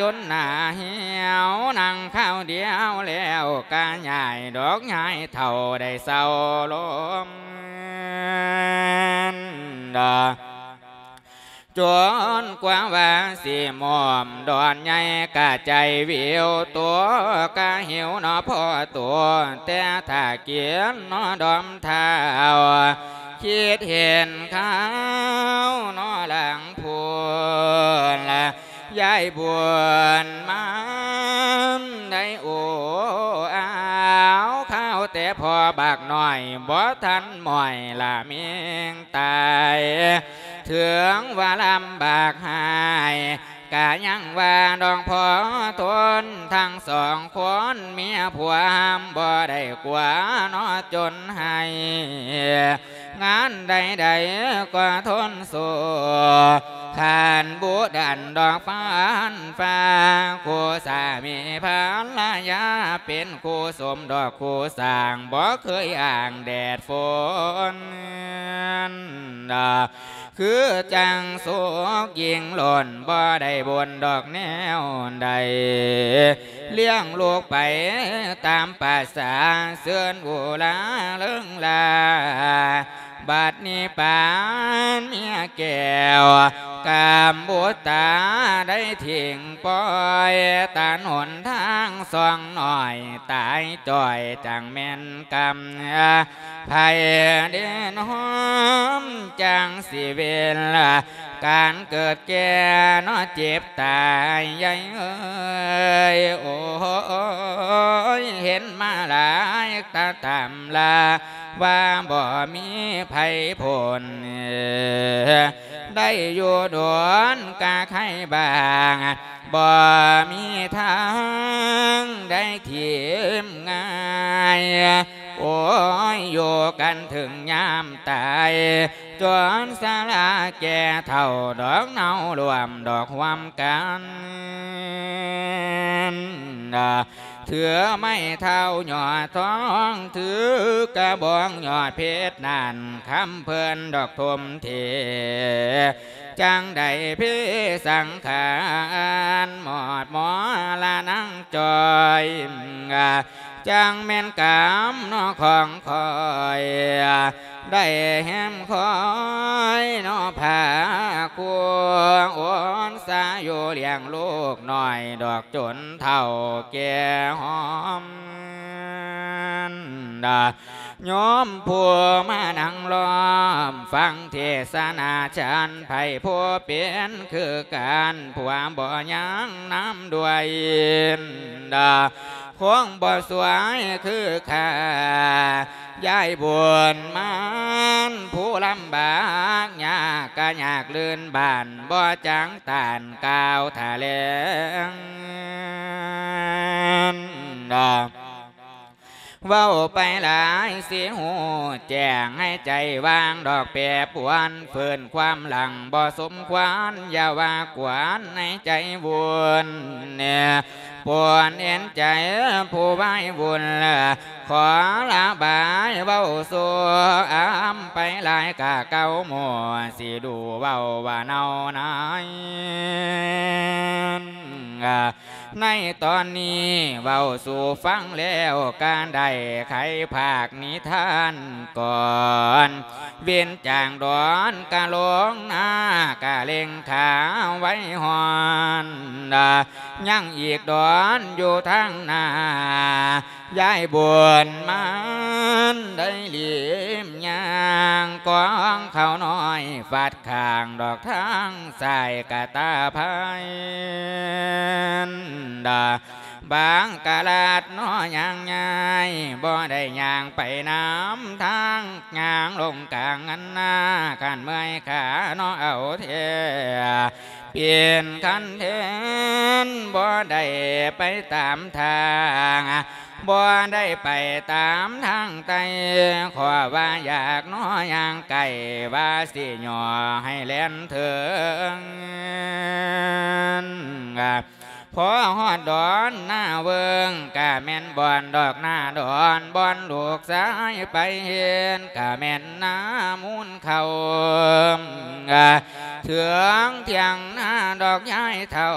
ຈົນໜ້າຫ່ຽວ ນັ່ງຄາວດຽວແລ້ວກະຍ້າຍດອກ ຍ້າຍເຖົ້າໄດ້ເຊົາລົມ ຈົນກວ່າວ່າຊິມອມດອນໃຫຍ່ກະໃຈວິວ ຕົວກະຫິວເນາະພໍຕົວ ແຕ່ຖ້າກິນເນາະດອມທ້າວ ຄິດເຫັນຂ່າວເນາະຫຼັງພຸ້ນລະ ຍາຍບຸນມານໄດ້ໂອ້ອາວ ຂ່າວແຕ່ພໍ່ບັກນ້ອຍ ບໍ່ທັນມ້ອຍລະເມັງຕາຍ ເຖິງວ່າລຳບາກຫາຍ ກະຍັງວ່ານ້ອງພໍທົນ ທັງສອງຄົນເມຍຜົວ ຫ້າມບໍ່ໄດ້ກົວເນາະ ຈົນໃຫ້ງານໃດໆກໍທົນສູ້ ຄັນບູດັນດອກຟານຟ້າ ຄູ່ສາມີພັນລະຍາ ເປັນຄູ່ສົມດອກຄູ່ສ້າງ ບໍ່ເຄີຍອ້າງແດດຝົນ ຄືຈັ່ງສຸກຍິ່ງລົ້ນ ບໍ່ໄດ້ບົນດອກແນວໃດ ລ້ຽງລູກໄປຕາມປະສາ ເຊີນອຸລາເລີງລາ ບັດນີ້ປານເມຍແກ້ວ ກຳບຸດຕາໄດ້ຖິ້ມປ່ອຍ ຕັນຫົນທາງຊ່ອງນ້ອຍ ຕາຍຈ້ອຍຈັ່ງແມ່ນກຳ ໃຜເດນຫອມຈັ່ງຊິເວັນ ການເກີດແກ່ເນາະເຈັບຕາຍ ຍາຍເອີຍ ໂອ້ຍ ເຫັນມາຫຼາຍຕາຕຳລາ ວ່າບໍ່ມີໃຜພົ້ນ ໄດ້ຢູ່ດົນກະໄຄບ້າງ ບໍ່ມີທາງໄດ້ຖິ້ມງ່າຍ ໂອ້ຍ ຢູ່ກັນເຖິງຍາມຕາຍ ຈົນຊະລາແກ່ເຖົ້າ ດອກເນົ່າລວມດອກຮ່ວມກັນ ຖືໄມ້ເທົ້າຍອດທອງ ຖືກະບອງຍອດເພັດນັ້ນ ຄຳເພິ່ນດອກຖົມເທ ຈັ່ງໄດ້ເພສັງຂານ ມອດໝໍລະນາງຈ້ອຍ ຈັ່ງແມ່ນກຳເນາະຂອງຂ້ອຍ ໄດ້ແຮມຄອຍເນາະພາຄູ ໂອນສາຢູ່ລ້ຽງລູກນ້ອຍ ດອກຈົນເຖົ້າແກ່ຫອມ ໂຍມຜູ້ມານັ່ງລ້ອມຟັງເທສະນາ ຈານໃຜຜູ້ເປັນຄືກັນ ຜົວບໍ່ຍັງນຳດ້ວຍ ຄົງບໍ່ສວຍຄືຂ້າ ຍາຍບຸນມານຜູ້ລຳບາກຍາກ ກະຍາກລື່ນບ້ານ ບໍ່ຈັງຕ້ານກ່າວຖະແຫຼງ ເວົ້າໄປຫຼາຍຊິຮູ້ແຈ້ງ ໃຫ້ໃຈວາງດອກແປປວນ ຟື້ນຄວາມຫຼັງບໍ່ສົມຄວນ ຢ່າວ່າກວນໃຫ້ໃຈວຸ່ນ ປວນເອັນໃຈຜູ້ວາຍວຸ່ນ ຂໍລະບາຍເວົ້າສູ່ອຳໄປຫຼາຍກະເກົ່າໝູ່ ຊິດູເວົ້າວ່າເນົ່ານາຍ ໃນຕອນນີ້ເວົ້າສູ່ຟັງແລ້ວ ການໄດ້ໄຂພາກນິທານກ່ອນ ເວັນຈາງດອນກະລົງນາ ກະເລັ່ງຂາໄວຮອນ ຍັງອີກດອນຢູ່ທາງໜ້າ ຍາຍບຸນມານໄດ້ຫຼີມຍ່າງ ກອງເຂົ້ານ້ອຍຟາດຂ້າງ ດອກທາງຊ້າຍກະຕາພາຍ ບາງກະລາດເນາະຍ່າງຍ້າຍ ບໍ່ໄດ້ຍ່າງໄປນຳທາງ ຍ່າງລົງກາງອັນນາ ຄັນເມື່ອຍຂາເນາະເອົາແທ້ ປ່ຽນຄັນເທີນ ບໍ່ໄດ້ໄປຕາມທາງ ບໍ່ໄດ້ໄປຕາມທາງໃຕ້ ຂໍວ່າຢາກໜໍຍ່າງໄກ ວ່າຊິຍໍໃຫ້ແລ່ນເຖິງ ພໍຮອດດອນນາເວີງ ກະແມ່ນບ່ອນດອກນາດອນ ບ່ອນລູກຊາຍໄປເຮັດ ກະແມ່ນນາມູນເຂົ້າ ເຖິງທ່ຽງນາດອກຍາຍເຖົ້າ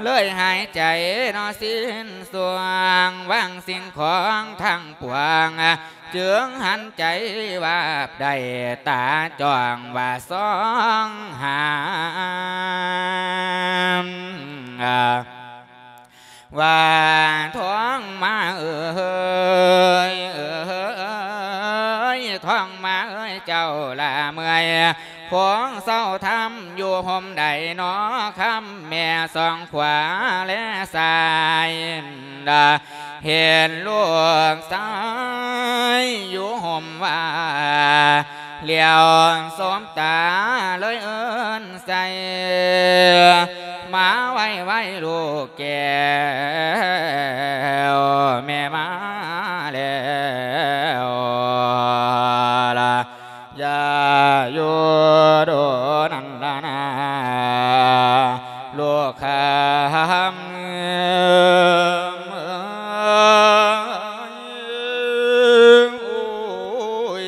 ເລີຍຫາຍໃຈເນາະສິ້ນຊ່ວງ ວາງສິ່ງຂອງທັງປວງ ຈຶ່ງຫັນໃຈວາບໄດ້ ຕາຈ້ອງວ່າສ່ອງຫາ ວ່າທອງມາເອີຍ ເອີຍ ທອງມາເອີຍ ເຈົ້າລະເມື່ອຍ ຄວນເຊົາທຳຢູ່ຮົ່ມໃດໜໍ ຄຳແມ່ສອງຂວາແລຊ້າຍ ເຫັນລູກຊາຍຢູ່ຮົ່ມວ່າ ຫຼຽວສົບຕາເລີຍເອີ້ນໃສ່ ມາໄວໆລູກແກ້ວ ແມ່ມາແລ້ວລະ ຢ່າຢູ່ດົນນັ້ນລະນາ ລູກຄຳເອີຍ ໂອ້ຍ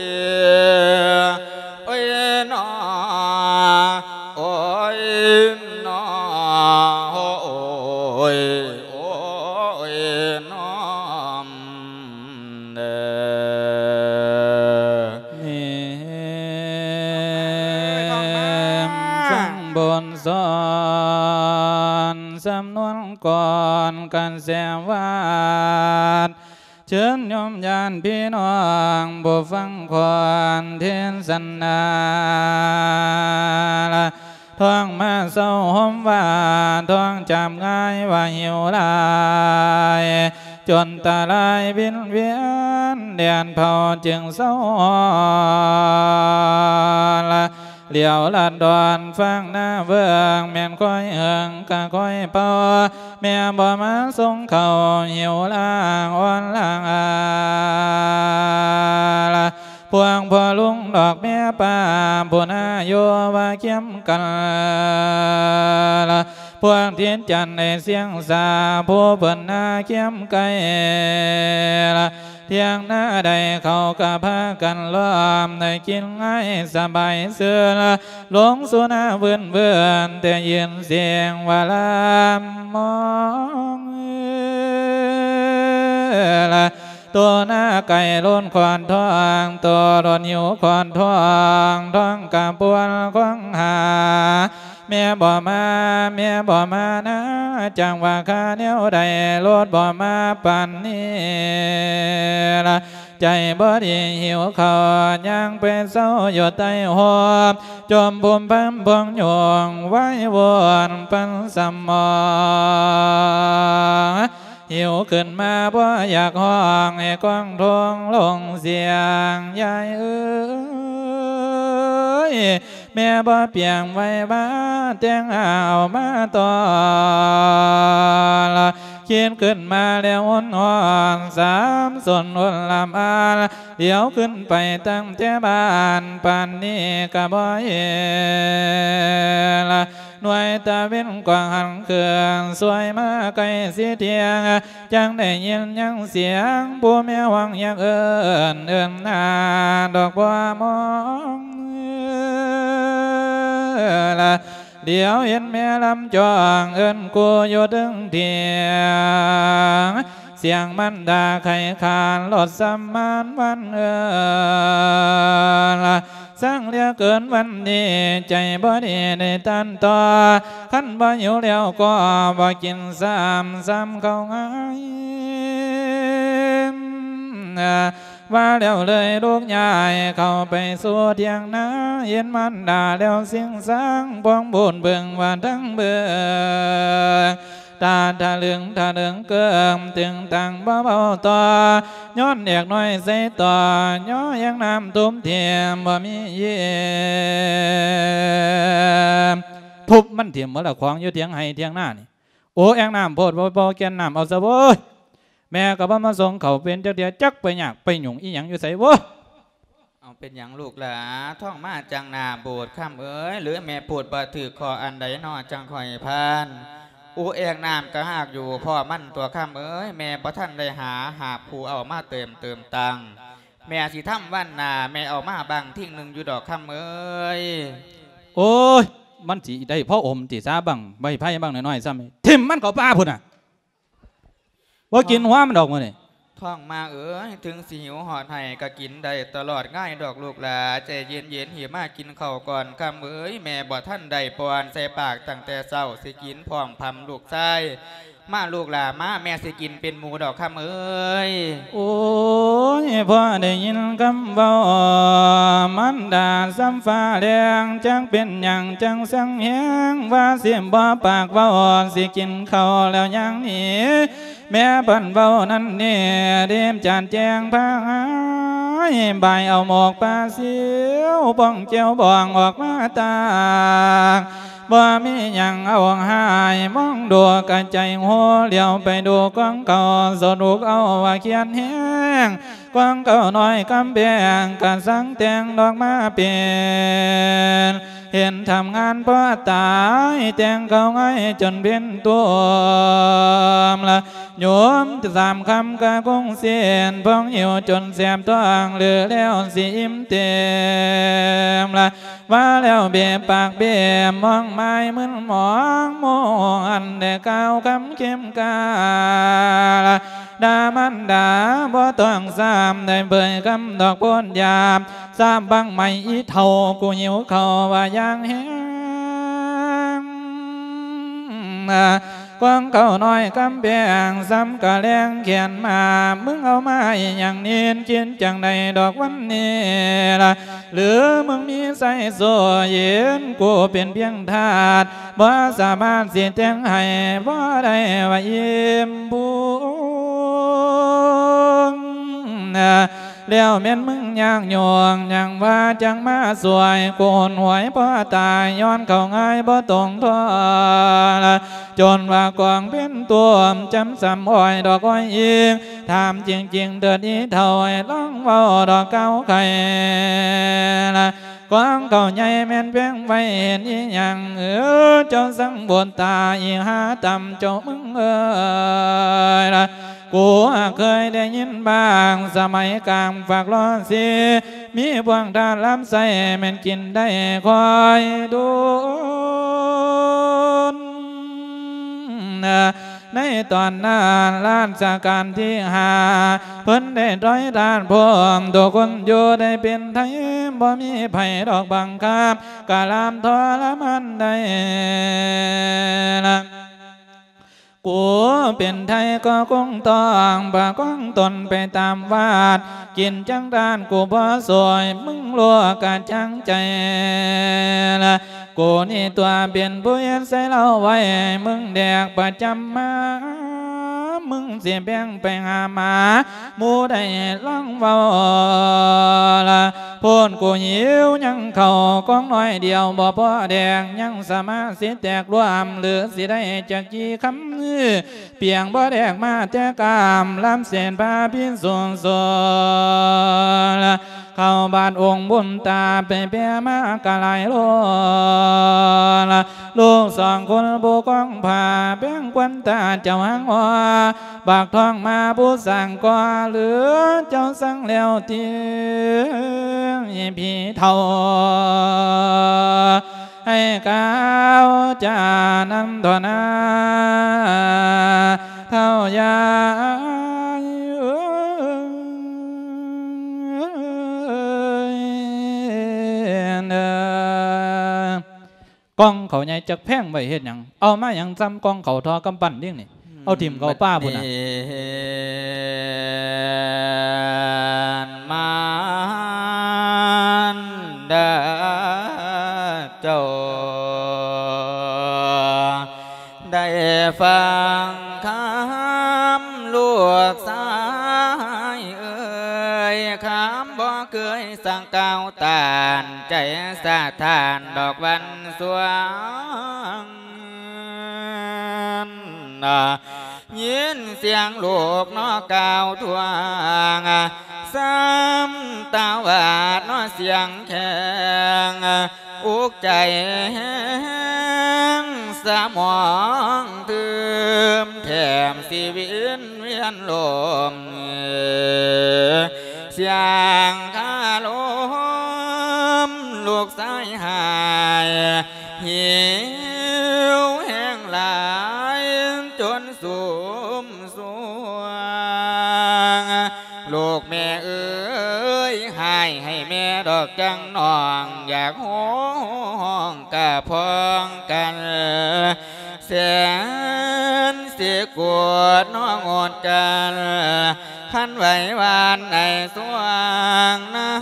ໂອ້ຍນໍ ໂອ້ຍນໍ ໂອ້ຍ ໂອ້ຍນໍ ເດີ ນີ້ ເອີຍ ຟັງບົດສອນ ສຳນວນກ່ອນກະແສວາດ ເຊີນໂຍມຍາດພີ່ນ້ອງ ຜູ້ຟັງຄວນເທດສະນາ ທອງມາເຊົາໂຮມວ່າ ທອງຈຳງ່າຍວ່າຫິວຫຼາຍ ຈົນຕາລາຍວິນວຽນ ແດດເຜົາຈຶ່ງເຊົາຮ້ອນ ຫຼຽວລັດດອນຟາກໜ້າເບິ່ງ ແມ່ນຄ່ອຍເຫິງກະຄ່ອຍເປົ່າ ແມ່ບໍ່ມາສົ່ງເຂົ້າ ຫິວລາງອ່ອນລາງອາ ພວກພໍ່ລຸງດອກແມ່ປ້າ ຜູ້ໜ້າຢູ່ວ່າຄຽມກັນ ພວກທິດຈັນໃນຊຽງສາ ຜູ້ເພິ່ນໜ້າຄຽມໄກ ທ່ຽງນາໃດເຂົາກະພາກັນລ້ອມ ໄດ້ກິນງ່າຍສະບາຍຊື່ນ ລົງສູ່ນາວືນໆ ແຕ່ຍິນສຽງວ່າລຳມອງ ໂຕໜ້າໄກ່ໂລນຂອນທອງ ໂຕໂລນຫິວຂອນທອງ ທອງກະປວນຄວາມຫາ ແມ່ບໍ່ມາ ແມ່ບໍ່ມານາ ຈັ່ງວ່າຄາແນວໃດ ໂລດບໍ່ມາປານນີ້ລະ ໃຈບໍ່ດີຫິວເຂົ້າ ຍ່າງໄປເຊົາຢູ່ໃຕ້ໂຮມ ຈົ່ມພູມພຳພວງໂຍງ ໄວ້ວອນປັນສະໝອງ ຫິວຂຶ້ນມາບໍ່ຢາກຮ້ອງ ໃຫ້ກ້ອງໂທງລົງສຽງ ຍາຍເອີຍ ແມ່ບໍ່ປຽງໄວ້ວ່າ ແຕ່ງເອົາມາຕ້ອນ ຄິດຂຶ້ນມາແລ້ວຮຸນຮອນ ສາມສົນຮຸນລຳອານ ຫຼຽວຂຶ້ນໄປຕັ້ງແຕ່ບ້ານ ປານນີ້ກະບໍ່ເຫັນ ໜ່ວຍຕາເວັນກວ່າງຫັນເຄື່ອນ ສວຍມາໃກ້ຊິທ່ຽງ ຈັ່ງໄດ້ຍິນຍັງສຽງ ຜູ້ແມ່ຮ້ອງຢາກເອີ້ນ ເອີ້ນຫາດອກບົວມອງ ລະ ດຽວເຫັນແມ່ລຳຈອງ ເອີ້ນກູຢູ່ເທິງຖຽງ ສຽງມັນດາໄຂຂານ ລົດສຳມານວັນເອີນ ສັງເຫຼືອເກີນວັນນີ້ ໃຈບໍ່ດີໃນຕັນຕໍ່ ຄັນບໍ່ຫິວແລ້ວກໍບໍ່ກິນຊ້ຳ ຊ້ຳເຂົ້າງ່າຍ ວ່າແລ້ວເລີຍລູກຍ້າຍເຂົ້າໄປສູ່ຖຽງນາ ເຫັນມານດາແລ້ວຊິງສັງ ພວງບູນເບິ່ງວ່າທັງເບິ່ງ ຕາທະລຶງທະເລິງເກິ່ງ ຕຶງຕັງບໍ່ເວົ້າຕໍ່ ຍ້ອນແອກນ້ອຍໃສ່ຕໍ່ ຍໍແຮງນ້ຳທຸບຖິ້ມບໍ່ມີເຢັນ ທຸບມັນຖິ້ມໝົດລະຂອງຢູ່ຖຽງໄຮ່ຖຽງນານີ້ ໂອ ແອກນ້ຳໂພດ ບໍ່ ບໍ່ແກ່ນນ້ຳເອົາຊະໂວ້ຍ ແມ່ກໍບໍ່ມາສົ່ງເຂົ້າເປັນຈັກເທື່ອ ຈັກໄປຍາກໄປຫຍຸ້ງອີ່ຫຍັງຢູ່ໃສ ໂອ້ຍ. ເອົາ ເປັນຫຍັງລູກຫຼາ ທ້ອງມາຈັ່ງໜ້າບູດ ຄຳເອີຍ ຫຼືແມ່ພູດບໍ່ຖືກຂໍ້ອັນໃດນໍ ຈັ່ງຄ່ອຍຜ່ານ. ອູແອກນ້ຳກະຫາກຢູ່ພໍ້ມັນຕົວະ ຄຳເອີຍ ແມ່ບໍ່ທັນໄດ້ຫາຫາຜູ້ເອົາມາເຕີມເຕີມຕັ້ງ ແມ່ຊິທຳວັນໜ້າ ແມ່ເອົາມາບັ້ງທີງໜຶ່ງຢູ່ດອກ ຄຳເອີຍ. ໂອ້ຍ ມັນຊິໄດ້ພໍອົມຕິ ສາບັ້ງໄມ້ໄຜ່ບັ້ງນ້ອຍໆຊ້ຳ ຖິ້ມມັນເຂົ້າປ່າພຸ້ນນະ ບໍ່ກິນຫົວມັນດອກມື້ນີ້. ທ້ອງມາເອີຍ ເຖິງຊິຫິວຮອດໃຫ້ກະກິນໄດ້ຕະຫຼອດງ່າຍດອກລູກຫຼາ ໃຈເຢັນໆ ຫິມາກິນເຂົ້າກ່ອນ ຄຳເອີຍ ແມ່ບໍ່ທັນໄດ້ປ້ອນໃສ່ປາກຕັ້ງແຕ່ເຊົ້າ ຊິກິນພ້ອມພຳລູກຊາຍ ມາລູກຫຼາມາ ແມ່ຊິກິນເປັນໝູດອກ ຄຳເອີຍ. ໂອ້ຍ ພໍໄດ້ຍິນຄຳເວົ້າມານດາສ່ຳຟ້າແລງ ຈັກເປັນຫຍັງຈັ່ງຊັງແຮງ ວ່າຊິບໍ່ປາກເວົ້າ ຊິກິນເຂົ້າແລ້ວຍ່າງໜີ ແມ່ພັນເວົ້ານັ້ນນີ້ ເດັບຈານແຈ້ງພາຫາຍ ບາຍເອົາໝອກປາຊິວ ປ່ອງແຈ່ວບອງອອກມາຕາກ ບໍ່ມີຫຍັງເອົາຫາຍ ມອງດູກະໃຈໂຫ ຫຼຽວໄປດູກອງເຂົ້າ ສະດຸກເອົາວ່າຄຽດແຮງ ກອງເຂົ້ານ້ອຍກຳແພງ ກະສັງແຕ່ງດອກມາເປັນ ເຫັນທຳງານພໍຕາຍ ແຕ່ງເຂົ້າງ່າຍຈົນເປັນຕົວມລະ ໂຍມສາມຄຳກະຄົງເສັ້ນ ພອງຫິວຈົນແສບທ້ອງ ຫຼືແລ້ວຊິອີ່ມເຕັມລະ ວ່າແລ້ວເບະປາກເບະ ມອງມາຍມຶນມອງ ໂມອັນໄດ້ກ່າວຄຳເຂັ້ມກາລະ ດາມານດາບໍ່ຕ້ອງຊ້ຳ ໄດ້ເຜີຍຄຳດອກໂພດຢາບ ສາບບັ້ງໄມ້ອີເຖົ້າ ກູຫິວເຂົ້າວ່າຢ່າງແຮງ ກວາງເຂົ້ານ້ອຍກຳແພງ ຊ້ຳກະແລງແຂນມາ ມຶງເອົາມາອີ່ຫຍັງນີນ ຄິດຈັ່ງໃດດອກວັນນີ້ລະ ຫຼືມຶງມີໄຊໂຊເຢັນ ກູເປັນພຽງທາດ ບໍ່ສາມາດຊິແຕ່ງໃຫ້ ບໍ່ໄດ້ວ່າອີ່ມບຸນ ແລ້ວແມ່ນມຶງຍາກຫຍຸ້ງ ຫຍັງວ່າຈັ່ງມາຊ່ວຍ ກູຫົນຫວຍພໍຕາຍ ຍ້ອນເຂົ້າງ່າຍບໍ່ຕົງທ່ອນ ຈົນວ່າກອງເປັນຕົວມ ຈຳສຳອ້ອຍດອກອ້ອຍອີງ ຖາມຈິງໆເຖີດອີເຖົ້າ ໃຫ້ລອງເວົ້າດອກກ່າວໄຂລະ ກວາງເຂົ້າໃຫຍ່ແມ່ນແພງໄວ້ເຫັນອີ່ຫຍັງ ເອີ ເຈົ້າສັງບຸດຕາອີຫາຕ່ຳເຈົ້າມຶງເອີຍລະ ກູຫາກເຄີຍໄດ້ຍິນບ້າງ ສະໄໝກາງຝາກລໍຊີ ມີພວກທາດລຳໄສ້ແມ່ນກິນໄດ້ຄ່ອຍດົນ ໃນຕອນນັ້ນລາຊະການທີຫ້າ ເພິ່ນໄດ້ຕ້ອຍທາດພ້ອມ ຕົວຄົນຢູ່ໄດ້ເປັນໄທ ບໍ່ມີໃຜດອກບັງຄັບ ກະລາມທໍລະມານໄດ້ລະ ກູເປັນໄທກໍຄົງຕ້ອງປະຄອງຕົນໄປຕາມວາດ ກິນຈັ່ງທານກູບໍ່ຊ່ວຍ ມຶງຮູ້ກະຈັງໃຈລະ ກູນີ້ຕົວະເປັນຜູ້ເຮັດໃສ່ເລົ່າໄວ້ ມຶງແດກປະຈຳມາ ມຶງຊິແບ່ງໄປຫາໝາ ໝູ່ໄດ້ລອງເວົ້າລະ ໂພດກູຫິວຍັງເຂົ້າກອງໜ້ອຍດຽວ ບໍ່ພໍແດກ ຍັງສາມາດຊິແຕກລວມ ຫຼືຊິໄດ້ຈັກກີ່ຄຳ ປຽງບໍ່ແດກມາແຕ່ກາມ ລຳເສນພາພິສູງສູງ ເຂົ້າບາດອົງບຸນຕາ ໄປແຜ່ມາກະຫຼາຍໂລ ລູກສອງຄົນຜູ້ຄອງຜ້າ ແບ່ງຄວັນຕາເຈົ້າຫາງຫົວ ບັກທອງມາຜູ້ສ້າງກໍ່ ຫຼືເຈົ້າສັ່ງແລ້ວຕິ ຜີເຖົ້າ ໃຫ້ກ່າວຈານັ້ນເທົ່ານັ້ນ ເຖົ້າຍາຍເອີຍເດີ. ກ່ອງເຂົ້າໃຫຍ່ຈັກແພງໄວ້ເຮັດຫຍັງ? ເອົາມາຫຍັງສ່ຳກ່ອງເຂົ້າທໍ່ກຳປັ່ນນີ້ນີ້? ເອົາຖິ້ມເຂົ້າປ່າພຸ້ນນະ. ບັດນີ້ ມານດາເຈົ້າ ໄດ້ຟັງຄຳລູກຊາຍເອີຍ ຄຳບໍ່ເຄີຍສັ່ງກ່າວຕ້ານ ໃຈສະທ້ານດອກວັນສວງ ນະ ຍິນສຽງລູກເນາະກ່າວທວງ ຊ້ຳຕາວາດເນາະສຽງແຂງ ອຸກໃຈແຮງສະໝອງຕື່ມ ແຖມຊິວິນວຽນລົມ ສຽງຄາລົມລູກຊາຍຫາຍ ຫິວແຮງຫຼາຍຈົນຊຸມ ຊ່ວງ ລູກແມ່ເອີຍ ຮ້າຍໃຫ້ແມ່ດອກຈັງນ້ອງ ຢາກຮ້ອງກະພ້ອງກັນ ແສນຊິໂກດນ້ອງໂອດກັນ ຄັນໄຫວຫວານໃນຊ່ວງນາ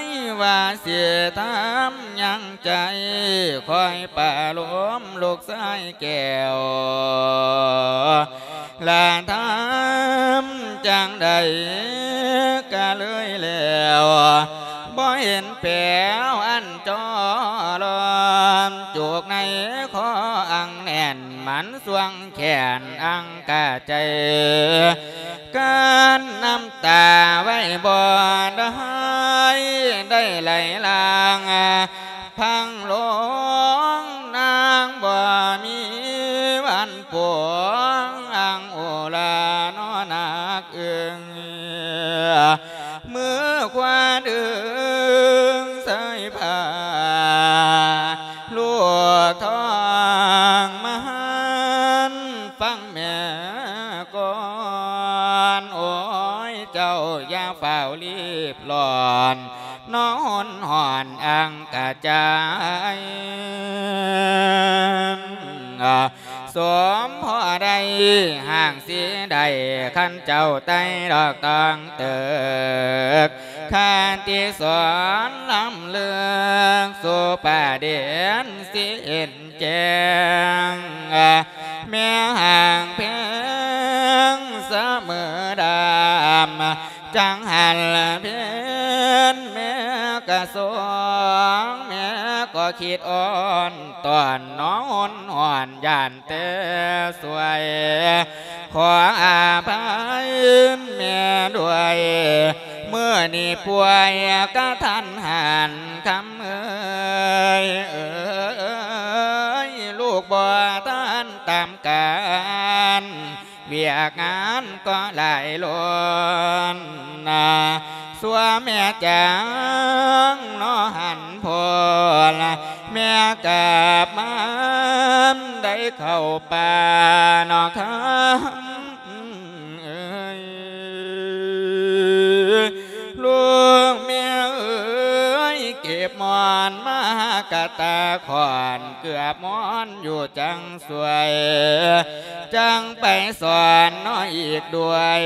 ຍ ວ່າຊິທຳຫຍັງໃຈ ຄອຍປະໂລມລູກຊາຍແກ້ວ ລະທຳຈັ່ງໃດກະເລີຍແລ້ວ ບໍ່ເຫັນແປວອັນຈໍລອນ ຈູກໃນຄໍອັງແໜ້ນ ມັນຊ່ວງແຂນອັງກະໃຈ ກັ້ນນ້ຳຕາໄວ້ບໍ່ໄດ້ ໄດ້ໄຫຼຫຼັ່ງ ພັງລົງນາງບໍ່ມີວັນປົວງ ອັງໂອລານໍໜັກອຶງ ມືຂວາດຶງສາຍຜ້າ ລູກທ້ອງມະຫັນ ຟັງແມ່ກ່ອນ ໂອ້ຍ ເຈົ້າຢ່າຟ້າວລີບຮ້ອນ ນອນຮ້ອນອັງກະຈາຍ ສົມພໍໄດ້ຮ່າງສີໄດ້ ຄັນເຈົ້າໄຕ່ດອກຕອງເຕີກ ຄະຕິສອນລ້ຳເລິກ ສູ່ປະເດັນຊິເຫັນ ແຈ້ງ ແມ່ຫາກແພງສະເໝີດຳ ຈັງຫັນເພັນແມ່ກະສອງ ແມ່ກໍຄິດອ່ອນຕອນ ນອນຮ້ອນຢ້ານແຕ່ສວຍ ຂໍອະໄພແມ່ດ້ວຍ ມື້ນີ້ປ່ວຍກະທັນຫັນ ຄຳເອີຍ ເອີຍ ລູກບໍ່ທັນຕາມການ ວຽກງານກໍຫຼາຍລົ້ນນາ ຊົ່ວແມ່ຈາງເນາະຫັນພົ້ນ ແມ່ກັບມາໄດ້ເຂົ້າປ່າເນາະຄຳ ເອີຍ ລູກແມ່ເອີຍ ເກັບໝອນມາກະຕາຂອນ ເກືອບໝອນຢູ່ຈັງສວຍ ຈັ່ງໄປສອນເນາະອີກດ້ວຍ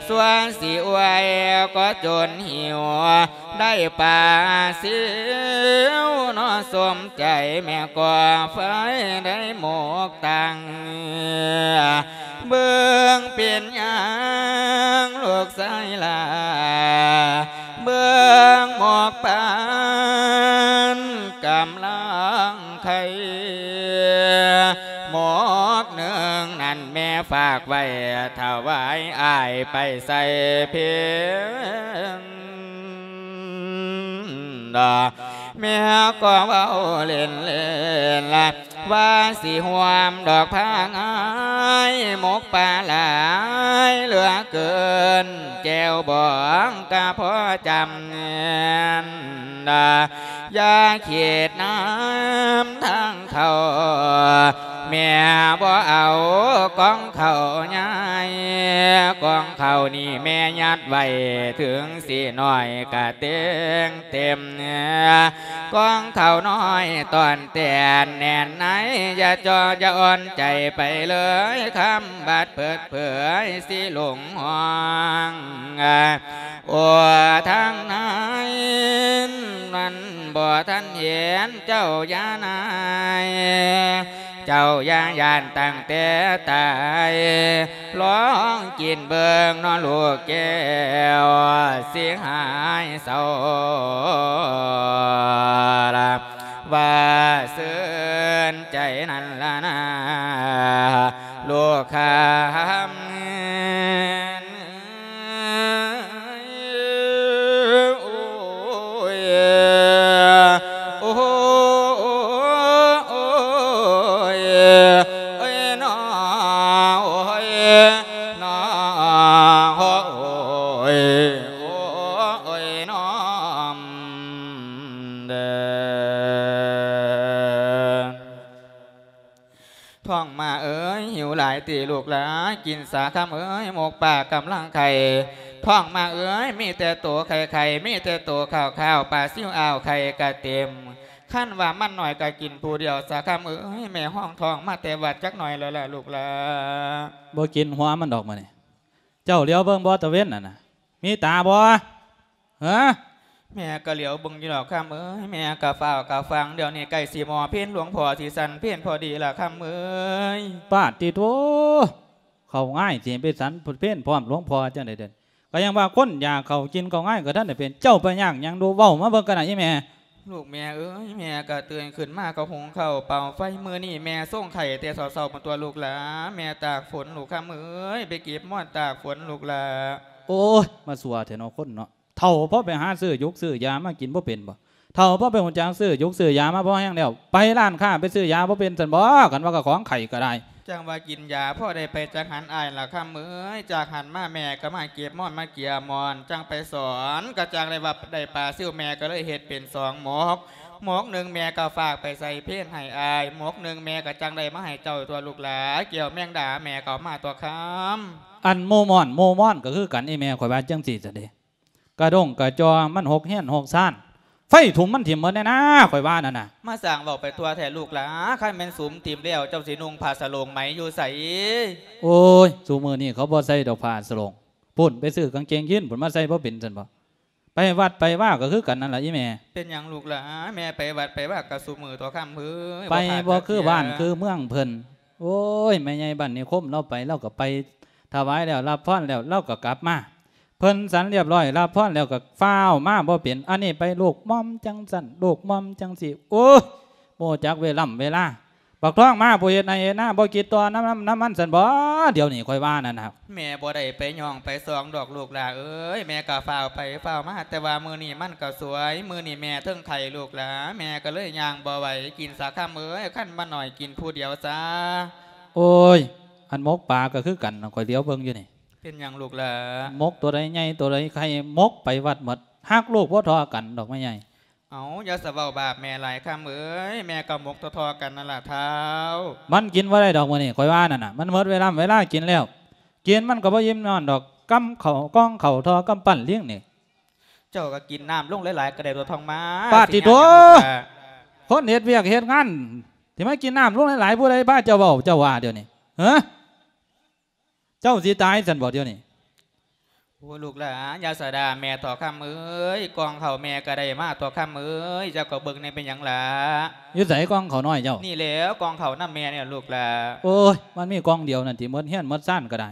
ຊົ່ວຊິອວຍກໍຈົນຫິວ ໄດ້ປາຊິວເນາະ ສົມໃຈແມ່ກໍໄຟໄດ້ໝົກຕັງ ເບິ່ງເປັນຫຍັງລູກຊາຍຫຼ້າ ເບິ່ງໝອກປານກຳລັງໄຄ ໝອກໜຶ່ງນັ້ນແມ່ຝາກໄວ້ ຖວາຍອ້າຍໄປໃສ່ເພັນ ແມ່ກໍເວົ້າເລ່ນໆ ວ່າຊິຮ່ວມດອກພາງອ້າຍ ໝົກປາຫຼາຍເຫຼືອເກີນ ແຈ່ວບອງກະພໍຈຳແໜ້ນ ຢ່າຄິດນຳທາງເຂົ້າ ແມ່ບໍ່ເອົາກອງເຂົ້າໃຫຍ່ ກອງເຂົ້ານີ້ແມ່ຍັດໄວ້ ເຖິງຊິນ້ອຍກະເຕັງເຕັມ ກອງເຂົ້ານ້ອຍຕ້ອນແຕ່ນແໜ້ນໃນ ຢ່າຈໍຢ່າອ່ອນໃຈໄປເລີຍ ຄຳບັດເປີດເຜີຍຊິຫຼົງຫ້ອງ ໂອ ທາງໃນນັ້ນບໍ່ທັນເຫັນ ເຈົ້າຢ່ານາຍ ເຈົ້າຢ່າຢ້ານຕັ້ງແຕ່ຕາຍ ລອງກິນເບິ່ງເນາະລູກແກ້ວ ຊິຫາຍເສົ້າລະ ວ່າຊື່ນໃຈນັ້ນລະນາ ລູກ ຄຳ ໂອ້ຍ ໂອ້ຍ ໂອ້ຍ ໂອ້ຍ ໂອ້ຍ ໂອ້ຍ ໂອ້ຍ ໂອ້ຍ ໂອ້ຍ ໂອ້ຍ ໂອ້ຍ ເດີ. ທ້ອງມາເອີຍ ຫິວຫຼາຍຕິລູກຫຼາ ກິນສາຄຳເອີຍ ໝົກປາກຳລັງໄຂ່. ທ້ອງມາເອີຍ ມີແຕ່ໂຕໄຂ່ໆ ມີແຕ່ໂຕຂາວໆ ປາຊິວອ່າວໄຂ່ກະເຕັມ. ຄັນວ່າມັນໜ້ອຍກະກິນຜູ້ດຽວສາຄຳເອີຍ. ແມ່ຮ້ອງທ້ອງມາແຕ່ວັດຈັກໜ້ອຍແລ້ວລະລູກຫຼາ. ບໍ່ກິນຫົວມັນດອກມື້ນີ້. ເຈົ້າຫຼຽວເບິ່ງບໍ່ຕາເວັນນັ້ນນະ ມີຕາບໍ່? ຮະ? ແມ່ກໍຫຼຽວເບິ່ງຢູ່ດອກຄຳເອີຍ ແມ່ກໍຟ້າວກໍຟັງ ດຽວນີ້ໃກ້ຊິໝໍເພັນ ຫຼວງພໍ່ຊິສັນເພັນພໍດີລະຄຳເອີຍ. ປາດຕິໂທ ເຂົ້າງາຍຊິໄປສັນເພັນພ້ອມຫຼວງພໍ່ຈັ່ງໃດເດີ? ກໍຍັງວ່າຄົນຢາກເຂົ້າກິນເຂົ້າງາຍກໍທັນໄດ້ເປັນ ເຈົ້າໄປຍາກຫຍັງດູ ເວົ້າມາເບິ່ງກັນນະອີແມ່. ລູກແມ່ເອີຍ ແມ່ກໍຕື່ນຂຶ້ນມາກໍຫຸງເຂົ້າເປົ່າໄຟ ມື້ນີ້ແມ່ຊົງໄຂ່ແຕ່ເຊົ້າໆ ພຸ້ນຕົວະລູກຫຼາ ແມ່ຕາກຝົນລູກຄຳເອີຍ ໄປເກັບມ່ອນຕາກຝົນລູກຫຼາ. ໂອ້ຍ ມາຊົ່ວແທ້ເນາະຄົນເນາະ ເຖົ້າພໍໄປຫາຊື້ຢູກຊື້ຢາມາກິນບໍ່ເປັນບໍ່? ເຖົ້າພໍໄປຮູ້ຈັກຊື້ຢູກຊື້ຢາມາພໍແຮງແລ້ວ ໄປຮ້ານຄ້າໄປຊື້ຢາບໍ່ເປັນຊັ້ນບໍ່? ຄັນວ່າຂອງໄຂ້ກໍໄດ້ ຈັ່ງວ່າກິນຢາພໍໄດ້ໄປຈາກຫັ້ນອ້າຍລະຄຳເອີຍ. ຈາກຫັ້ນມາແມ່ກໍມາເກັບມ່ອນມາເກຍມ່ອນ ຈັ່ງໄປສອນ ກໍຈັ່ງໄດ້ວ່າໄດ້ປາຊິວ ແມ່ກໍເລີຍເຮັດເປັນສອງໝົກ ໝົກໜຶ່ງແມ່ກໍຝາກໄປໃສ່ເພັນໃຫ້ອ້າຍ ໝົກໜຶ່ງແມ່ກໍຈັ່ງໄດ້ມາໃຫ້ເຈົ້າຕົວະລູກຫຼາ. ແກ້ວແມງດາແມ່ກໍເອົາມາຕົວະຄຳ. ອັນໝູ່ມ່ອນ ໝູ່ມ່ອນກໍຄືກັນ ອີແມ່ຂ້ອຍວ່າຈັ່ງຊີ້ຊະເດ. ກະດົ້ງກະຈໍ່ມັນຫົກເຮືອນຫົກຊານ ໄຟຖົມມັນຖິ້ມໝົດແນ່ນາ ຂ້ອຍວ່ານັ້ນນະ. ມາສ້າງເວົ້າໄປທົ່ວແທ້ລູກຫຼາ ຄັນແມ່ນສຸມຖິ້ມແລ້ວ ເຈົ້າຊິນຸ່ງຜ້າສະໂຫຼງໄໝຢູ່ໃສ? ໂອ້ຍ ຊຸມື້ນີ້ເຂົາບໍ່ໃສ່ດອກຜ້າສະໂຫຼງ ພຸ້ນ ໄປຊື້ກາງເກງຢີນພຸ້ນມາໃສ່ບໍ່ເປັນຊັ້ນບໍ່? ໄປວັດໄປວາກໍຄືກັນນັ້ນລະອີແມ່. ເປັນຫຍັງລູກຫຼາ? ແມ່ໄປວັດໄປວາກໍຊຸມື້ຕົວະຄຳເອີຍ ໄປບໍ່ຄືບ້ານຄືເມືອງເພິ່ນ. ໂອ້ຍ ແມ່ໃຫຍ່ບ້ານນິຄົມລາວໄປ ລາວກໍໄປຖວາຍແລ້ວ ຮັບພອນແລ້ວ ລາວກໍກັບມາ. ເພິ່ນສັນລຽບຮ້ອຍ ຮັບພອນແລ້ວກໍຟ້າວມາບໍ່ເປັນ ອັນນີ້ໄປລູກໝ່ອມຈັ່ງຊັ້ນ ລູກໝ່ອມຈັ່ງຊີ້. ໂອ້ຍ ບໍ່ຮູ້ຈັກເວລຳເວລາ. ບັກທອງມາຜູ້ເຮັດໄຮ່ເຮັດນາ ບໍ່ຄິດຕໍ່ນຳ ນຳ ນຳມັນຊັ້ນບໍ? ດຽວນີ້ຂ້ອຍວ່ານັ້ນນະ. ແມ່ບໍ່ໄດ້ໄປຍ່ອງໄປຊອງດອກລູກຫຼາເອີຍ ແມ່ກໍຟ້າວໄປຟ້າວມາ ແຕ່ວ່າມື້ນີ້ມັນກໍສວຍ ມື້ນີ້ແມ່ເທິງໄຂ້ລູກຫຼາ ແມ່ກໍເລີຍຍ່າງບໍ່ໄຫວ. ກິນສາຄຳເອີຍ ຄັນມັນໜ້ອຍກິນຜູ້ດຽວຊະ. ໂອ້ຍ ອັນໝົກປາກໍຄືກັນ ຂ້ອຍຫຼຽວເບິ່ງຢູ່ນີ້. ເປັນຫຍັງລູກຫຼາ? ໝົກຕົວໃດໃຫຍ່ຕົວໃດໄຂ່ ໝົກໄປວັດໝົດ ຮັກລູກບໍ່ທໍ່ກັນດອກແມ່ໃຫຍ່. ເອົາ ຢ່າສະເວົ້າບາບແມ່ຫຼາຍຄຳເອີຍ ແມ່ກໍໝົກທໍ່ໆກັນນັ້ນລະທ້າວ. ມັນກິນບໍ່ໄດ້ດອກມື້ນີ້ ຂ້ອຍວ່ານັ້ນນະ ມັນໝົດເວລາເວລາກິນແລ້ວ ກິນມັນກໍບໍ່ອີ່ມນອນດອກ ກຳເຂົ້າ ກອງເຂົ້າທໍ່ກຳປັ້ນລີງນີ້. ເຈົ້າກໍກິນນ້ຳລົງຫຼາຍໆກໍໄດ້ຕົວະ ທ້ອງມາ. ປາດຕິໂທ ຊິຍາກຫຍັງລະ? ຄົນເຮັດວຽກເຮັດງານ ຊິມາກິນນ້ຳລົງຫຼາຍໆ ຜູ້ໃດພາເຈົ້າເວົ້າ ເຈົ້າວ່າດຽວນີ້ ເອີ? ເຈົ້າຊິຕາຍຊັ້ນບໍ່ດຽວນີ້? ໂອ້ ລູກຫຼາ ຢ່າສະດ່າແມ່ເຖາະຄຳເອີຍ ກ່ອງເຂົ້າແມ່ກໍໄດ້ມາຕົວະຄຳເອີຍ ເຈົ້າກໍເບິ່ງແດ່ ເປັນຫຍັງຫຼາ? ຢູ່ໃສກ່ອງເຂົ້ານ້ອຍເຈົ້າ? ນີ້ແຫຼ້ວ ກ່ອງເຂົ້ານຳແມ່ນີ້ລະລູກຫຼາ. ໂອ້ຍ ມັນມີກ່ອງດຽວນັ້ນຕິ ໝົດເຮືອນໝົດຊານກໍໄດ້.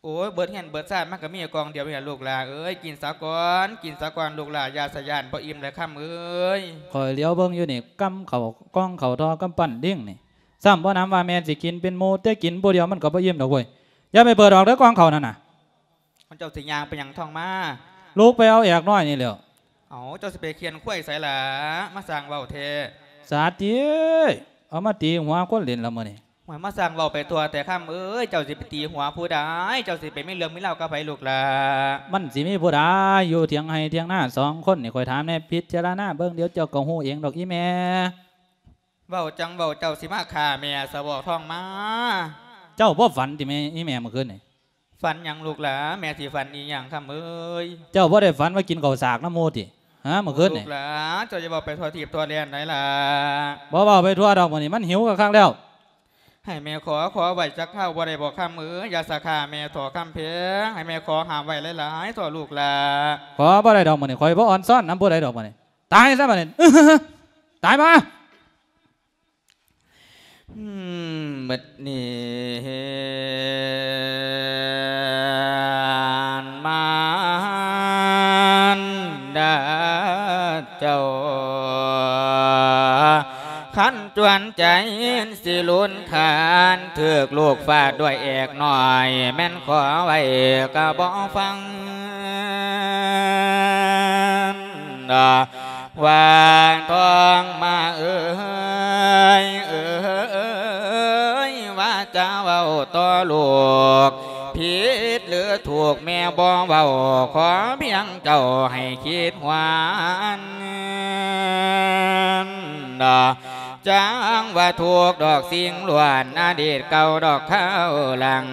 ໂອ້ຍ ເບິດເຮືອນເບິດຊານມັນກໍມີກ່ອງດຽວນີ້ລະລູກຫຼາເອີຍ ກິນສາກ່ອນ ກິນສາກ່ອນລູກຫຼາ ຢ່າສະຢ້ານ ບໍ່ອີ່ມແລ້ວຄຳເອີຍ. ຂ້ອຍຫຼຽວເບິ່ງຢູ່ນີ້ ກຳເຂົ້າ ກ່ອງເຂົ້າທໍ່ກຳປັ້ນລິງນີ້ ຊ້ຳບໍ່ນຳວ່າແມ່ນຊິກິນເປັນໝູ່ ແຕ່ກິນຜູ້ດຽວມັນກໍບໍ່ອີ່ມດອກເວີຍ. ຢ່າໄປເປີດອອກເດີ ກ່ອງເຂົ້ານັ້ນນະ. ເຈົ້າຊິຍ່າງໄປຫຍັງທ້ອງມາ? ລຸກໄປເອົາແອກນ້ອຍນີ້ແຫຼ້ວ. ເອົາ ເຈົ້າຊິໄປຂຽນຄວາຍໃສລະ? ມາສ້າງເວົ້າແທ້. ສາຕິເອີຍ ເອົາມາຕີຫົວຄົນຫຼິ້ນລະມື້ນີ້. ໂອ້ຍ ມາສ້າງເວົ້າໄປທົ່ວແທ້ຄຳເອີຍ ເຈົ້າຊິໄປຕີຫົວຜູ້ໃດ? ເຈົ້າຊິໄປມີເລື່ອງມີລາວກັບໃຜລູກຫຼາ? ມັນຊິມີຜູ້ໃດ? ຢູ່ຖຽງໄຮ່ຖຽງນາສອງຄົນນີ້ ຂ້ອຍຖາມແດ່ ພິຈາລະນາເບິ່ງ ດຽວເຈົ້າກໍຮູ້ເອງດອກອີ່ແມ່. ເວົ້າຈັ່ງເວົ້າ ເຈົ້າຊິມາຂ້າແມ່ຊະບໍທ້ອງມາ? ເຈົ້າບໍ່ຝັນຕິແມ່ ອີ່ແມ່ມື້ຄືນນີ້? ຝັນຫຍັງລູກຫຼາ? ແມ່ຊິຝັນອີ່ຫຍັງຄຳເອີຍ? ເຈົ້າບໍ່ໄດ້ຝັນວ່າກິນເຂົ້າສາກນຳໝູ່ຕິ? ຫາ ມື້ຄືນນີ້? ລູກຫຼາ ເຈົ້າຢ່າເວົ້າໄປທົ່ວທີບທົ່ວແດນໄດ໋ຫຼາ. ບໍ່ເວົ້າໄປທົ່ວດອກ ມື້ນີ້ມັນຫິວຄັກໆແລ້ວ. ໃຫ້ແມ່ຂໍ ຂໍໄວ້ຈັກຄາວບໍ່ໄດ້ບໍຄຳເອີຍ? ຢ່າສະຂ້າແມ່ເຖາະຄຳແພງ ໃຫ້ແມ່ຂໍຫ້າມໄວ້ຫຼາຍໆເຖາະລູກຫຼາ. ຂໍບໍ່ໄດ້ດອກມື້ນີ້ ຂ້ອຍບໍ່ອອນຊອນນຳຜູ້ໃດດອກມື້ນີ້. ຕາຍຊະບັດນີ້ ຕາຍມາ. ອືມ ບັດນີ້ມານດາເຈົ້າ ຄັນ ປັນໃຈຊິລຸນຄານ ຖືກລູກຟາດດ້ວຍແອກນ້ອຍ ແມ່ນຂໍໄວ້ກໍບໍ່ຟັງ ວ່າທອງມາເອີຍ ເອີຍ ວ່າຈະເວົ້າຕໍ່ລູກ ຜິດຫຼືຖືກແມ່ບໍ່ເວົ້າ ຂໍພຽງເຈົ້າໃຫ້ຄິດຫວນ ຈັ່ງວ່າທຸກດອກສິ່ງລ້ວນ ອະດີດເກົ່າດອກຄາວຫຼັງ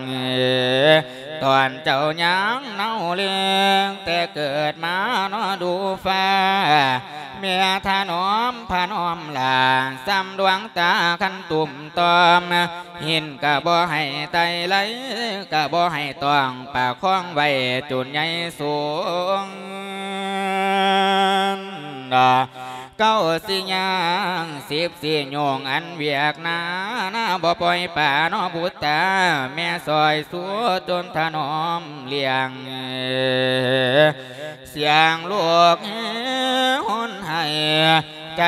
ຕອນເຈົ້າຍັງເນົ່າເລັງ ແຕ່ເກີດມາເນາະດູຟ້າ ແມ່ຖະໜອມພະນອມຫຼ້າ ສ່ຳດວງຕາຄັນຕຸ່ມຕ່ອມ ເຫັນກະບໍ່ໃຫ້ໄຕ່ໄຫຼ ກະບໍ່ໃຫ້ຕ້ອງປະຄອງໄວ້ຈົນໃຫຍ່ສູງ ເກົ້າຊິຍ່າງ ສິບຊິໂຍງອັນວຽກໜ້າ ໜ້າບໍ່ປ່ອຍປາເນາະບຸດຕາ ແມ່ຊ່ອຍຊູຈົນຖະໜອມລ້ຽງ ສຽງລູກແຮຫົນໄຫ້ ໃຈ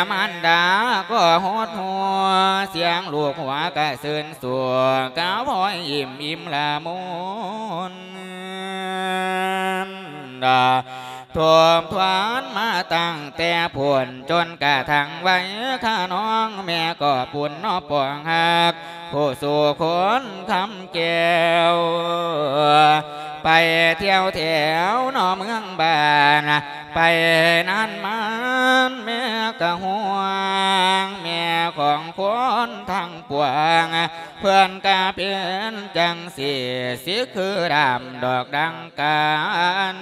ມານດາກໍຫົດຫົວ ສຽງລູກຫົວກະຊື່ນຊົ່ວ ກະພ້ອຍອີ່ມອີ່ມລະມຸນ ທົບທວນມາຕັ້ງແຕ່ພຸ້ນ ຈົນກະທັງໄວຂະນ້ອງ ແມ່ກໍປຸນເນາະປອງຮັກ ຜູ້ສູ່ຄົນຄຳແກ້ວ ໄປທ່ຽວແຖວເນາະເມືອງບ້ານ ໄປນານມານແມ່ກະຫ່ວງ ແມ່ຂອງຄົນທັງປວງ ເພິ່ນກະເປັນຈັ່ງຊີ້ ຊິຄືດາມດອກດັ່ງກັນ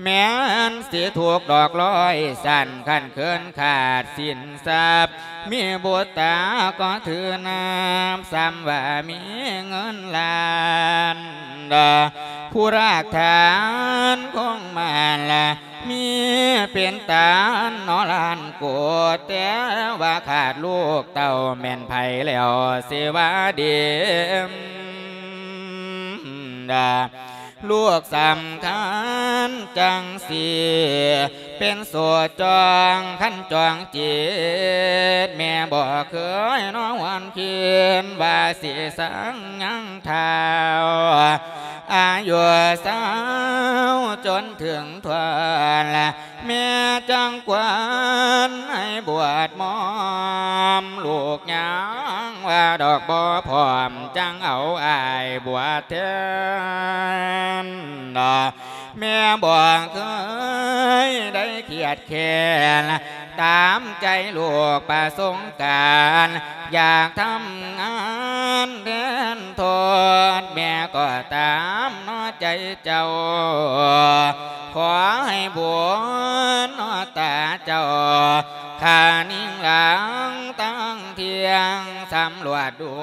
ແມ່ນຊິທຸກດອກຮ້ອຍຊັ້ນ ຄັນເຂີນຂາດສິນຊັບ ມີບຸດຕາກໍຖືນາບ ສ່ຳວ່າມີເງິນລ້ານ ຜູ້ລາກຖານຄົງມານລະ ມີເປັນຕານເນາະລ້ານໂກດ ແຕ່ວ່າຂາດລູກເຕົ້າແມ່ນໃຜແລ້ວຊິວ່າດີ ລູກສຳຄັນຈັ່ງຊີ້ ເປັນໂສດຈ້ອງ ຄັນຈອງຈິດ ແມ່ບໍ່ເຄີຍເນາະຫວນຄິດ ວ່າຊິສັງຍັງທ້າວ ອາຍຸຊາວຈົນເຖິງທ້ອນ ແມ່ຈັ່ງຄວນໃຫ້ບວດໝອມ ລູກຍັງວ່າດອກບໍ່ພ້ອມ ຈັ່ງເອົາອ້າຍບວດແທນ ແມ່ບໍ່ເຄີຍໄດ້ຄຽດແຄ້ນ ຕາມໃຈລູກປະສົງການ ຢາກທຳງານແທນໂທດ ແມ່ກໍຕາມເນາະໃຈເຈົ້າ ຂໍໃຫ້ບຸນເນາະຕາເຈົ້າ ຂ້ານິ້ງຫຼັງຕັ້ງທ່ຽງ ສຳຫຼວດດູ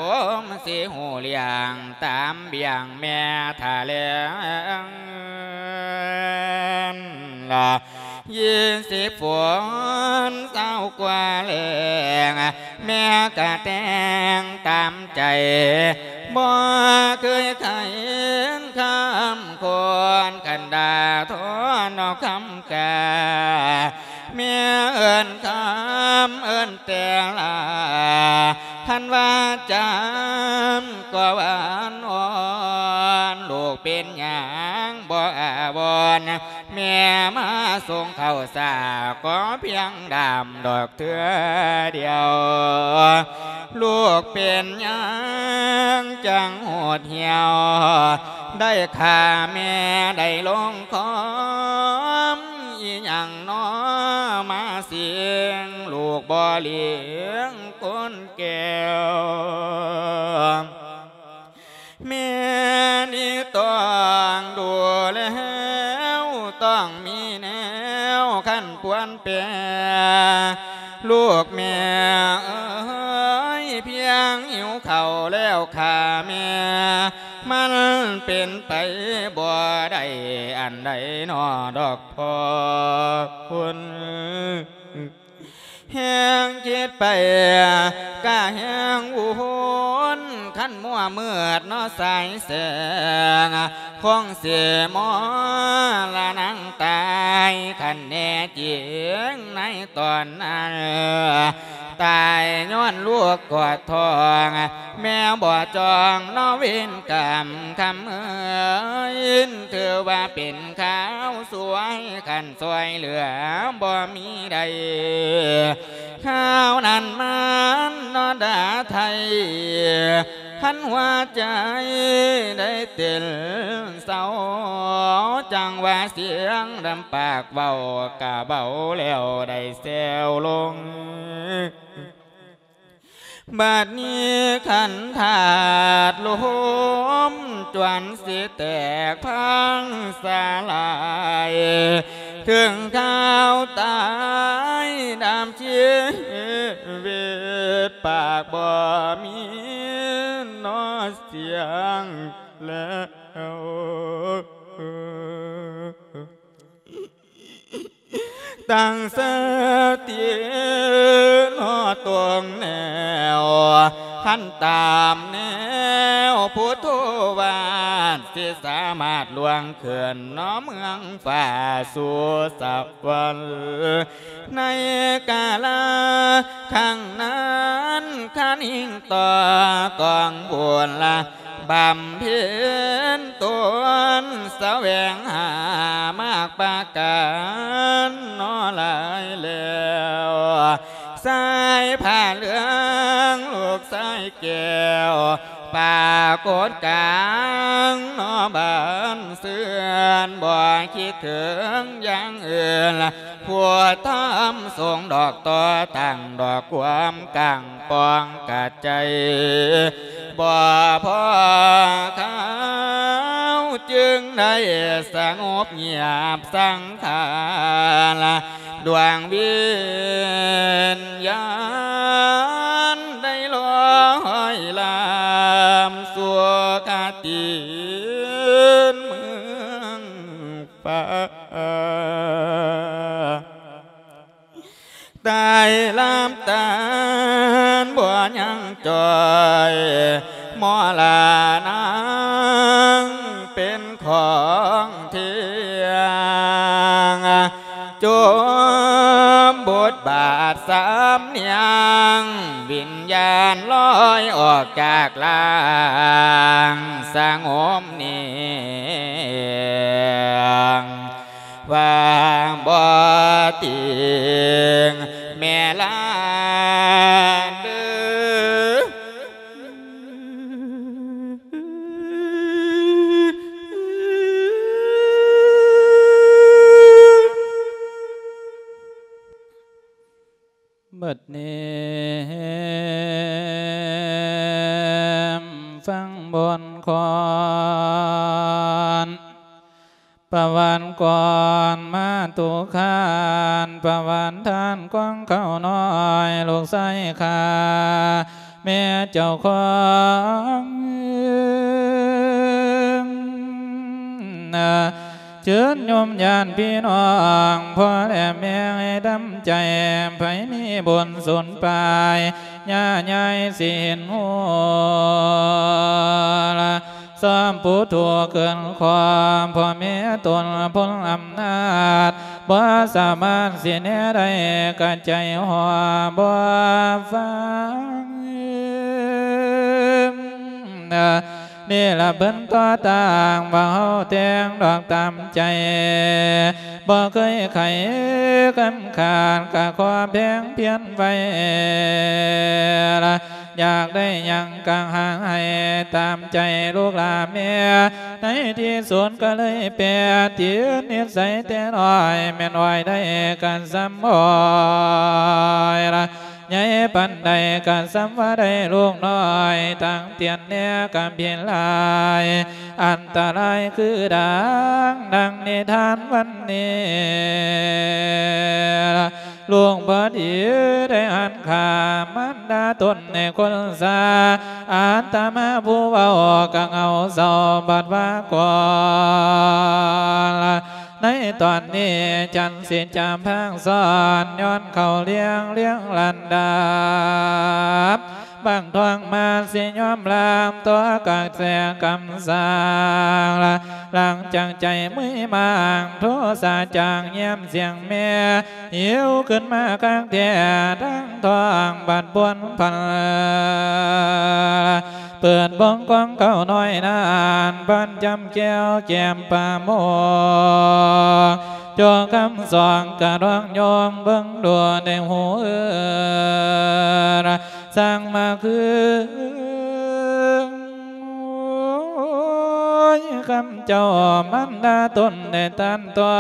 ມຊິຮູ້ລ້ຽງ ຕາມບ້ຽງແມ່ຖະແຫຼງ ຍີ່ສິບຝົນຊາວກວ່າແລ້ງ ແມ່ກະແຕ່ງຕາມໃຈ ບໍ່ເຄີຍໄຂຄຳຄົນ ຄັນດ່າທອນເອົາຄຳກາ ແມ່ເອີ້ນຄຳເອີ້ນແຕ່ລາ ຄັນວ່າຈຳກໍຫວານອ່ອນ ລູກເປັນຫຍັງບໍ່ອາວອນ ແມ່ມາສົ່ງເຂົ້າສາ ຂໍພຽງດາມດອກເທື່ອດຽວ ລູກເປັນຫຍັງຈັ່ງໂຫດຫ້ຽວ ໄດ້ຂ້າແມ່ໄດ້ລົງຄອມ ອີຫຍັງນໍມາສິງ ລູກບໍ່ລ້ຽງຄົນແກ້ວ ແມ່ນີ້ຕ້ອງດູແລວ ຕ້ອງມີແນວຄັນປວນແປ ລູກແມ່ເອີຍ ພຽງຫິວເຂົ້າແລ້ວຂ້າແມ່ ມັນເປັນໄປບໍ່ໄດ້ອັນໃດນໍດອກພໍ່ຄຸນ. ແຮງຄິດໄປກະແຮງວຸ່ນ ຄັນມົວມືດເນາະສາຍແສງ ຄົງຊິມໍລະນັງຕາຍ ຄັນແນ່ຈິງໃນຕອນນັ້ນ ຕາຍຍ້ອນລູກກອດທ້ອງ ແມ່ບໍ່ຈອງເນາະເວນກຳຄຳເອີຍ ຖືວ່າເປັນຂ່າວສວຍ ຄັນຊ່ວຍເຫຼືອບໍ່ມີໃດ ຄາວນັ້ນມັນເນາະດາໄທ ຄັນຫົວໃຈໄດ້ເຕັ້ນເຊົາ ຈັ່ງວ່າສຽງດຳປາກເວົ້າກະເບົາແລ້ວໄດ້ແຊວລົງ. ບັດນີ້ຄັນທາດລົມຈວນຊິແຕກພັງສະລາຍ ເຖິງຂ່າວຕາຍດຳຊີວິດ ປາກບໍ່ມີເນາະສຽງແລ້ວ. ຕັ້ງສະຕິເນາະຕົງແນວ ຄັນຕາມແນວພຸດໂທວາດ ຊິສາມາດລ່ວງຂຶ້ນເນາະເມືອງຟ້າສູ່ສະຫວັນ ໃນກາລະຄັ້ງນັ້ນ ຄັນອີງຕໍ່ກອງບຸນລະ ບຳເພັນຕົນສະແຫວງຫາມາກປະການເນາະຫຼາຍແລ້ວ ສາຍຜ້າເຫຼືອງລູກຊາຍແກ້ວ ປາກົດກາງເນາະບ້ານເຮືອນ ບໍ່ຄິດເຖິງຢ່າງອື່ນ ຜູ້ທຳສົງດອກຕໍ່ຕັ້ງດອກຄວາມກາງປ່ອງກະໃຈ ບໍ່ພໍຄາວຈຶ່ງໄດ້ສະຫງົບງຽບສັງຂານ ດວງວິນຍານໄດ້ລອຍລຳສູ່ຄະຕິນເມືອງ ຟ້າ ຕາຍລຳຕານບໍ່ຍັງຈ່ອຍ ມໍລະນັງເປັນຂອງທຽງ ຈົມບົດບາດສຳນຽງ ວິນຍານລອຍອອກຈາກຮ່າງ ສະຫງົບເນງ ວ່າບໍ່ຕິງແມ່ຫຼານເດີ. ບັດນີ້ແຮມຟັງບົດກອນ ປະຫວັດກອນມາຕຸຄານ ປະຫວັດທ່ານກວາງເຂົ້ານ້ອຍ ລູກຊາຍຂ້າ ແມ່ເຈົ້າຂອງ ເຊີນໂຍມຍາດພີ່ນ້ອງ ພໍ່ແລະແມ່ໃຫ້ດຳໃຈ ໃຜມີບຸນສູນປາຍ ຍ່າຍາຍຊິເຫັນຮູ້ ຊອມຜູ້ທຸກເກີນຄວາມ ພໍ່ແມ່ຕົນພົນອຳນາດ ບໍ່ສາມາດຊິແນໄດ້ ກະໃຈຫົວບໍ່ຟັງ ນີ້ລະເພິ່ນຕໍ່ຕ່າງ ວ່າເຮົາແຕ່ງດອກຕາມໃຈ ບໍ່ເຄີຍໄຂກັນຂາດ ກະຂໍແພງພຽນໄວ້ລະ ຢາກໄດ້ຫຍັງກະຫາໃຫ້ຕາມໃຈລູກຫຼານແມ່ ໃນທີ່ສຸດກະເລີຍແປຕິດນິດໄສແຕ່ນ້ອຍ ແມ່ນອ້ອຍໄດ້ກະສ່ຳອ້ອຍລະ ໃຫຍ່ປານໃດກະສ່ຳວ່າໄດ້ລູກນ້ອຍ ຕັ້ງຕຽນແນກຳພິນຫຼາຍ ອັນຕະລາຍຄືດັ່ງ ດັ່ງນິທານວັນນີ້ ລູກບໍ່ດີໄດ້ຫັນຂ້າມານດາຕົນໃນຄົນຊາ ອາດຕະມາຜູ້ເວົ້າກະເຫງົາເສົ້າບັດວ່າກ່ອນ ໃນຕອນນີ້ ຈັນຊິຈຳພາກສອນ ຍ້ອນເຂົ້າລຽງ ລຽງລຳດັບ ບັງທອງມາຊິຍອມລາມ ຕົວະກະແສກຳສັງ ຫຼັງຈາກໃຈເມື່ອຍມາງ ໂທສາຈາງ ຢ້ຽມສຽງແມ່ ຫິວຂຶ້ນມາຄັກແທ້ ທັງທ້ອງບັດບວນພັນ ເປີດບົງກອງເຂົ້ານ້ອຍນັ້ນ ບານຈຳແກ້ວແກ້ມປາໂມກ ໂຈຄຳສອງກະດອງໂຍງ ເບິ່ງດູໃນຫູເອີ ຊ່າງມາຄື ໂອ້ຍ ຄຳເຈົ້າມັນດາຕົນໄດ້ຕັນຕົວ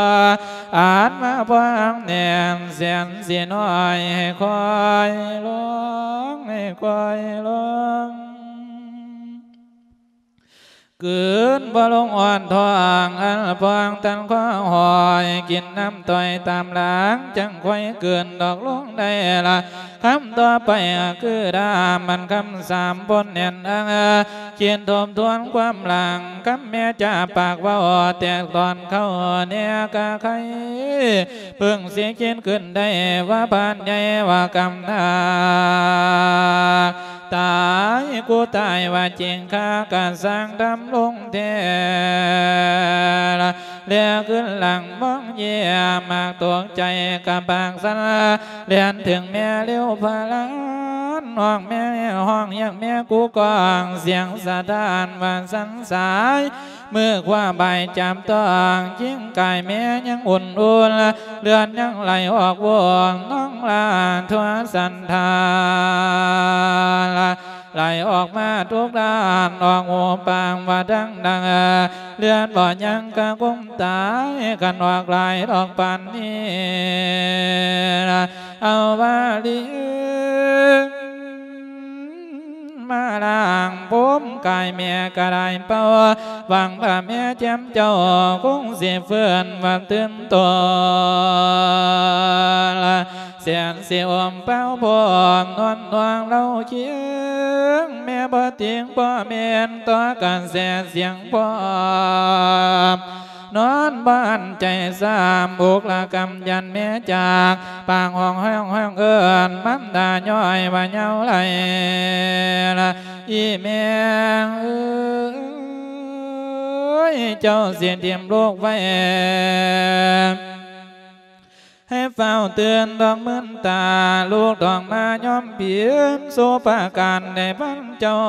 ອາດມາພວາງແໜ້ນ ແສນຊິນ້ອຍໃຫ້ຄ່ອຍລົງ ໃຫ້ຄ່ອຍລົງ ກືນບໍ່ລົງອ່ອນທ້ອງ ອັນພອງຕັນຄອຫອຍ ກິນນ້ຳຕ່ອຍຕາມຫຼັງ ຈັ່ງຄ່ອຍກືນດອກລົງໄດ້ລະ ຄຳຕໍ່ໄປຄືດາມ ມັນຄຳສາມບົນແໜ້ນອັງ ຄິດທົບທວນຄວາມຫຼັງ ຄຳແມ່ຈາປາກເວົ້າ ແຕກຕອນເຂົ້າແນກະໄຄ ເພິ່ງຊິຄິດຂຶ້ນໄດ້ວ່າ ບາດໃຫຍ່ວ່າກຳນາກ ຕາຍກູຕາຍວ່າຈິງ ຂ້າກະສ້າງທຳລົງແທ້ ແລຂຶ້ນຫຼັງມອງເຢຍມ ໝາກຕົກໃຈກະປາກສັ່ນ ແລ່ນເຖິງແມ່ເລວພະລານ ຮ້ອງແມ່ ຮ້ອງຮຽກແມ່ກູກອງ ສຽງສະທ້ານວ່າສັ່ນສາຍ ມືຂວາບາຍຈັບຕ້ອງ ຈິງກາຍແມ່ຍັງອຸ່ນໆ ເລືອດຍັງໄຫຼອອກວອນ ນ້ອງຫຼ້າທົ່ວສັນທານ ໄຫຼອອກມາທຸກດ້ານ ອອກຫູປາກວ່າດັງໆ ເລືອດບໍ່ຍັງກະຄົງຕາຍ ຄັນອອກຫຼາຍດອກປານນີ້ ເອົາວາລີມາລ້າງພົມກາຍແມ່ກະໄດ້ເປົ່າ ຫວັງວ່າແມ່ແຈ່ມເຈົ້າ ຄົງຊິຟື້ນວ່າຕື່ນຕົວ ແສນຊິອົມເປົ່າພ້ອມ ນວນນວງເລົ່າຄຽງ ແມ່ບໍ່ຕິງບໍ່ແມ່ນ ຕໍ່ກະແສສຽງພ້ອມ ນອນບ້ານໃຈຊ້ຳ ອຸກລະກຳຢ້ານແມ່ຈາກ ປາກຮ້ອງຮ້ອງຮ້ອງເອີ້ນ ມັນດາຍ້ອຍວ່າເຍົາໄຫຼ ອີແມ່ເອີຍ ເຈົ້າຊິຖິ້ມລູກໄວ້ ໃຫ້ຟ້າວຕື່ນດອກມື່ນຕາ ລູກຕ້ອງມາຍອມເປັນ ສູ່ປະການໃນບ້ານເຈົ້າ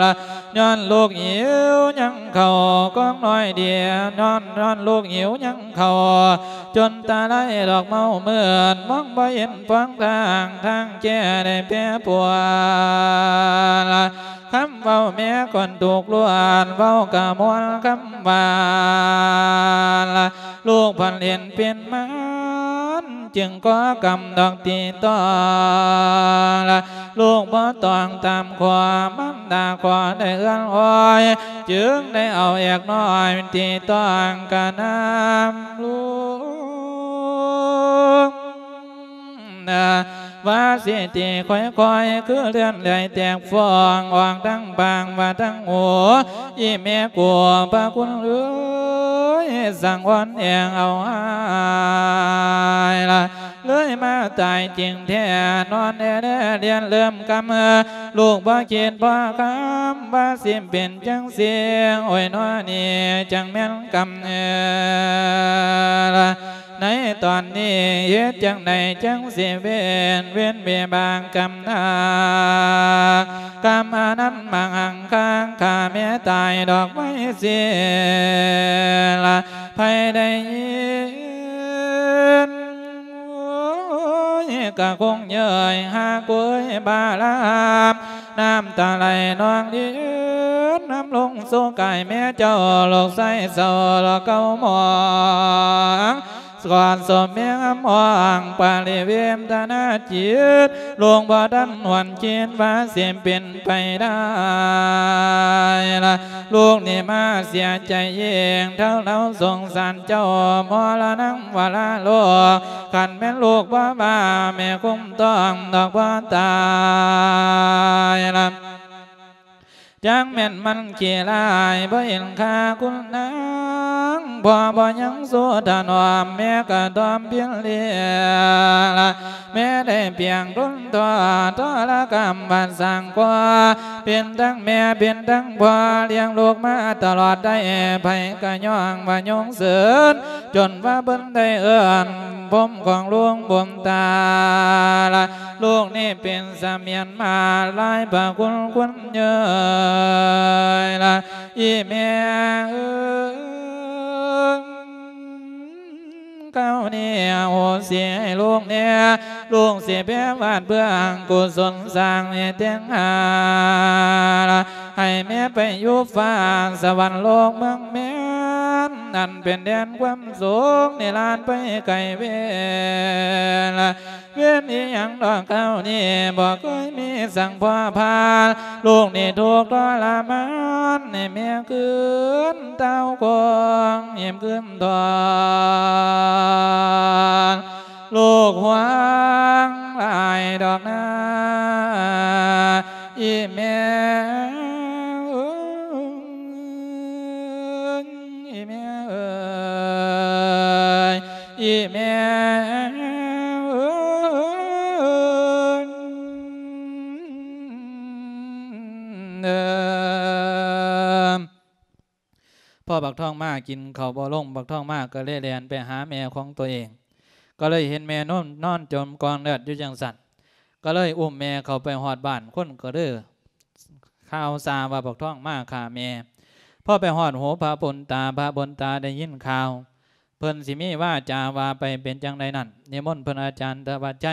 ລະ ຍ້ອນລູກຫິວຍັງເຂົ້າ ກອງນ້ອຍດຽວ ຍ້ອນ ຍ້ອນລູກຫິວຍັງເຂົ້າ ຈົນຕາໄລດອກເມົາມືດ ມອງບໍ່ເຫັນຟອງທາງ ທາງແກ້ໄດ້ແປປວນ ຄຳເວົ້າແມ່ກ່ອນທຸກລ້ວນ ເວົ້າກະມ່ວນຄຳຫວານ ລູກພັນເຫັນເປັນມັນ ຈຶ່ງກໍກຳດອກຕີຕ້ອງ ລູກບໍ່ຕ້ອງຕາມຂໍ ມັນດາຂໍໄດ້ເອື້ອນອ້ອຍ ຈຶ່ງໄດ້ເອົາແອກນ້ອຍ ຕີຕ້ອງກະນຳລູກ ວ່າຊິຕີຄ່ອຍໆ ຄືເລື່ອນເລື່ອຍແຕກຟອງ ອອກທັງປາກວ່າທັງຫູ ອີແມ່ກູພະຄຸນເອີຍ ສັງວອນແອງເອົາຫາຍລະ ເລີຍມາຕາຍຈິງແທ້ ນອນແອແລລຽນເລີ່ມກຳ ລູກບໍ່ຄິດບໍ່ຄຳ ວ່າຊິເປັນຈັ່ງຊີ້ ໂອ້ຍ ນອນີ້ຈັ່ງແມ່ນກຳ ໃນຕອນນີ້ເຮັດຈັ່ງໃດຈັ່ງຊິເວັ້ນ ເວັ້ນວິບາກກຳນາກ ກຳອັນນັ້ນມັງຫັງຄາງຂ້າແມ່ຕາຍດອກໄມ້ເສຍລະ ໃຜໄດ້ຍິນ ໂອ້ຍ ກະຄົງເຍີ້ຍຫາກເວີຍບາລາມ ນ້ຳຕາໄຫຼນອງລິນ ນຳລົງສູ່ກາຍແມ່ເຈົ້າ ລູກຊາຍເສົ້າລະເກົ່າມອງ ກ່ອນສົມແມ່ງອຳອອງ ປະລິເວນທະນາຈິດ ລູກບໍ່ທັນຫວນຄິດວ່າຊິເປັນໄປໄດ້ລະ ລູກນີ້ມາເສຍໃຈເອງ ເທົ່າເຮົາສົງສານເຈົ້າ ມໍລະນັງວະລະໂລກ ຄັນແມ່ນລູກບໍ່ວ່າ ແມ່ຄົງຕ້ອງດອກບໍ່ຕາຍລະ ຈັ່ງແມ່ນມັນຂີ້ຮ້າຍ ບໍ່ເຫັນຄ່າຄຸນນາງ ພໍ່ບໍ່ຍັງສູ້ຖະໜອມ ແມ່ກະຖອມພິນເລລະ ແມ່ໄດ້ພຽງທົນທໍ້ ທໍລະກຳບາດສ້າງກວ່າ ເປັນທັງແມ່ເປັນທັງພໍ່ ລ້ຽງລູກມາຕະຫຼອດໄດ້ ໃຜກະຍ້ອງວ່າຍົງເສີນ ຈົນວ່າເພິ່ນໄດ້ເອີ້ນພົມຂອງຫຼວງບຸນຕາລະ ລູກນີ້ເປັນສະໝຽນມາຫຼາຍພະຄຸນຄຸນເຍີຍລະ ອີແມ່ເອີຍ ຄາວນີ້ໂຫສິໃຫ້ລູກແດ່ ລູກຊິແຜ່ວາດເບື້ອງກຸສົນສ້າງໃຫ້ແຕ່ງຫາລະ ໃຫ້ແມ່ໄປຢູ່ຟ້າສະຫວັນໂລກເມືອງແມ່ນ ອັນເປັນແດນຄວາມສຸກນິລານໄປໄກເວລາ ເວນອີ່ຫຍັງດອກຄາວນີ້ ບໍ່ເຄີຍມີສັງພໍພານ ລູກນີ້ທຸກທໍລະມານ ໃຫ້ແມ່ຄືນເຕົ້າຄອງ ເຫິບຄືນທອນ ລູກຫວງຫຼາຍດອກນາ ອີແມ່ເອີຍ ອີແມ່ເອີຍ ອີແມ່ເອີຍ ເອີ ພໍບັກທອງມາກິນເຂົ້າບໍ່ລົງ ບັກທອງມາກໍເລີຍແລ່ນໄປຫາແມ່ຂອງຕົວເອງ ກໍເລີຍເຫັນແມ່ນອນ ນອນຈົມກອງເລືອດຢູ່ຈັ່ງຊັ້ນ ກໍເລີຍອຸ້ມແມ່ເຂົ້າໄປຮອດບ້ານ ຄົນກໍເລີຍຂ່າວຊາວ່າບັກທອງມາຂ້າແມ່ ພໍໄປຮອດຫູພະບຸນຕາ ພະບຸນຕາໄດ້ຍິນຂ່າວ ເພິ່ນຊິມີວາຈາວ່າໄປເປັນຈັ່ງໃດນັ້ນ ນິມົນເພິ່ນອາຈານທະວັດໄຊ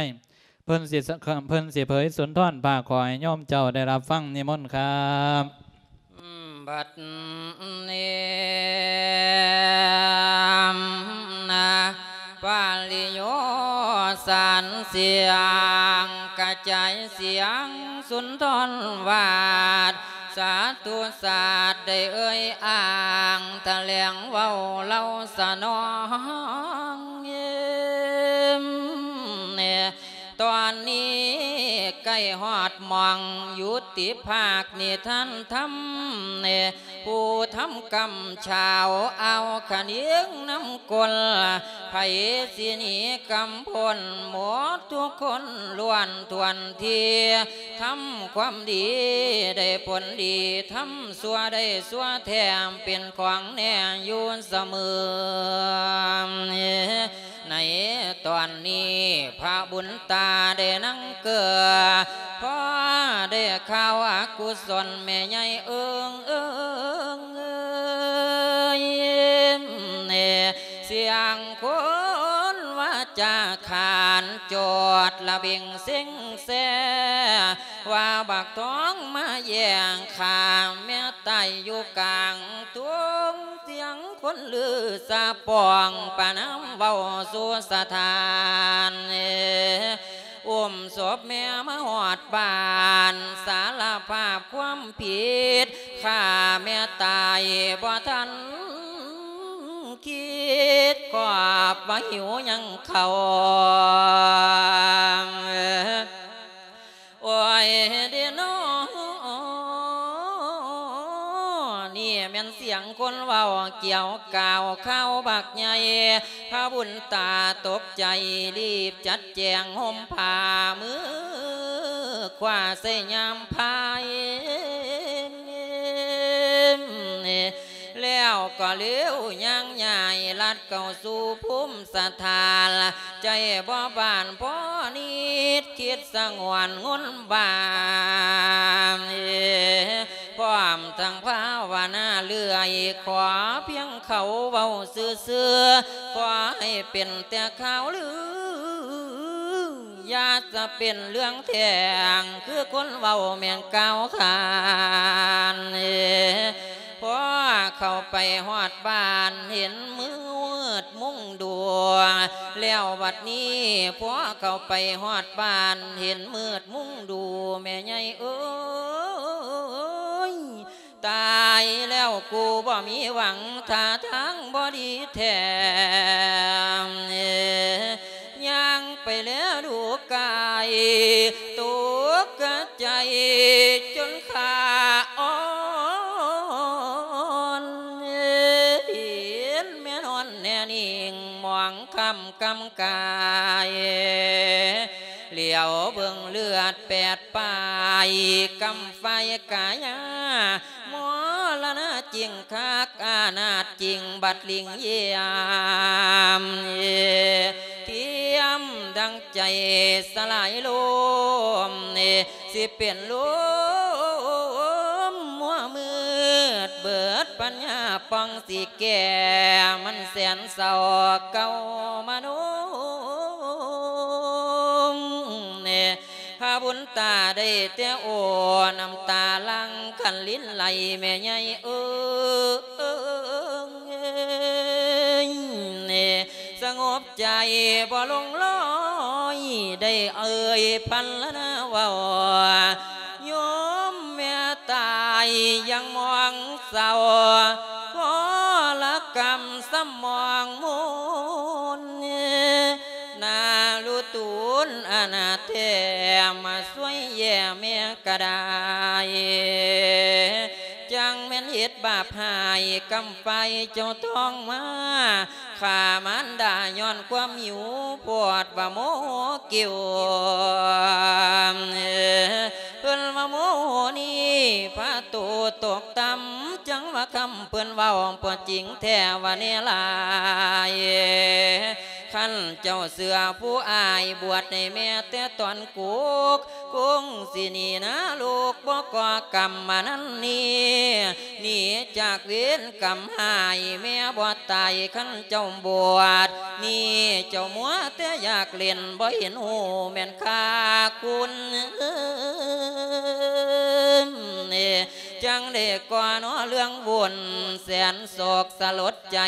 ເພິ່ນຊິ ເພິ່ນຊິເຜີຍສຸນທອນພາກຂໍ້ໃຫ້ໂຍມເຈົ້າໄດ້ຮັບຟັງ ນິມົນຄັບ. ບັດນີ້ນະ ປະລິໂຍສານສຽງ ກະຈາຍສຽງສຸນທອນວາດ ສາທຸສາດໄດ້ເອີ່ຍອ້າງ ຖະແຫຼງເວົ້າເລົ່າສະໜອງ ຕອນນີ້ໃກ້ຮອດໝ່ອງຢຸດຕິພາກນິທານທຳ ຜູ້ທຳກຳຊາວອ່າວຂະເໜຽງນຳກົນ ໃຜຊິໜີກຳພົ້ນໝົດທຸກຄົນລ້ວນຖ້ວນທີ ທຳຄວາມດີໄດ້ຜົນດີ ທຳຊົ່ວໄດ້ຊົ່ວແຖມ ເປັນຂອງແນ່ຢູ່ສະເໝີ ໃນຕອນນີ້ພະບຸນຕາໄດ້ນັ່ງເກືອ ພໍໄດ້ຂ່າວອະກຸສົນແມ່ໃຫຍ່ເອີງເອີງເອີຍ ສຽງຄົນວາຈາຂານຈອດລະເບັງເຊັງແຊ ວ່າບັກທອງມາແຍ່ງຂ້າແມ່ຕາຍຢູ່ກາງທົ່ງ ສຽງຄົນລືສະປອງປະນາມເວົ້າສູ່ສະຖານ ອຸ້ມສົບແມ່ມາຮອດບ້ານ ສາລະພາບຄວາມຜິດ ຂ້າແມ່ຕາຍບໍ່ທັນຄິດ ຄອບວ່າຫິວຍັງເຂົ້າ ໂອ້ຍເດນໍ ນີ້ແມ່ນສຽງຄົນເວົ້າກ່ຽວກ່າວຂ່າວບັກໃຫຍ່ ພະບຸນຕາຕົກໃຈ ລີບຈັດແຈງຫົ່ມຜ້າ ມືຂວາໃສ່ຍາມພາຍ ແລ້ວກໍເລວຍ່າງຍ້າຍລັດເຂົ້າສູ່ພູມສະຖານ ໃຈບໍ່ບານພໍນິດ ຄິດສະຫງວນງົນບາງ ພ້ອມທັງພາວະນາເລື້ອຍ ຂໍພຽງເຂົາເວົ້າຊື່ໆ ຂໍໃຫ້ເປັນແຕ່ຂ່າວລື ຢ່າສະເປັນເລື່ອງແທ້ງ ຄືຄົນເວົ້າແມ່ນກ່າວຂານ ພໍເຂົ້າໄປຮອດບ້ານເຫັນມືດມຸງດູ ແລ້ວບັດນີ້ພໍເຂົ້າໄປຮອດບ້ານເຫັນມືດມຸງດູ ແມ່ໃຫຍ່ເອີຍ ຕາຍແລ້ວກູບໍ່ມີຫວັງ ທ່າທາງບໍ່ດີແທ້ ຍ່າງໄປແລດູກາຍ ຕົກກະໃຈຈົນຂາອ່ອນ ກຳກາຍ ຫຼຽວເບິ່ງເລືອດແປດປາຍ ກຳໄຟກາຍາ ມໍລະນະຈິງຄັກ ອານາດຈິງບັດລິງຢ້ຽມ ທຽມດັ່ງໃຈສະຫຼາຍລົມ ຊິເປັນລົມມົວມືດ ເບີດປັນຍາປ່ອງຊິແກ່ ມັນແສນເສົ້າເກົ່າມານົມ ພະບຸນຕາໄດ້ແຕ່ໂອ ນ້ຳຕາຫຼັ່ງຄັນລິນໄຫຼ ແມ່ໃຫຍ່ເອີຍ ສະຫງົບໃຈບໍ່ລົງລອຍ ໄດ້ເອີຍພັນລະນາເວົ້າ ໂຍມແມ່ຕາຍຍັງມອງເສົ້າ ວໍລະກຳສຳມອງມົນ ນາລຸຕູນອະນາແທ້ ມາຊ່ວຍແຢ່ແມ່ກະໄດ້ ຈັ່ງແມ່ນເຮັດບາບຮ້າຍ ກຳໄຟເຈົ້າຕ້ອງມາ ຂ້າມານດາຍ້ອນຄວາມຫິວ ໂພດວ່າໂມໂຫກິວ ເພິ່ນວ່າໂມໂຫນີ້ ພາໂຕຕົກຕ່ຳ ຈັ່ງວ່າຄຳເພິ່ນເວົ້າບໍ່ຈິງແທ້ວ່າແນ່ຫຼາຍ ຄັນເຈົ້າເຊື່ອຜູ້ອ້າຍ ບວດໃຫ້ແມ່ແຕ່ຕອນກຸກ ຄົງຊິໜີນະໂລກ ບໍ່ກໍ່ກຳມານັ້ນນີ້ ໜີຈາກເວນກຳຮ້າຍ ແມ່ບໍ່ຕາຍຄັນເຈົ້າບວດ ນີ້ເຈົ້າມົວແຕ່ຢາກຫຼິ້ນ ບໍ່ເຫັນຮູ້ແມ່ນຄ່າຄຸນ ຈັ່ງໄດ້ກໍ່ນໍເລື່ອງວຸ່ນ ແສນໂສກສະຫຼົດໃຈ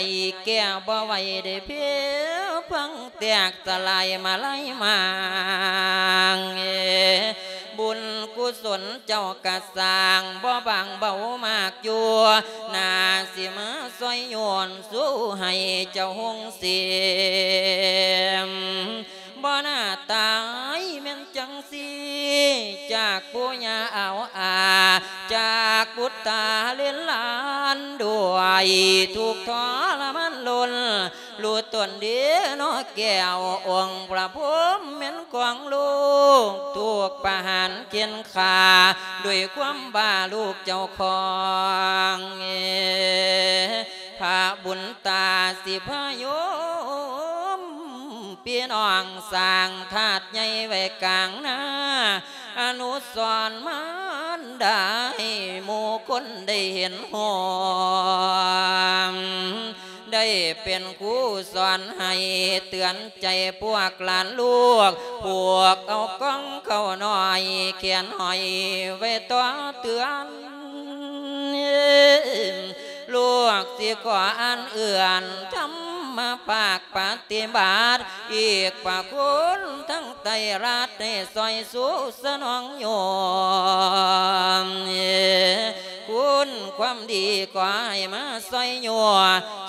ແກ້ບໍ່ໄຫວໄດ້ເພພັງແຕກສະຫຼາຍມາໄລມາງ ບຸນກຸສົນເຈົ້າກະສ້າງ ບໍ່ບາງເບົາມາກຢູ່ ໜ້າຊິມາຊ່ອຍໂຍນ ສູ້ໃຫ້ເຈົ້າຮຸ່ງເສມ ບໍ່ໜ້າຕາຍແມ່ນຈັ່ງຊີ້ ຈາກປູ່ຍ່າອາວອາ ຈາກບຸດຕາເລນຫຼານ ດ້ວຍທຸກທໍລະມານລົ້ນ ຮູ້ຕົນເດເນາະແກ້ວ ອົງພະພົມແມ່ນຂອງລູກ ຖືກປະຫານເຂັ່ນຂ້າ ດ້ວຍຄວາມບ້າລູກເຈົ້າຂອງ ພະບຸນຕາຊິພາໂຍມ ພີ່ນ້ອງສ້າງທາດໃຫຍ່ໄວ້ກາງນາ ອະນຸສອນມານດາ ໃຫ້ໝູ່ຄົນໄດ້ເຫັນຮ່ວມ ໄດ້ເປັນຄູສອນໃຫ້ເຕືອນໃຈພວກຫຼານລູກ ພວກເອົາກ່ອງເຂົ້ານ້ອຍ ແຂນຫ້ອຍໄວ້ຕໍ່ເຕືອນ ລູກຊິຂໍອ່ານເອື້ອນ ທຳມະພາກປະຕິບັດ ອີກພະຄຸນທັງໄຕຣາດ ໃຫ້ຊ່ອຍຊູສະໜອງໂຍມ ຄຸນຄວາມດີຂໍໃຫ້ມາຊ່ອຍຍົວ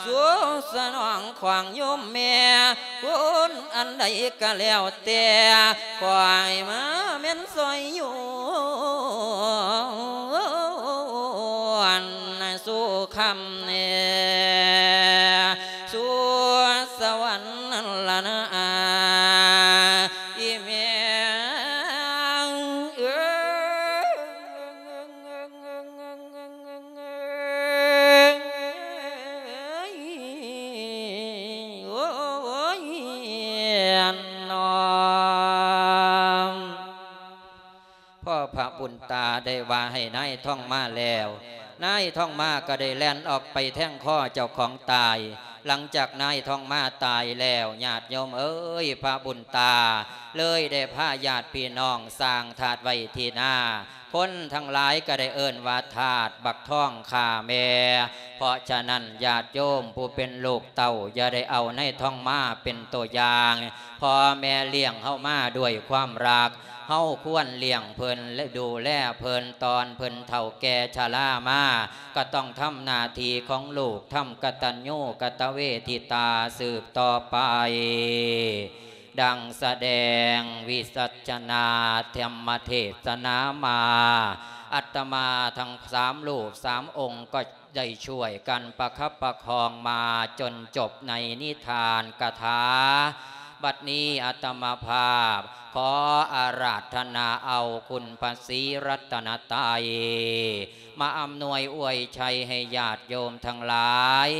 ຊູສະໜອງຂອງໂຍມແມ່ ຄຸນອັນໃດກະແລ້ວແຕ່ ຂໍໃຫ້ມາແມ່ນຊ່ອຍຍົວ ສູ່ຄ່ຳແນ່ ສູ່ສະຫວັນນັ້ນລະນາ ອີ່ແມ່ເອີຍ ໂອ້ຍ ເນາະ ພໍພະບຸນຕາໄດ້ວ່າໃຫ້ນາຍທອງມາແລ້ວ ນາຍທອງມາກໍໄດ້ແລ່ນອອກໄປແທງຄໍເຈົ້າຂອງຕາຍ. ຫຼັງຈາກນາຍທອງມາຕາຍແລ້ວ ຍາດໂຍມເອີຍ ພະບຸນຕາເລີຍໄດ້ພາຍາດພີ່ນ້ອງສ້າງທາດໄວ້ທີ່ນາ ຄົນທັງຫຼາຍກໍໄດ້ເອີ້ນວ່າທາດບັກທອງຂ້າແມ່. ເພາະສະນັ້ນ ຍາດໂຍມຜູ້ເປັນລູກເຕົ້າ ຢ່າໄດ້ເອົານາຍທອງມາເປັນຕົວຢ່າງ. ພໍ່ແມ່ລ້ຽງເຮົາມາດ້ວຍຄວາມຮັກ ເຮົາຄວນລ້ຽງເພິ່ນ ແລະ ດູແລເພິ່ນ ຕອນເພິ່ນເຖົ້າແກ່ຊະລາມາ ກໍຕ້ອງທຳໜ້າທີ່ຂອງລູກ ທຳກະຕັນຍູກະຕະເວທິຕາສືບຕໍ່ໄປ. ດັ່ງສະແດງວິສັດຊະນາທຳມະເທສະນາມາ ອາດຕະມາທັງສາມຮູບສາມອົງກໍໄດ້ຊ່ວຍກັນປະຄັບປະຄອງມາຈົນຈົບໃນນິທານກະຖາ. ບັດນີ້ອາດຕະມາພາບຂໍອາລາທະນາເອົາຄຸນພະສີລັດຕະນະໄຕ ມາອຳນວຍອວຍໄຊໃຫ້ຍາດໂຍມທັງຫຼາຍ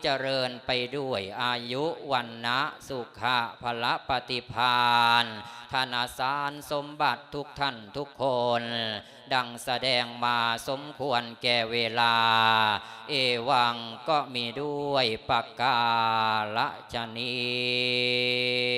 ຈະເລີນໄປດ້ວຍອາຍຸ ວັນນະ ສຸຂະ ພະລະປະຕິພານ ທະນະສານສົມບັດທຸກທ່ານທຸກຄົນ ດັ່ງສະແດງມາສົມຄວນແກ່ເວລາ ເອວັງ ກໍມີດ້ວຍປະກາລະຊະນີ້.